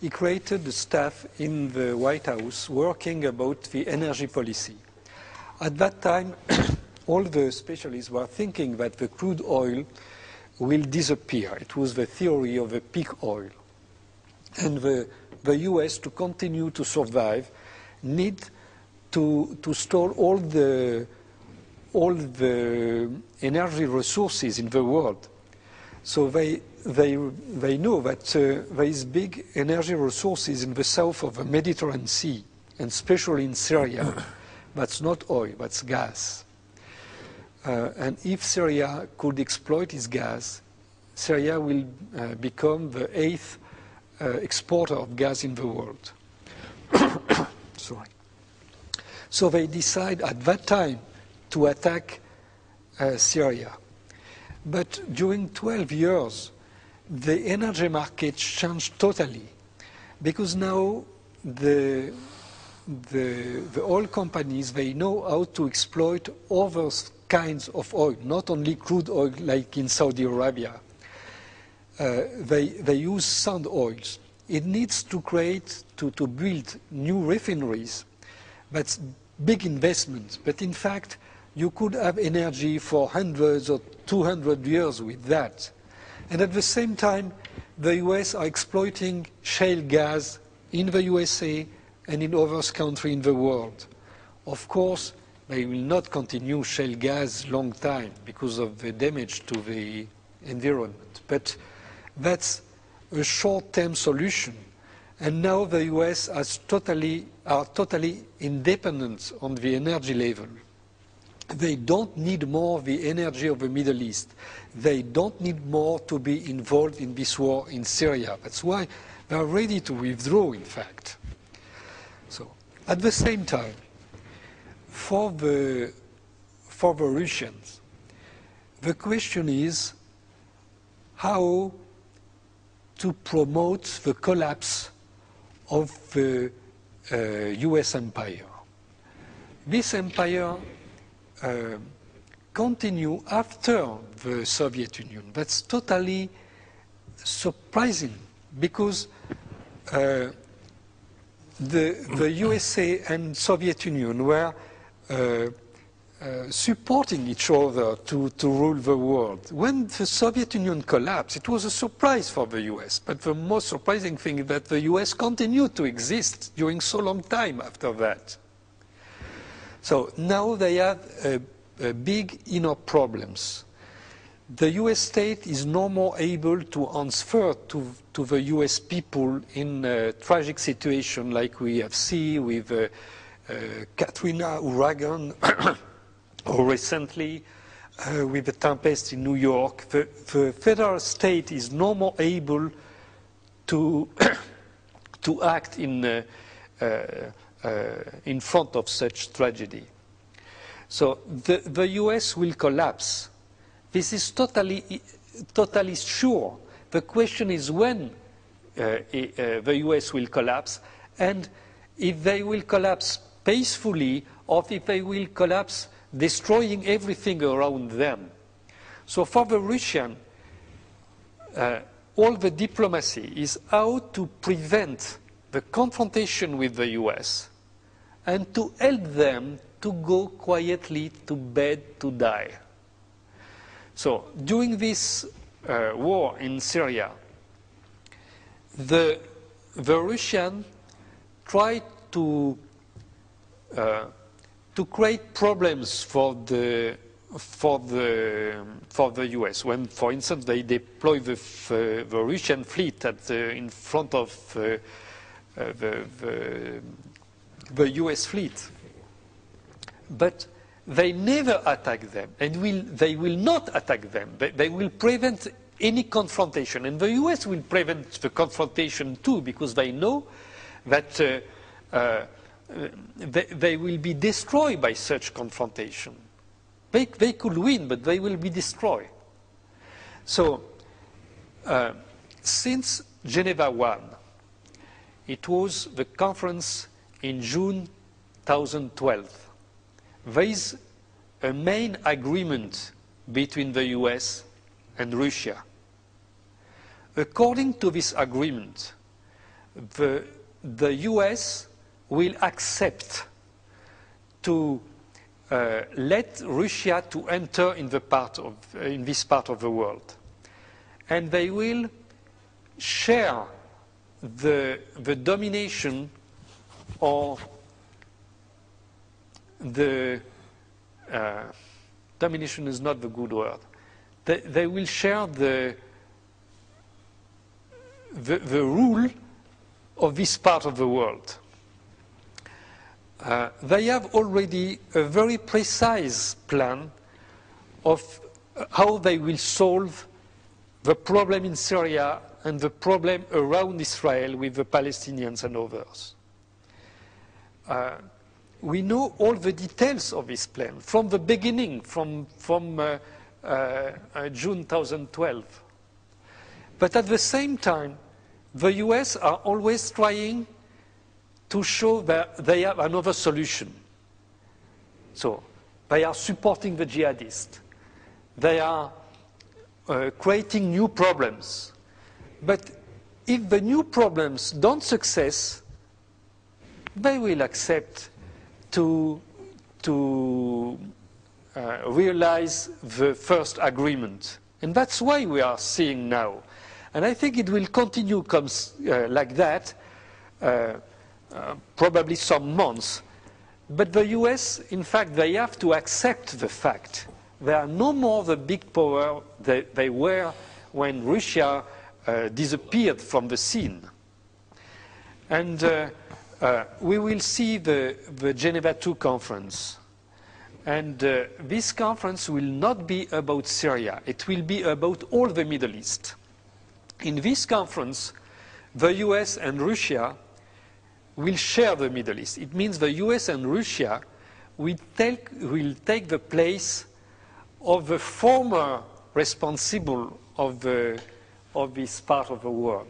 He created the staff in the White House working about the energy policy. At that time, all the specialists were thinking that the crude oil will disappear. It was the theory of the peak oil. And the, the U S, to continue to survive, need to, to store all the, all the energy resources in the world. So they, they, they know that uh, there is big energy resources in the south of the Mediterranean Sea, and especially in Syria. That's not oil, that's gas. Uh, and if Syria could exploit its gas, Syria will uh, become the eighth uh, exporter of gas in the world. Sorry. So they decide at that time to attack uh, Syria. But during twelve years, the energy market changed totally, because now the, the, the oil companies, they know how to exploit other kinds of oil, not only crude oil like in Saudi Arabia. Uh, they, they use sand oils. It needs to create, to, to build new refineries. That's big investments. But in fact, you could have energy for hundreds or two hundred years with that. And at the same time, the U S are exploiting shale gas in the U S A and in other countries in the world. Of course, they will not continue shale gas long time because of the damage to the environment. But that's a short-term solution. And now the U S has totally, are totally independent on the energy level. They don't need more of the energy of the Middle East. They don't need more to be involved in this war in Syria. That's why they are ready to withdraw, in fact. So, at the same time, for the, for the Russians, the question is how to promote the collapse of the uh, U S empire. This empire uh, continued after the Soviet Union. That's totally surprising because uh, the, the U S A and Soviet Union were uh, Uh, supporting each other to, to rule the world. When the Soviet Union collapsed, it was a surprise for the U S. But the most surprising thing is that the U S continued to exist during so long time after that. So now they have uh, uh, big inner problems. The U S state is no more able to answer to, to the U S people in a tragic situation like we have seen with uh, uh, Katrina, hurricane, or recently uh, with the tempest in New York. The, the federal state is no more able to, to act in, uh, uh, uh, in front of such tragedy. So the, the U S will collapse. This is totally, totally sure. The question is when uh, uh, the U S will collapse, and if they will collapse peacefully or if they will collapse destroying everything around them. So for the Russian, uh, all the diplomacy is how to prevent the confrontation with the U S and to help them to go quietly to bed to die. So during this uh, war in Syria, the, the Russians tried to uh, to create problems for the for the for the U S. When, for instance, they deploy the, uh, the Russian fleet at the, in front of uh, uh, the, the the U S fleet, but they never attack them, and will they will not attack them. They, they will prevent any confrontation, and the U S will prevent the confrontation too, because they know that. Uh, uh, They, they will be destroyed by such confrontation. They, they could win, but they will be destroyed. So, uh, since Geneva one, it was the conference in June twenty twelve. There is a main agreement between the U S and Russia. According to this agreement, the, the U S will accept to uh, let Russia to enter in the part of uh, in this part of the world, and they will share the the domination or the uh, domination is not the good word. They, they will share the, the the rule of this part of the world. Uh, they have already a very precise plan of how they will solve the problem in Syria and the problem around Israel with the Palestinians and others. Uh, we know all the details of this plan from the beginning, from, from uh, uh, uh, June twenty twelve. But at the same time, the U S are always trying to show that they have another solution. So they are supporting the jihadists. They are uh, creating new problems. But if the new problems don't success, they will accept to, to uh, realize the first agreement. And that's why we are seeing now. And I think it will continue comes, uh, like that. Uh, Uh, probably some months. But the U S, in fact, they have to accept the fact they are no more the big power they, they were when Russia uh, disappeared from the scene. And uh, uh, we will see the, the Geneva two conference. And uh, this conference will not be about Syria. It will be about all the Middle East. In this conference, the U S and Russia will share the Middle East. It means the U S and Russia will take, will take the place of the former responsible of, the, of this part of the world.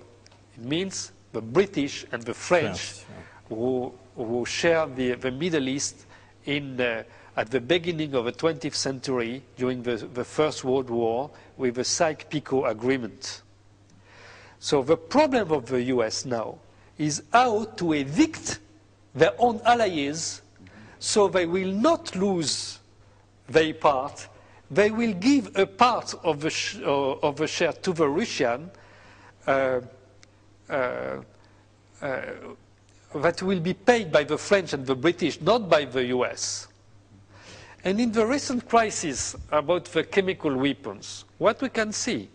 It means the British and the French Yes, yeah. who, who share the, the Middle East in, uh, at the beginning of the twentieth century during the, the First World War with the Sykes-Picot Agreement. So the problem of the U S now is how to evict their own allies so they will not lose their part. They will give a part of the, sh uh, of the share to the Russian uh, uh, uh, that will be paid by the French and the British, not by the U S. And in the recent crisis about the chemical weapons, what we can see,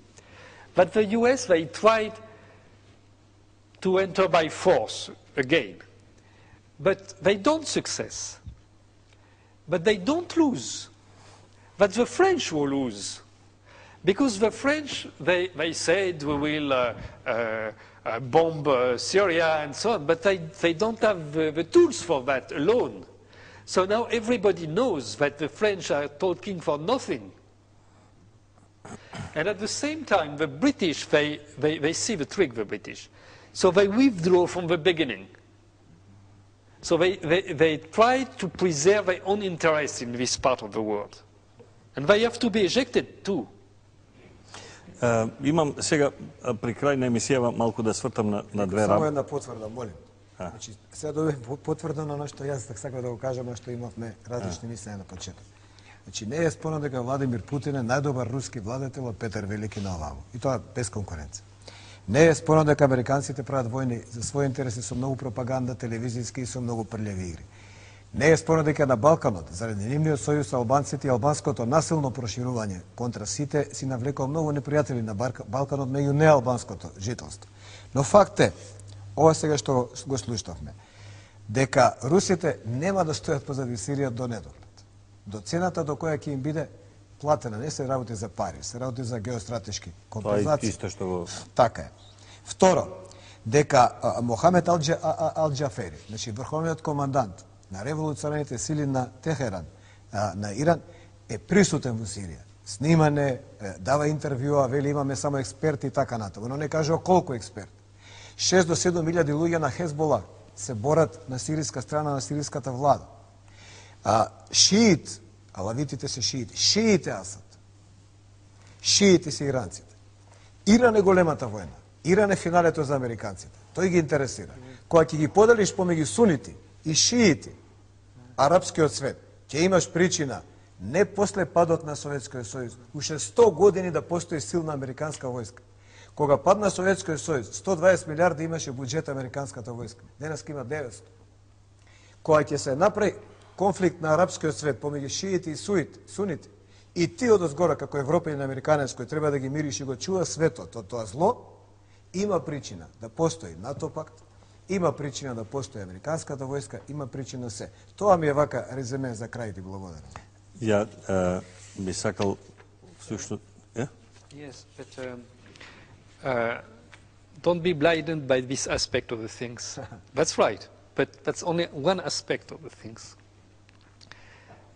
that the U S, they tried to enter by force again, but they don't success. But they don't lose. But the French will lose. Because the French, they, they said we will uh, uh, uh, bomb uh, Syria and so on, but they, they don't have the, the tools for that alone. So now everybody knows that the French are talking for nothing. And at the same time, the British, they, they, they see the trick, the British. So they withdraw from the beginning. So they, they, they try to preserve their own interests in this part of the world. And they have to be ejected too. Uh, имам сега при крај на емисијава малку да свртам на, на две Само рам. една потврда, молим. А. Значи, сега добивам потврда на оно што јас так сакам да го кажам, а што имавме различни мислења на почеток. Значи, не е спорно дека Владимир Путин е најдобар руски владетел од Петар Велики на овамо. И тоа без конкуренција. Не е спорно дека американците прават војни за своји интереси со многу пропаганда, телевизиски и со многу прљави игри. Не е спорно дека на Балканот, заради нивниот сојуз со албанците и албанското насилно проширување контра сите, си навлекал многу непријатели на Балканот меѓу неалбанското жителство. Но факт е, ова сега што го слушнавме, дека русите нема да стојат позади Сирија до недоглед. До цената до која ќе им биде платена, не се работи за пари, се работи за геостратешки компензации. Тоа е исто што го... Така е. Второ, дека а, Мохамед Ал-Џафери, значи врховниот командант на револуционарните сили на Техеран, а, на Иран, е присутен во Сирија. Снимане, дава интервјуа, вели имаме само експерти и така натаму, но не кажува колку експерти. шест до седум илјади луѓе на Хезбола се борат на сириска страна на сириската влада. А, шиит, алавитите се шиити, шиите Асад. Шиите се иранците. Иран е големата војна. Иран е финалето за американците. Тој ги интересира. Кога ќе ги поделиш помеѓу сунити и шиити, арапскиот свет, ќе имаш причина не после падот на Советскиот сојуз, уште сто години да постои силна американска војска. Кога падна Советскиот сојуз, сто дваесет милиарди имаше буџет американската војска. Денеска има деветсто. Кога ќе се направи конфликт на арапскиот свет помеѓу шиити и суити, сунити, и ти од озгора како европејан американец кој треба да ги мириш и го чува светот од тоа зло, има причина да постои НАТО пакт, има причина да постои американската војска, има причина се. Тоа ми е вака реземе за крај, ти благодарам. Ја uh, би сакал всушност... Yeah? Yes, but um, uh, don't be blinded by this aspect of the things. That's right, but that's only one aspect of the things.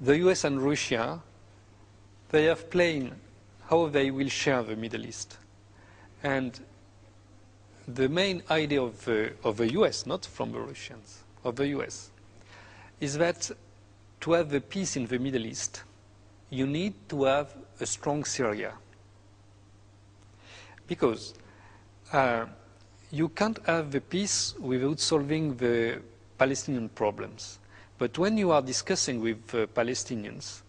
The U S and Russia, they have planned how they will share the Middle East. And the main idea of the, of the U S, not from the Russians, of the U S, is that to have the peace in the Middle East, you need to have a strong Syria. Because uh, you can't have the peace without solving the Palestinian problems. But when you are discussing with uh, Palestinians,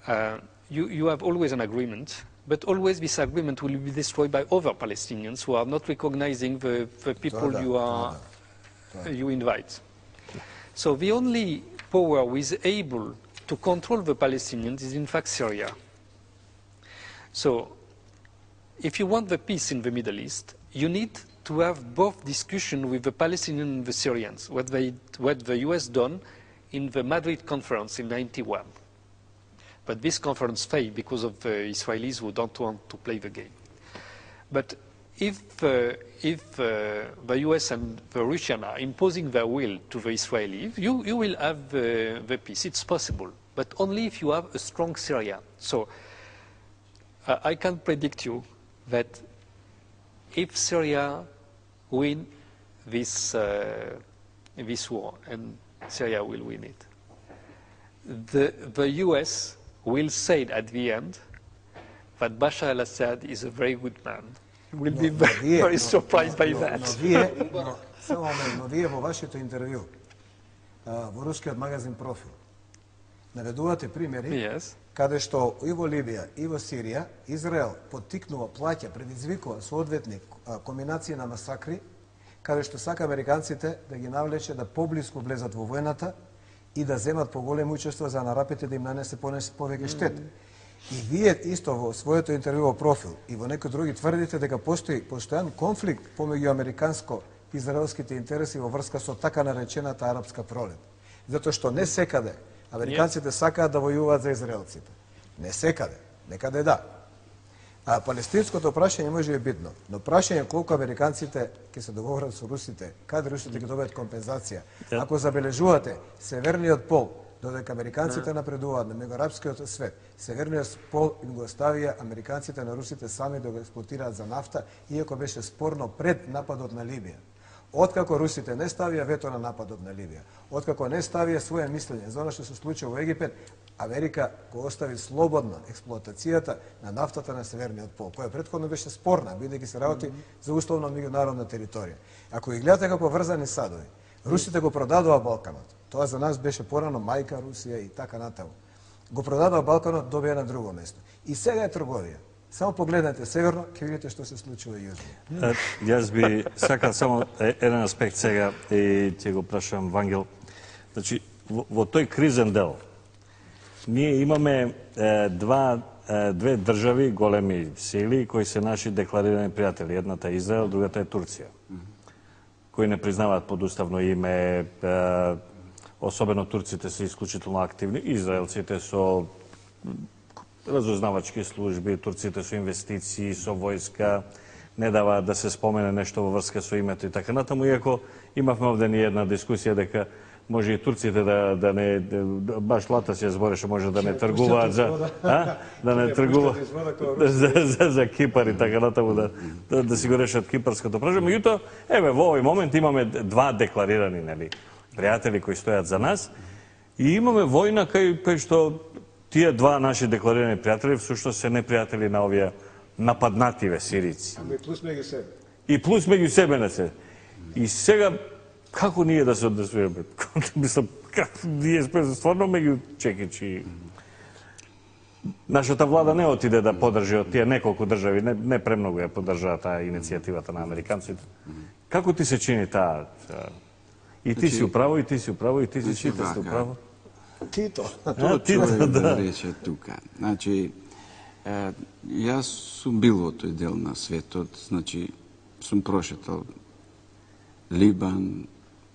uh, you, you have always an agreement, but always this agreement will be destroyed by other Palestinians who are not recognizing the, the people you, are, you invite. So the only power who is able to control the Palestinians is in fact Syria. So, if you want the peace in the Middle East, you need to have both discussion with the Palestinians and the Syrians, what, they, what the U S done in the Madrid conference in ninety-one. But this conference failed because of the Israelis who don't want to play the game. But if, uh, if uh, the U S and the Russians are imposing their will to the Israelis, you, you will have the, the peace. It's possible, but only if you have a strong Syria. So uh, I can predict you that if Syria win this, uh, this war, and Syria will win it, the, the U S will say at the end that Bashar al-Assad is a very good man. Will no, be no, very, вие, very no, surprised no, by no, that. Но вие, но, само момент, но вие во вашето интервју а, во рускиот магазин Профил наведувате примери Yes. каде што и во Либија и во Сирија Израел поттикнува, плаќа, предизвикува соодветни комбинации на масакри, каде што сака американците да ги навлече да поблиску влезат во војната и да земат поголемо учество за нарапите да им нанесе повеќе штета. И вие исто во своето интервју во Профил и во некои други тврдите дека постои постојан конфликт помеѓу американско-израелските интереси во врска со така наречената арапска пролет. Затоа што не секаде американците сакаат да војуваат за израелците. Не секаде, некаде да. А палестинското прашање може би битно, но прашање колку американците ќе се договорат со русите, каде русите ќе добијат компензација. Ако забележувате, северниот пол, додека американците напредуваат на мегаарапскиот свет, северниот пол им го оставија американците на русите сами да го експлоатираат за нафта, иако беше спорно пред нападот на Либија. Откако русите не ставија вето на нападот на Либија, откако не ставија своје мислење за она што се случи во Египет, Америка го остави слободна експлоатацијата на нафтата на северниот пол, која претходно беше спорна, бидејќи се работи за условно меѓународна територија. Ако ги гледате како врзани садови, русите го продадоа Балканот. Тоа за нас беше порано мајка Русија и така натаму. Го продадоа Балканот, добија на друго место. И сега е трговија. Само погледнете северно, ќе видите што се случува јужно. Јас би сакал само еден аспект сега и ќе го прашам Вангел. Значи, во, во тој кризен дел, ние имаме е, два, е, две држави, големи сили, кои се наши декларирани пријатели. Едната е Израел, другата е Турција, кои не признаваат подуставно име, е, особено турците се исклучително активни, израелците со разузнавачки служби, турците со инвестиции, со војска, не даваат да се спомене нешто во врска со името и така натаму, иако имавме овде ни една дискусија дека може и турците да, да не, да, баш Лата се збореше, може да не тргуваат за, а? Да не тргуваат за, за, за Кипар и така натаму, да, да, да си го решат кипарското прашање. Меѓутоа, еве, во овој момент имаме два декларирани, нели, пријатели кои стојат за нас и имаме војна кај, кај што тие два наши декларирани пријатели всушност се непријатели на овие нападнативе сирици. Ами плюс меѓу себе. И плюс меѓу себе не се. И сега како ние да се однесуваме? Мислам, како ние сме стварно меѓу чекичи. Нашата влада не отиде да подржи од тие неколку држави, не, не премногу ја поддржаа таа иницијативата на американците. Како ти се чини таа? И ти си управо, и ти си управо, и ти си сите сте управо. Тито. Тоа човек да рече тука. Значи, е, јас сум бил во тој дел на светот, значи, сум прошетал Либан,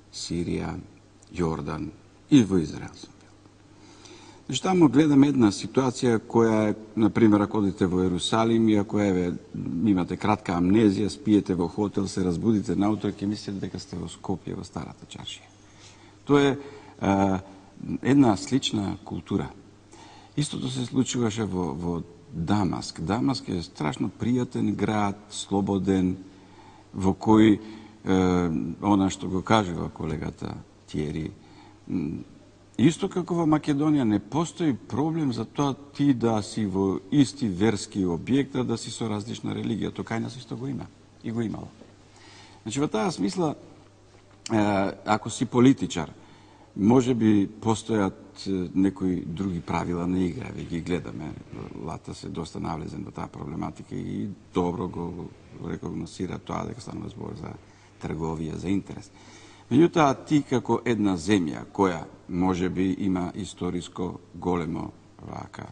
Сирија, Јордан и во Израел сум бил. Значи, таму гледам една ситуација која е, например, ако одите во Ерусалим и ако еве имате кратка амнезија, спиете во хотел, се разбудите наутро, ќе мислите дека сте во Скопје, во старата чаршија. Тоа е, е една слична култура. Истото се случуваше во, во Дамаск. Дамаск е страшно пријатен град, слободен, во кој е, она што го кажува колегата Тиери, исто како во Македонија не постои проблем за тоа ти да си во исти верски објект, да си со различна религија. Тоа кај нас исто го има. И го имало. Значи, во таа смисла, е, ако си политичар, може би постојат некои други правила на игра, ве ги гледаме. Лата се доста навлезен во таа проблематика и добро го рекогносира тоа дека станува збор за трговија, за интерес. Меѓутоа, ти како една земја која може би има историско големо вака,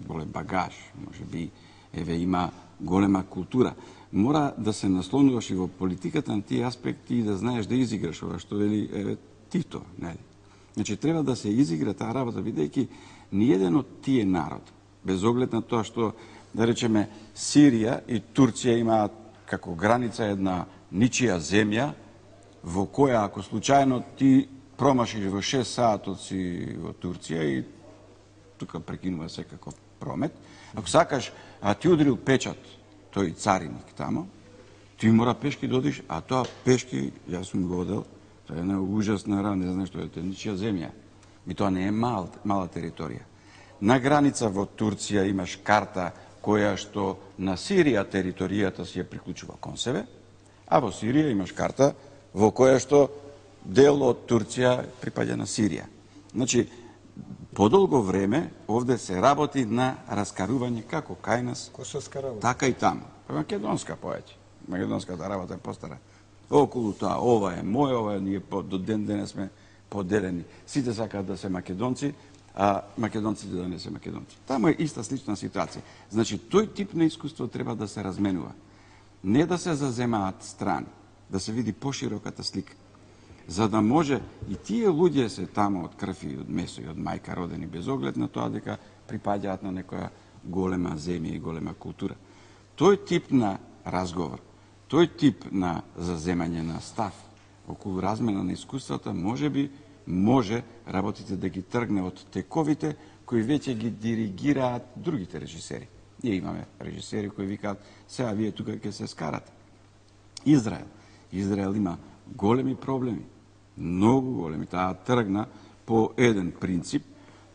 голем багаж, може би еве има голема култура. Мора да се наслонуваш и во политиката на тие аспекти и да знаеш да изиграш ова што вели еве Тито, нели? Значи треба да се изигра таа работа, бидејќи ниеден од тие народ, без оглед на тоа што да речеме Сирија и Турција имаат како граница една ничија земја во која ако случајно ти промашиш во шест саатот си во Турција и тука прекинува секако промет, ако сакаш, а ти удрил печат тој цариник тамо, ти мора пешки да одиш, а тоа пешки, јас сум го одел, тоа е една ужасна рана, не знам што е, тоа е ничија земја. И тоа не е мал, мала територија. На граница во Турција имаш карта која што на Сирија територијата си ја приклучува кон себе, а во Сирија имаш карта во која што дел од Турција припаѓа на Сирија. Значи, подолго време овде се работи на раскарување како кај нас, така и таму. Македонска поеќе. Македонската работа е постара. Околу тоа, ова е мој, ова е ние до ден денес сме поделени. Сите сакаат да се македонци, а македонците да не се македонци. Таму е иста слична ситуација. Значи, тој тип на искуство треба да се разменува. Не да се заземаат страни, да се види пошироката слика. За да може и тие луѓе се тамо од крв и од месо и од мајка родени, без оглед на тоа дека припаѓаат на некоја голема земја и голема култура. Тој тип на разговор, тој тип на заземање на став околу размена на искуствата, може би може работите да ги тргне од тековите кои веќе ги диригираат другите режисери. Ние имаме режисери кои викаат, сега вие тука ќе се скарате. Израел. Израел има големи проблеми, многу големи. Таа тргна по еден принцип,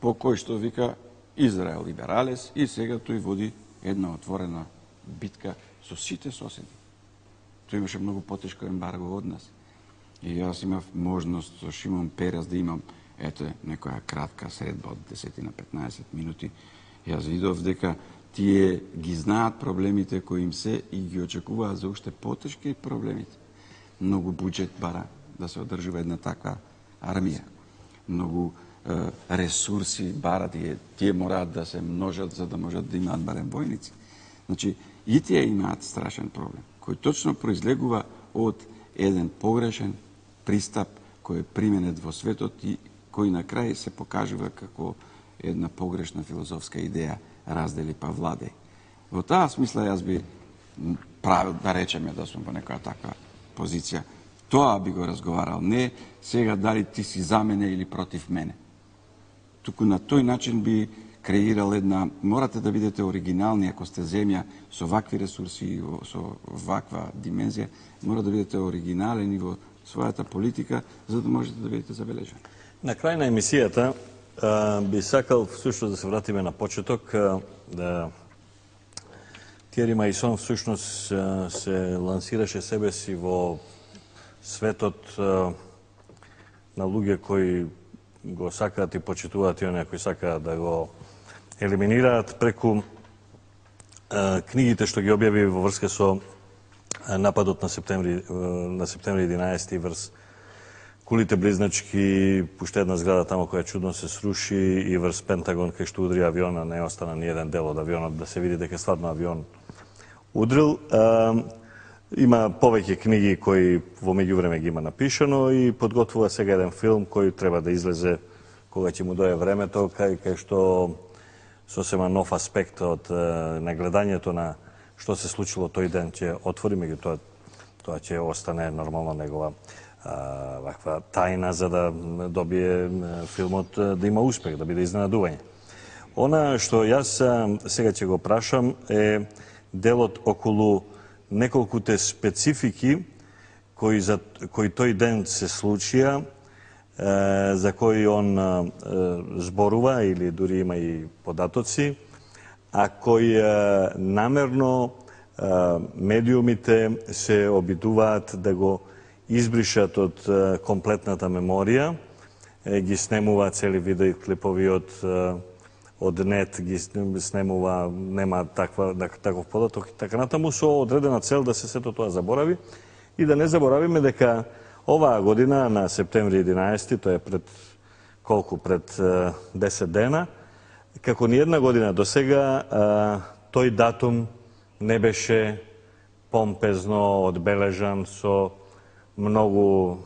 по кој што вика Израел либералес и сега тој води една отворена битка со сите соседи. Тој имаше многу потешко ембарго од нас. И јас имав можност со Шимон Перес да имам ете некоја кратка средба од десет на петнаесет минути. Јас видов дека тие ги знаат проблемите кои им се и ги очекуваат за уште потешки проблемите. Многу буџет бара да се одржува една таква армија. Многу е, ресурси бара, тие, тие мораат да се множат за да можат да имаат барем војници. Значи, и тие имаат страшен проблем, кој точно произлегува од еден погрешен пристап кој е применет во светот и кој на крај се покажува како една погрешна филозофска идеја раздели па владеј. Во таа смисла јас би правил да речеме да сум во некоја таква позиција. Тоа би го разговарал, не сега дали ти си за мене или против мене. Туку на тој начин би креирал една, морате да бидете оригинални ако сте земја со вакви ресурси и со ваква димензија, мора да бидете оригинален и во својата политика за да можете да бидете забележани. На крај на емисијата би сакал всушност да се вратиме на почеток, да Тиери Мајсон всушност се лансираше себе си во светот на луѓе кои го сакаат и почитуваат и оние кои сакаат да го елиминираат преку книгите што ги објави во врска со нападот на септември на септември единаесети врз кулите близначки, пуште една зграда тамо која чудно се сруши и врз Пентагон кај што удри авиона, не остана ни еден дел од авионот да се види дека стварно авион удрил. Има повеќе книги кои во меѓувреме ги има напишано и подготвува сега еден филм кој треба да излезе кога ќе му дое времето, кај, кај што сосема нов аспект од на гледањето на што се случило тој ден ќе отвори, меѓутоа тоа ќе остане нормално негова а, ваква тајна за да добие филмот да има успех, да биде изненадување. Она што јас сега ќе го прашам е делот околу неколкуте специфики кои, за, кои тој ден се случија, е, за кои он е, зборува или дури има и податоци, а кои е, намерно е, медиумите се обидуваат да го избришат од е, комплетната меморија, е, ги снемуваат цели видео клипови од е, од нет ги снемува, нема таква, таков податок и така натаму, со одредена цел да се сето тоа заборави и да не заборавиме дека оваа година на септември единаесети, тоа е пред колку, пред десет дена, како ни една година до сега, тој датум не беше помпезно одбележан со многу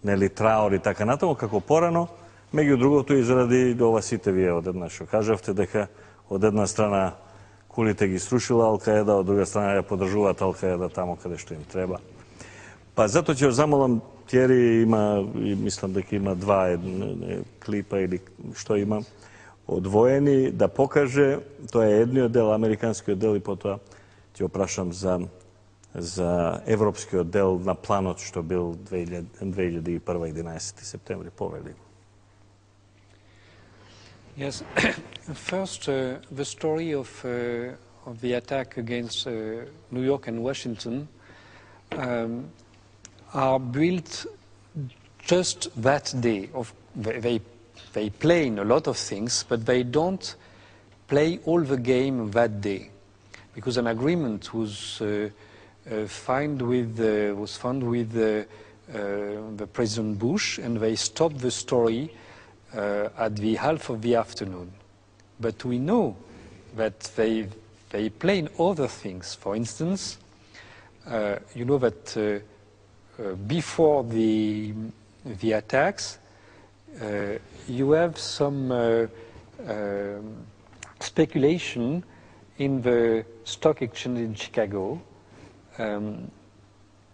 нели траор и така натаму како порано, меѓу другото и заради ова сите вие одеднаш што кажавте дека од една страна кулите ги срушила Ал-Каеда, од друга страна ја поддржуваат Ал-Каеда тамо каде што им треба. Па затоа ќе замолам Тјери, има, и мислам дека има два едни, клипа или што има, одвоени, да покаже, тоа е едниот дел, американскиот дел, и потоа ќе опрашам за, за европскиот дел на планот што бил две илјади и прва единаесети септември повели. Yes, first uh, the story of, uh, of the attack against uh, New York and Washington um, are built just that day. Of, they, they play in a lot of things, but they don't play all the game that day, because an agreement was uh, uh, found with uh, was found with uh, uh, the President Bush, and they stopped the story uh, at the half of the afternoon. But we know that they they play in other things. For instance, uh, you know that. Uh, Uh, before the, the attacks, uh, you have some uh, uh, speculation in the stock exchange in Chicago um,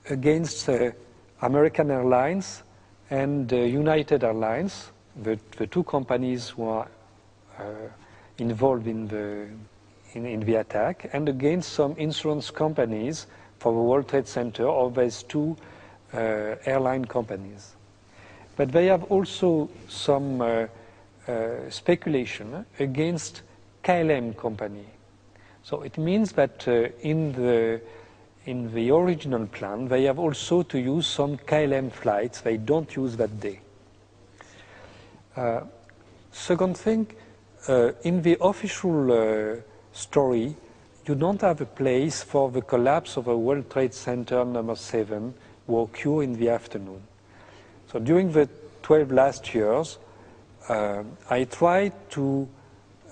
against uh, American Airlines and uh, United Airlines, the, the two companies who are uh, involved in the, in, in the attack, and against some insurance companies for the World Trade Center of these two Uh, airline companies. But they have also some uh, uh, speculation against K L M company. So it means that uh, in, the, in the original plan they have also to use some K L M flights they don't use that day. Uh, second thing, uh, in the official uh, story you don't have a place for the collapse of the World Trade Center number seven will occur in the afternoon. So during the twelve last years, uh, I tried to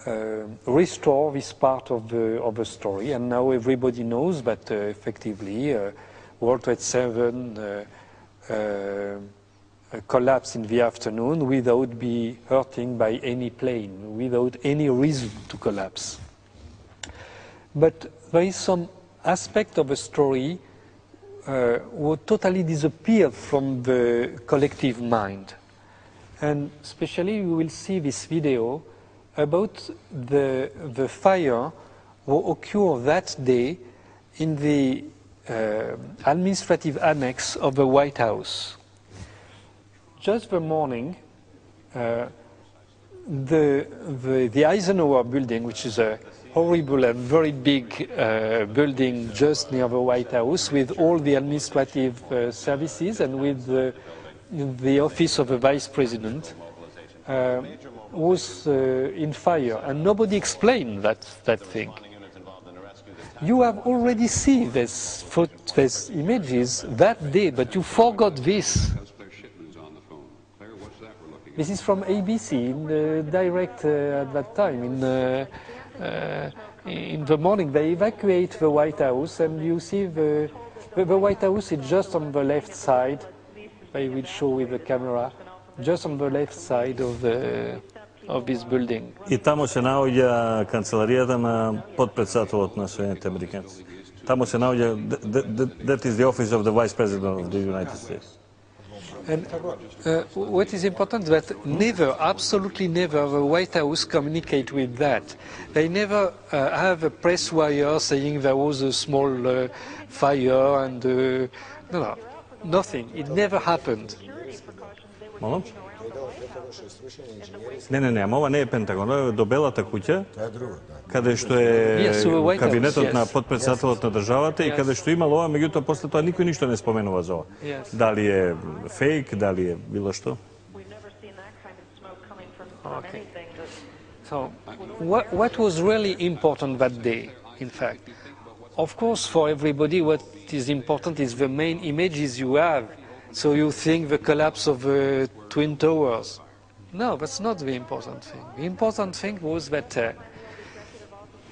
uh, restore this part of the, of the story, and now everybody knows that uh, effectively uh, World Trade Seven uh, uh, collapsed in the afternoon without be hurting by any plane, without any reason to collapse. But there is some aspect of the story Uh, would totally disappear from the collective mind. And especially we will see this video about the, the fire will occur that day in the uh, administrative annex of the White House. Just the morning, uh, the, the, the Eisenhower building, which is a horrible and very big uh, building just near the White House with all the administrative uh, services and with the, the office of the Vice President, uh, was uh, in fire, and nobody explained that, that thing. You have already seen these, these images that day, but you forgot this. This is from A B C, in the direct uh, at that time. In, uh, Uh, in the morning they evacuate the White House, and you see the, the, the White House is just on the left side. They will show with the camera, just on the left side of, the, of this building. И тамо се наоѓа канцеларијата на подпредседателот на Соединетите Американци. Тамо се наоѓа, that is the office of the Vice President of the United States. And uh, what is important is that never, absolutely never, the White House communicate with that. They never uh, have a press wire saying there was a small uh, fire and uh, no, no, nothing. It never happened. Молам? Не, не, не, ама ова не е Пентагон, ова е до Белата куќа, каде што е кабинетот на подпредседателот на државата и каде што имало ова, меѓутоа после тоа никој ништо не споменува за ова. Дали е фейк, дали е било што? Okay. So, what, what was really important that day, in fact? Of course, for everybody, what is important is the main images you have. So you think the collapse of the Twin Towers. No, that's not the important thing. The important thing was that uh,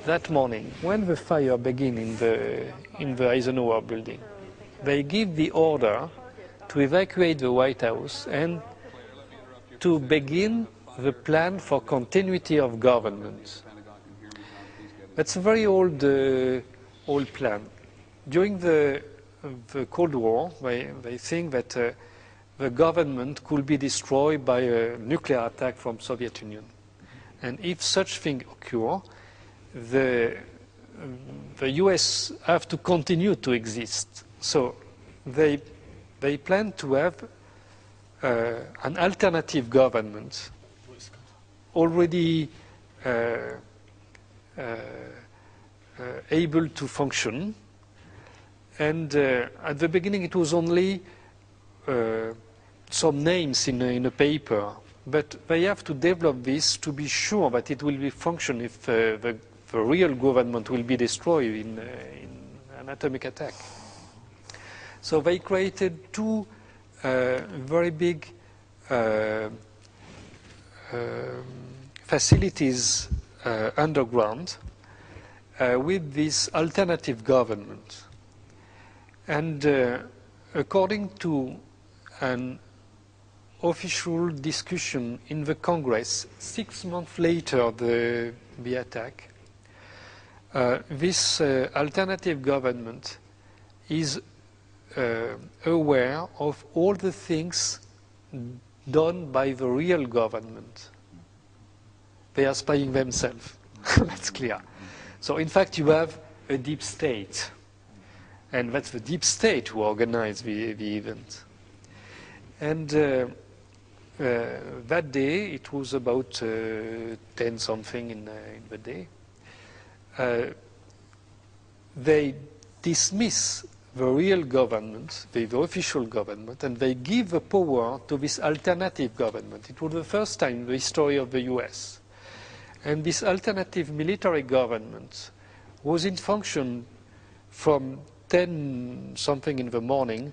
that morning, when the fire began in the, in the Eisenhower building, they give the order to evacuate the White House and to begin the plan for continuity of government. That's a very old, uh, old plan. During the, the Cold War, they, they think that uh, the government could be destroyed by a nuclear attack from Soviet Union. And if such thing occur, the, the U S have to continue to exist. So they, they plan to have uh, an alternative government already uh, uh, uh, able to function. And uh, at the beginning it was only uh, some names in a, in a paper, but they have to develop this to be sure that it will be function if uh, the, the real government will be destroyed in, uh, in an atomic attack. So they created two uh, very big uh, uh, facilities uh, underground uh, with this alternative government. And uh, according to an official discussion in the Congress, six months later the, the attack, uh, this uh, alternative government is uh, aware of all the things done by the real government. They are spying themselves, that's clear. So in fact you have a deep state, and that's the deep state who organized the, the event. And uh, uh, that day, it was about uh, ten something in, uh, in the day, uh, they dismiss the real government, the, the official government, and they give the power to this alternative government. It was the first time in the history of the U S. And this alternative military government was in function from ten something in the morning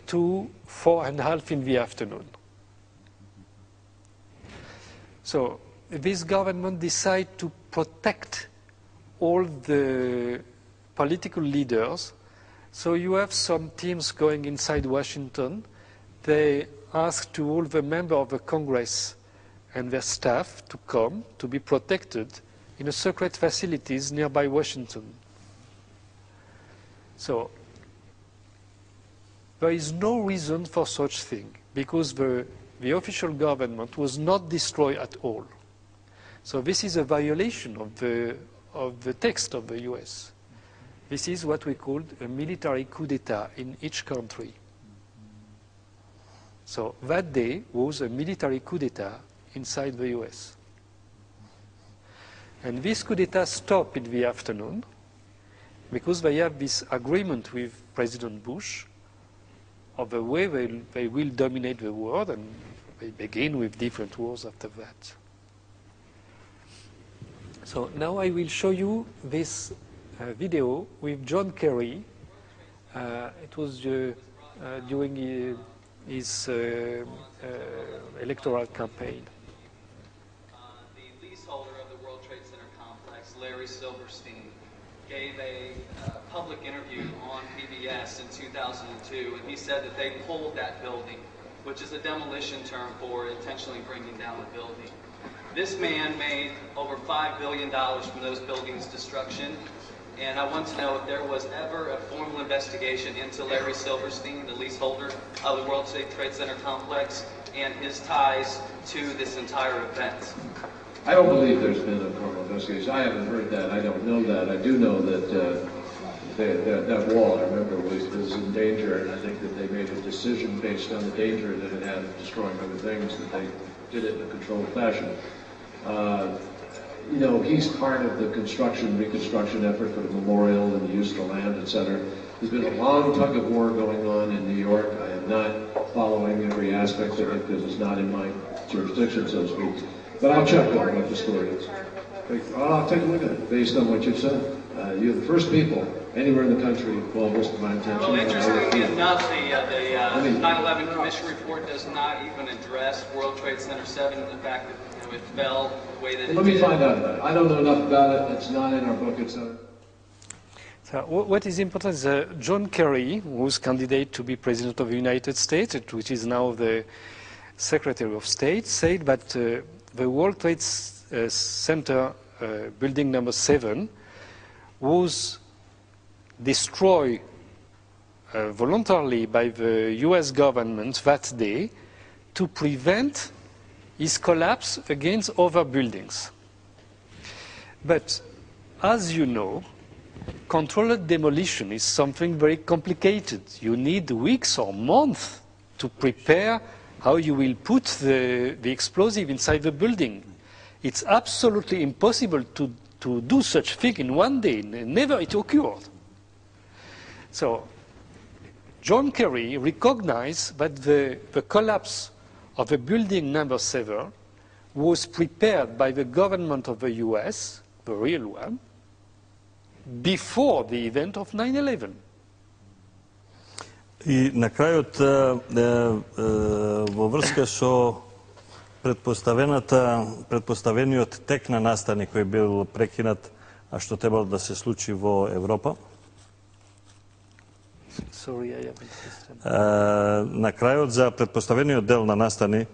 to four and a half in the afternoon. So this government decided to protect all the political leaders. So you have some teams going inside Washington. They ask to all the members of the Congress and their staff to come to be protected in a secret facilities nearby Washington. So there is no reason for such thing, because the, the official government was not destroyed at all. So this is a violation of the, of the text of the U S. This is what we call a military coup d'etat in each country. So that day was a military coup d'etat inside the U S. And this coup d'etat stopped in the afternoon because they have this agreement with President Bush of the way they, they will dominate the world, and they begin with different wars after that. So now I will show you this uh, video with John Kerry. Uh, it was uh, uh, during uh, his uh, uh, electoral campaign. Uh, the leaseholder of the World Trade Center complex, Larry Silverstein, gave a uh, public interview on P B S in two thousand two, and he said that they pulled that building, which is a demolition term for intentionally bringing down the building. This man made over five billion dollars from those buildings' destruction, and I want to know if there was ever a formal investigation into Larry Silverstein, the leaseholder of the World Trade Center complex, and his ties to this entire event. I don't believe there's been a formal investigation. I haven't heard that. I don't know that. I do know that uh, they, that, that wall, I remember, was, was in danger, and I think that they made a decision based on the danger that it had of destroying other things, that they did it in a controlled fashion. Uh, you know, he's part of the construction, reconstruction effort for the memorial and the use of the land, et cetera. There's been a long tug of war going on in New York. I am not following every aspect of it because it's not in my jurisdiction, so to speak. But I'll check on what the story is. I'll take a look at it based on what you've said. Uh, you're the first people anywhere in the country call this to my attention. Well, interestingly enough, the, uh, the uh, nine eleven Commission report does not even address World Trade Center seven and the fact that you know, if it fell the way that it Let me did. find out about it. I don't know enough about it. It's not in our book. It's not. So wh- what is important is uh, John Kerry, who's candidate to be President of the United States, which is now the Secretary of State, said that uh, the World Trade S- uh, Center uh, building number seven was destroyed uh, voluntarily by the U S government that day to prevent its collapse against other buildings. But as you know, controlled demolition is something very complicated. You need weeks or months to prepare how you will put the, the explosive inside the building. It's absolutely impossible to, to do such thing in one day. Never it occurred. So John Kerry recognized that the, the collapse of the building number seven was prepared by the government of the U S, the real one, before the event of nine eleven. И на крајот, е, е, во врска со предпоставената, предпоставениот тек на настани кој бил прекинат, а што требало да се случи во Европа, Sorry, I haven't listened. е, на крајот за предпоставениот дел на настани,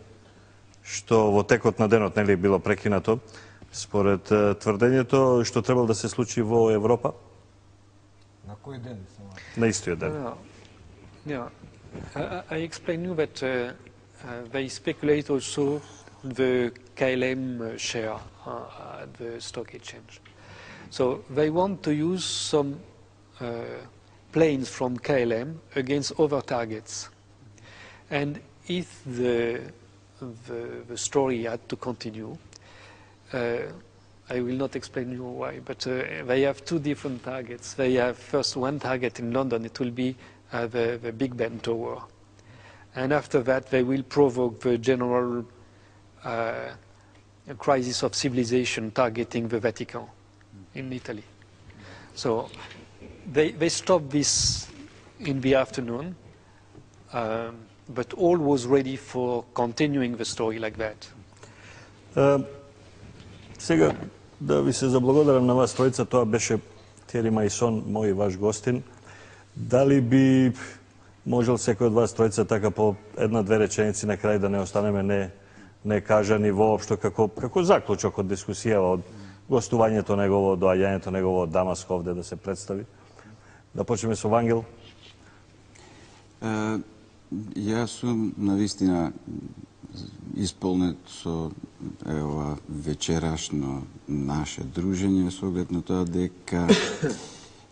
што во текот на денот нели било прекинато, според е, тврдењето што требало да се случи во Европа, На кој ден? на истиот ден. No, no. I, I explain you that uh, uh, they speculate also the K L M share uh, at the stock exchange. So they want to use some uh, planes from K L M against other targets. And if the, the, the story had to continue, uh, I will not explain you why, but uh, they have two different targets. They have first one target in London, it will be uh, the, the Big Ben Tower. And after that, they will provoke the general uh, crisis of civilization targeting the Vatican in Italy. So they, they stopped this in the afternoon, um, but all was ready for continuing the story like that. Е, сега, да ви се заблагодарам на вас тројца, тоа беше Тери Мајсон, мој ваш гостин. Дали би можел секој од вас тројца така по една-две реченици на крај да не останеме не, не кажани воопшто како, како заклучок од дискусијава, од гостувањето негово, доаѓањето негово од Дамаск овде да се представи? Да почнеме со Вангел. Е, јас сум навистина исполнет со е, ова вечерашно наше дружење со оглед на тоа дека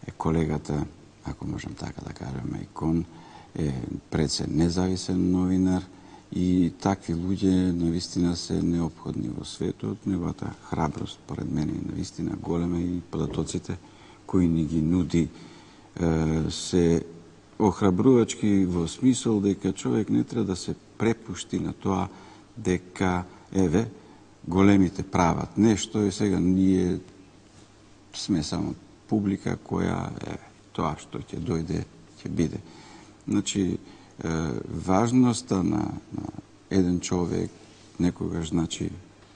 е колегата, ако можам така да кажам, Мајкон е пред се независен новинар и такви луѓе навистина се неопходни во светот. Неговата храброст, поред мене, е навистина голема и податоците кои ни ги нуди е, се охрабрувачки во смисол дека човек не треба да се препушти на тоа дека, еве, големите прават нешто и сега ние сме само публика која е тоа што ќе дојде, ќе биде. Значи, е, важноста на, на еден човек некогаш значи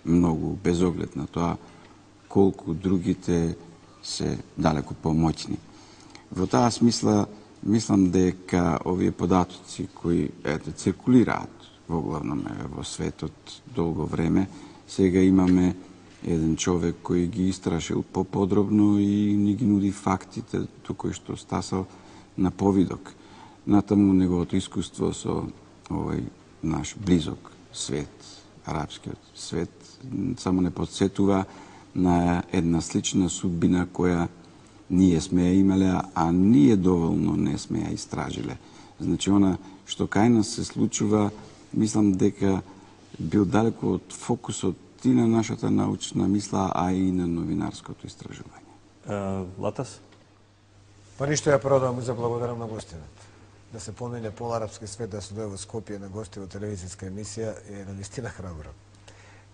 многу, без оглед на тоа колку другите се далеко помоćни. Во таа смисла, мислам дека овие податоци кои ете, циркулираат во главном во светот долго време, сега имаме еден човек кој ги истрашил поподробно и ни ги нуди фактите до кои што стасал на повидок. Натаму неговото искуство со овој наш близок свет, арапскиот свет, само не подсетува на една слична судбина која ние сме ја имале, а ние доволно не сме ја истражиле. Значи, она што кај нас се случува, мислам дека бил далеко од фокусот и на нашата научна мисла, а и на новинарското истражување. Uh, Латас? Па ништо, ја прво да му заблагодарам на гостинот. Да се помине поларапски свет, да се дојде во Скопје на гости во телевизиска емисија е навистина храбро.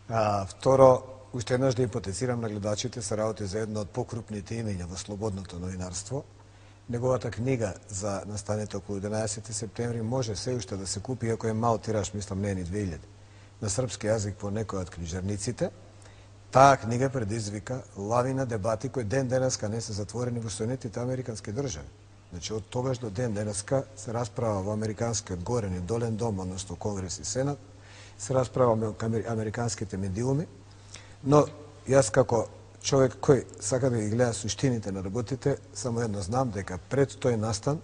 А, второ, уште еднаш да ипотецирам на гледачите, се работи за едно од покрупните имења во слободното новинарство. Неговата книга за настаните околу единаесети септември може се уште да се купи, ако е мал тираж, мислам не е ни две илјади. на српски јазик по некој од книжарниците. Таа книга предизвика лавина дебати кои ден денеска не се затворени во Соединетите американски држави. Значи, од тогаш до ден денеска се расправа во американскиот горен и долен дом, односно Конгрес и Сенат, се расправа во американските медиуми, но јас како човек кој сака да ги гледа суштините на работите, само едно знам дека пред тој настан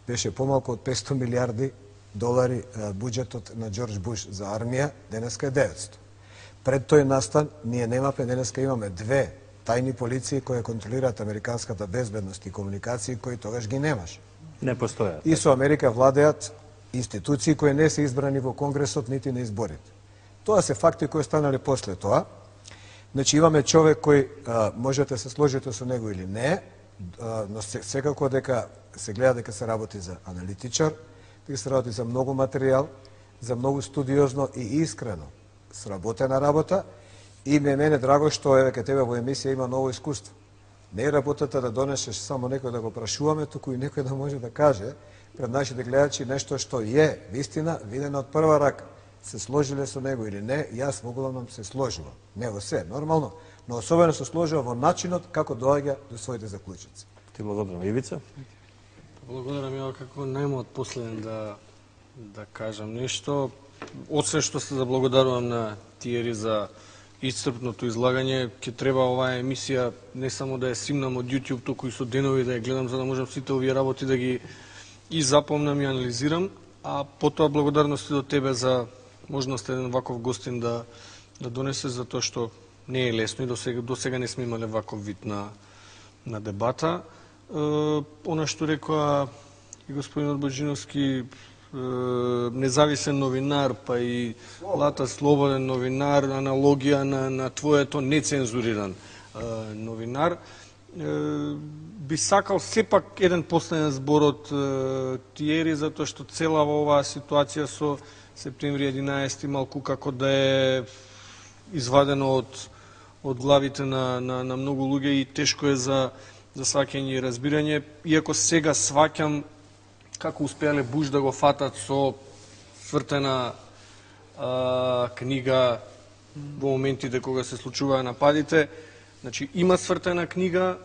беше помалку од петстотини милијарди долари буџетот на Џорџ Буш за армија, денеска е деветстотини. Пред тој настан ние немавме, денеска имаме две тајни полиции кои контролираат американската безбедност и комуникации кои тогаш ги немаш. Не постојат. И со Америка владеат институции кои не се избрани во Конгресот нити на изборите. Тоа се факти кои станале после тоа. Значи имаме човек кој а, можете се сложите со него или не, а, но секако дека се гледа дека се работи за аналитичар, дека се работи за многу материјал, за многу студиозно и искрено сработена работа, и ме мене драго што еве ке тебе во емисија има ново искуство. Не е работата да донесеш само некој да го прашуваме, туку и некој да може да каже пред нашите гледачи нешто што е вистина, видено од прва рака. Се сложиле со него или не, јас во главном се сложувам. Не во се, нормално, но особено се сложува во начинот како доаѓа до своите заклучици. Ти благодарам. Ивица? Благодарам ја како најмод последен да, да кажам нешто. Освен што се заблагодарувам на Тиери за исцрпното излагање, ќе треба оваа емисија не само да ја симнам од YouTube, туку и со денови да ја гледам, за да можам сите овие работи да ги и запомнам и анализирам, а потоа благодарности до тебе за можност еден ваков гостин да да донесе, затоа што не е лесно и до сега, до сега не сме имале ваков вид на на дебата. Е, она што рекоа и господинот Боџиновски, независен новинар, па и Лата слободен новинар, аналогија на, на твоето нецензуриран е, новинар. Е, би сакал сепак еден последен збор од е, Тиери, затоа што цела оваа ситуација со септември единаесети малку како да е извадено од, од главите на, на, на многу луѓе и тешко е за, за сваќање и разбирање, иако сега сваќам како успеале Буш да го фатат со свртена а, книга во моментите кога се случуваа нападите. Значи, има свртена книга,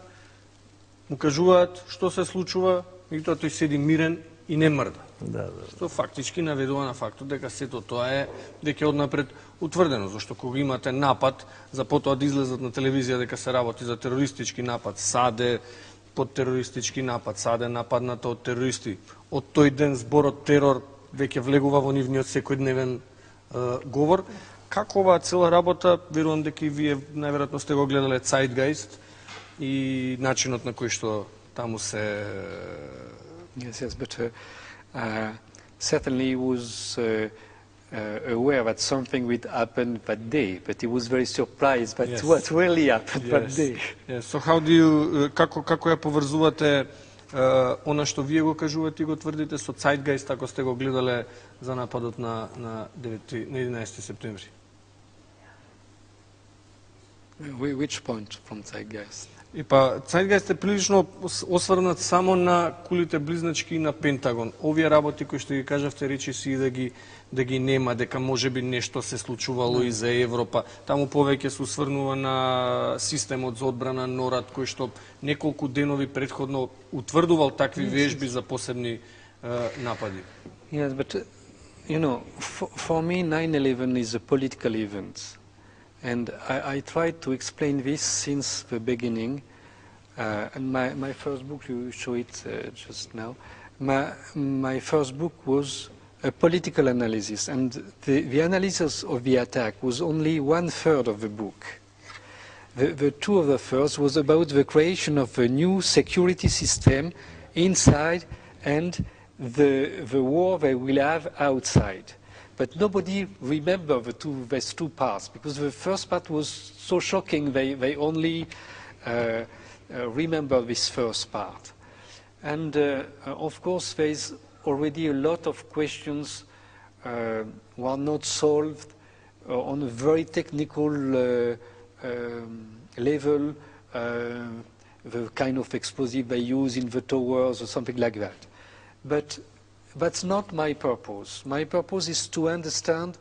му кажуваат што се случува, и тоа тој седи мирен и не мрда. Да, да. Што фактички наведува на фактот дека сето тоа е дека е однапред утврдено, зашто кога имате напад, за потоа да излезат на телевизија дека се работи за терористички напад, Саде под терористички напад, Саде нападната од терористи. Од тој ден зборот терор веќе влегува во нивниот секојдневен е, говор. Како оваа цела работа, верувам дека и вие најверојатно сте го гледале Zeitgeist и начинот на кој што таму се Yes, yes, but uh, uh, certainly he was uh, uh, aware that something would happen that day, but he was very surprised that Yes. what really happened Yes. that day. Yes. So how do you, како, како ја поврзувате uh, она што вие го кажувате и го тврдите со Zeitgeist, ако сте го гледале за нападот на, на, девети, на единаесети септември? Which point from Zeitgeist? И па, Zeitgeist е прилично осврнат само на кулите близначки и на Пентагон. Овие работи кои што ги кажавте, речи си и да ги, да ги нема, дека може би нешто се случувало mm. и за Европа. Таму повеќе се усврнува на системот за одбрана НОРАД, кој што неколку денови предходно утврдувал такви вежби за посебни uh, напади. Yes, but, uh, you know, for, for me nine eleven is a political event. And I, I tried to explain this since the beginning. Uh, and my, my first book, you show it uh, just now, my, my first book was a political analysis. And the, the analysis of the attack was only one third of the book. The, the two other thirds was about the creation of a new security system inside and the, the war they will have outside. But nobody remembered the two, these two parts, because the first part was so shocking, they, they only uh, uh, remember this first part. And uh, of course, there is already a lot of questions uh, who are not solved uh, on a very technical uh, um, level, uh, the kind of explosive they use in the towers or something like that. But that's not my purpose. My purpose is to understand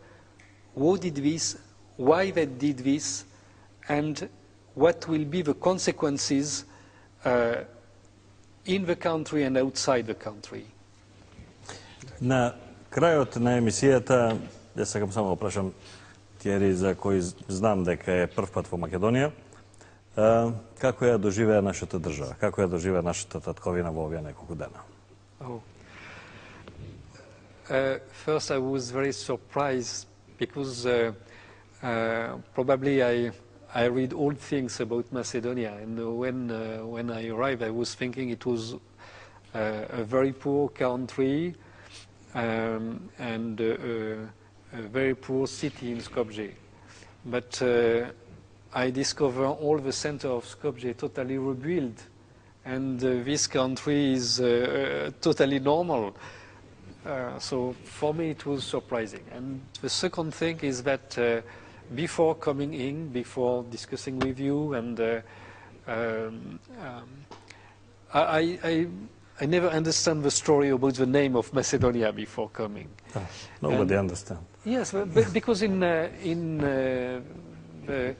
who did this, why they did this, and what will be the consequences uh, in the country and outside the country. На крајот на емисијата, ја сакам само да прашам Тиери, за кој знам дека е прв пат во Македонија, како ја доживеа нашата држава, како ја доживеа нашата татковина во овие неколку дена? Oh. Uh, first, I was very surprised because uh, uh, probably I I read old things about Macedonia, and when uh, when I arrived, I was thinking it was uh, a very poor country um, and uh, uh, a very poor city in Skopje. But uh, I discovered all the center of Skopje totally rebuilt, and uh, this country is uh, uh, totally normal. Uh, so for me it was surprising. And the second thing is that uh, before coming in, before discussing with you, and uh, um, um, I, I, I never understand the story about the name of Macedonia before coming. Oh, nobody and, understand. Yes, but, but because in uh, in uh, the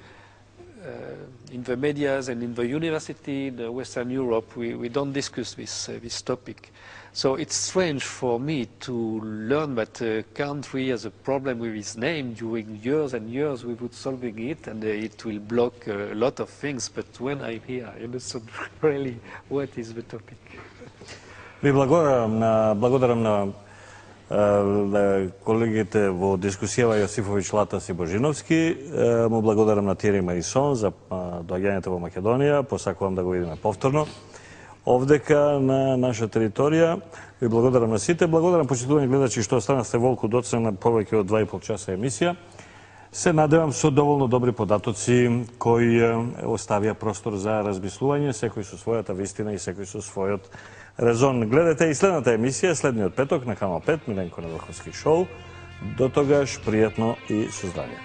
uh, in the medias and in the university in Western Europe, we, we don't discuss this uh, this topic. So it's strange for me to learn that a country has a problem with its name. During years and years we would solving it, and uh, it will block uh, a lot of things. But when I'm here, I understand really what is the topic. Ви благодарам на, благодарам на е, колегите во дискусијава Јосифовиќ, Латас и Божиновски. Е, му благодарам на Тиери Марисон за доаѓањето во Македонија. Посакувам да го видиме повторно овдека на наша територија. Ви благодарам на сите. Благодарам почитувани гледачи што останавте волку доцна на повеќе од два и пол часа емисија. Се надевам со доволно добри податоци кои оставија простор за размислување, секој со својата вистина и секој со својот резон. Гледате и следната емисија, следниот петок на Канал пет, Миленко Неделковски шоу. До тогаш, пријатно и со здравје.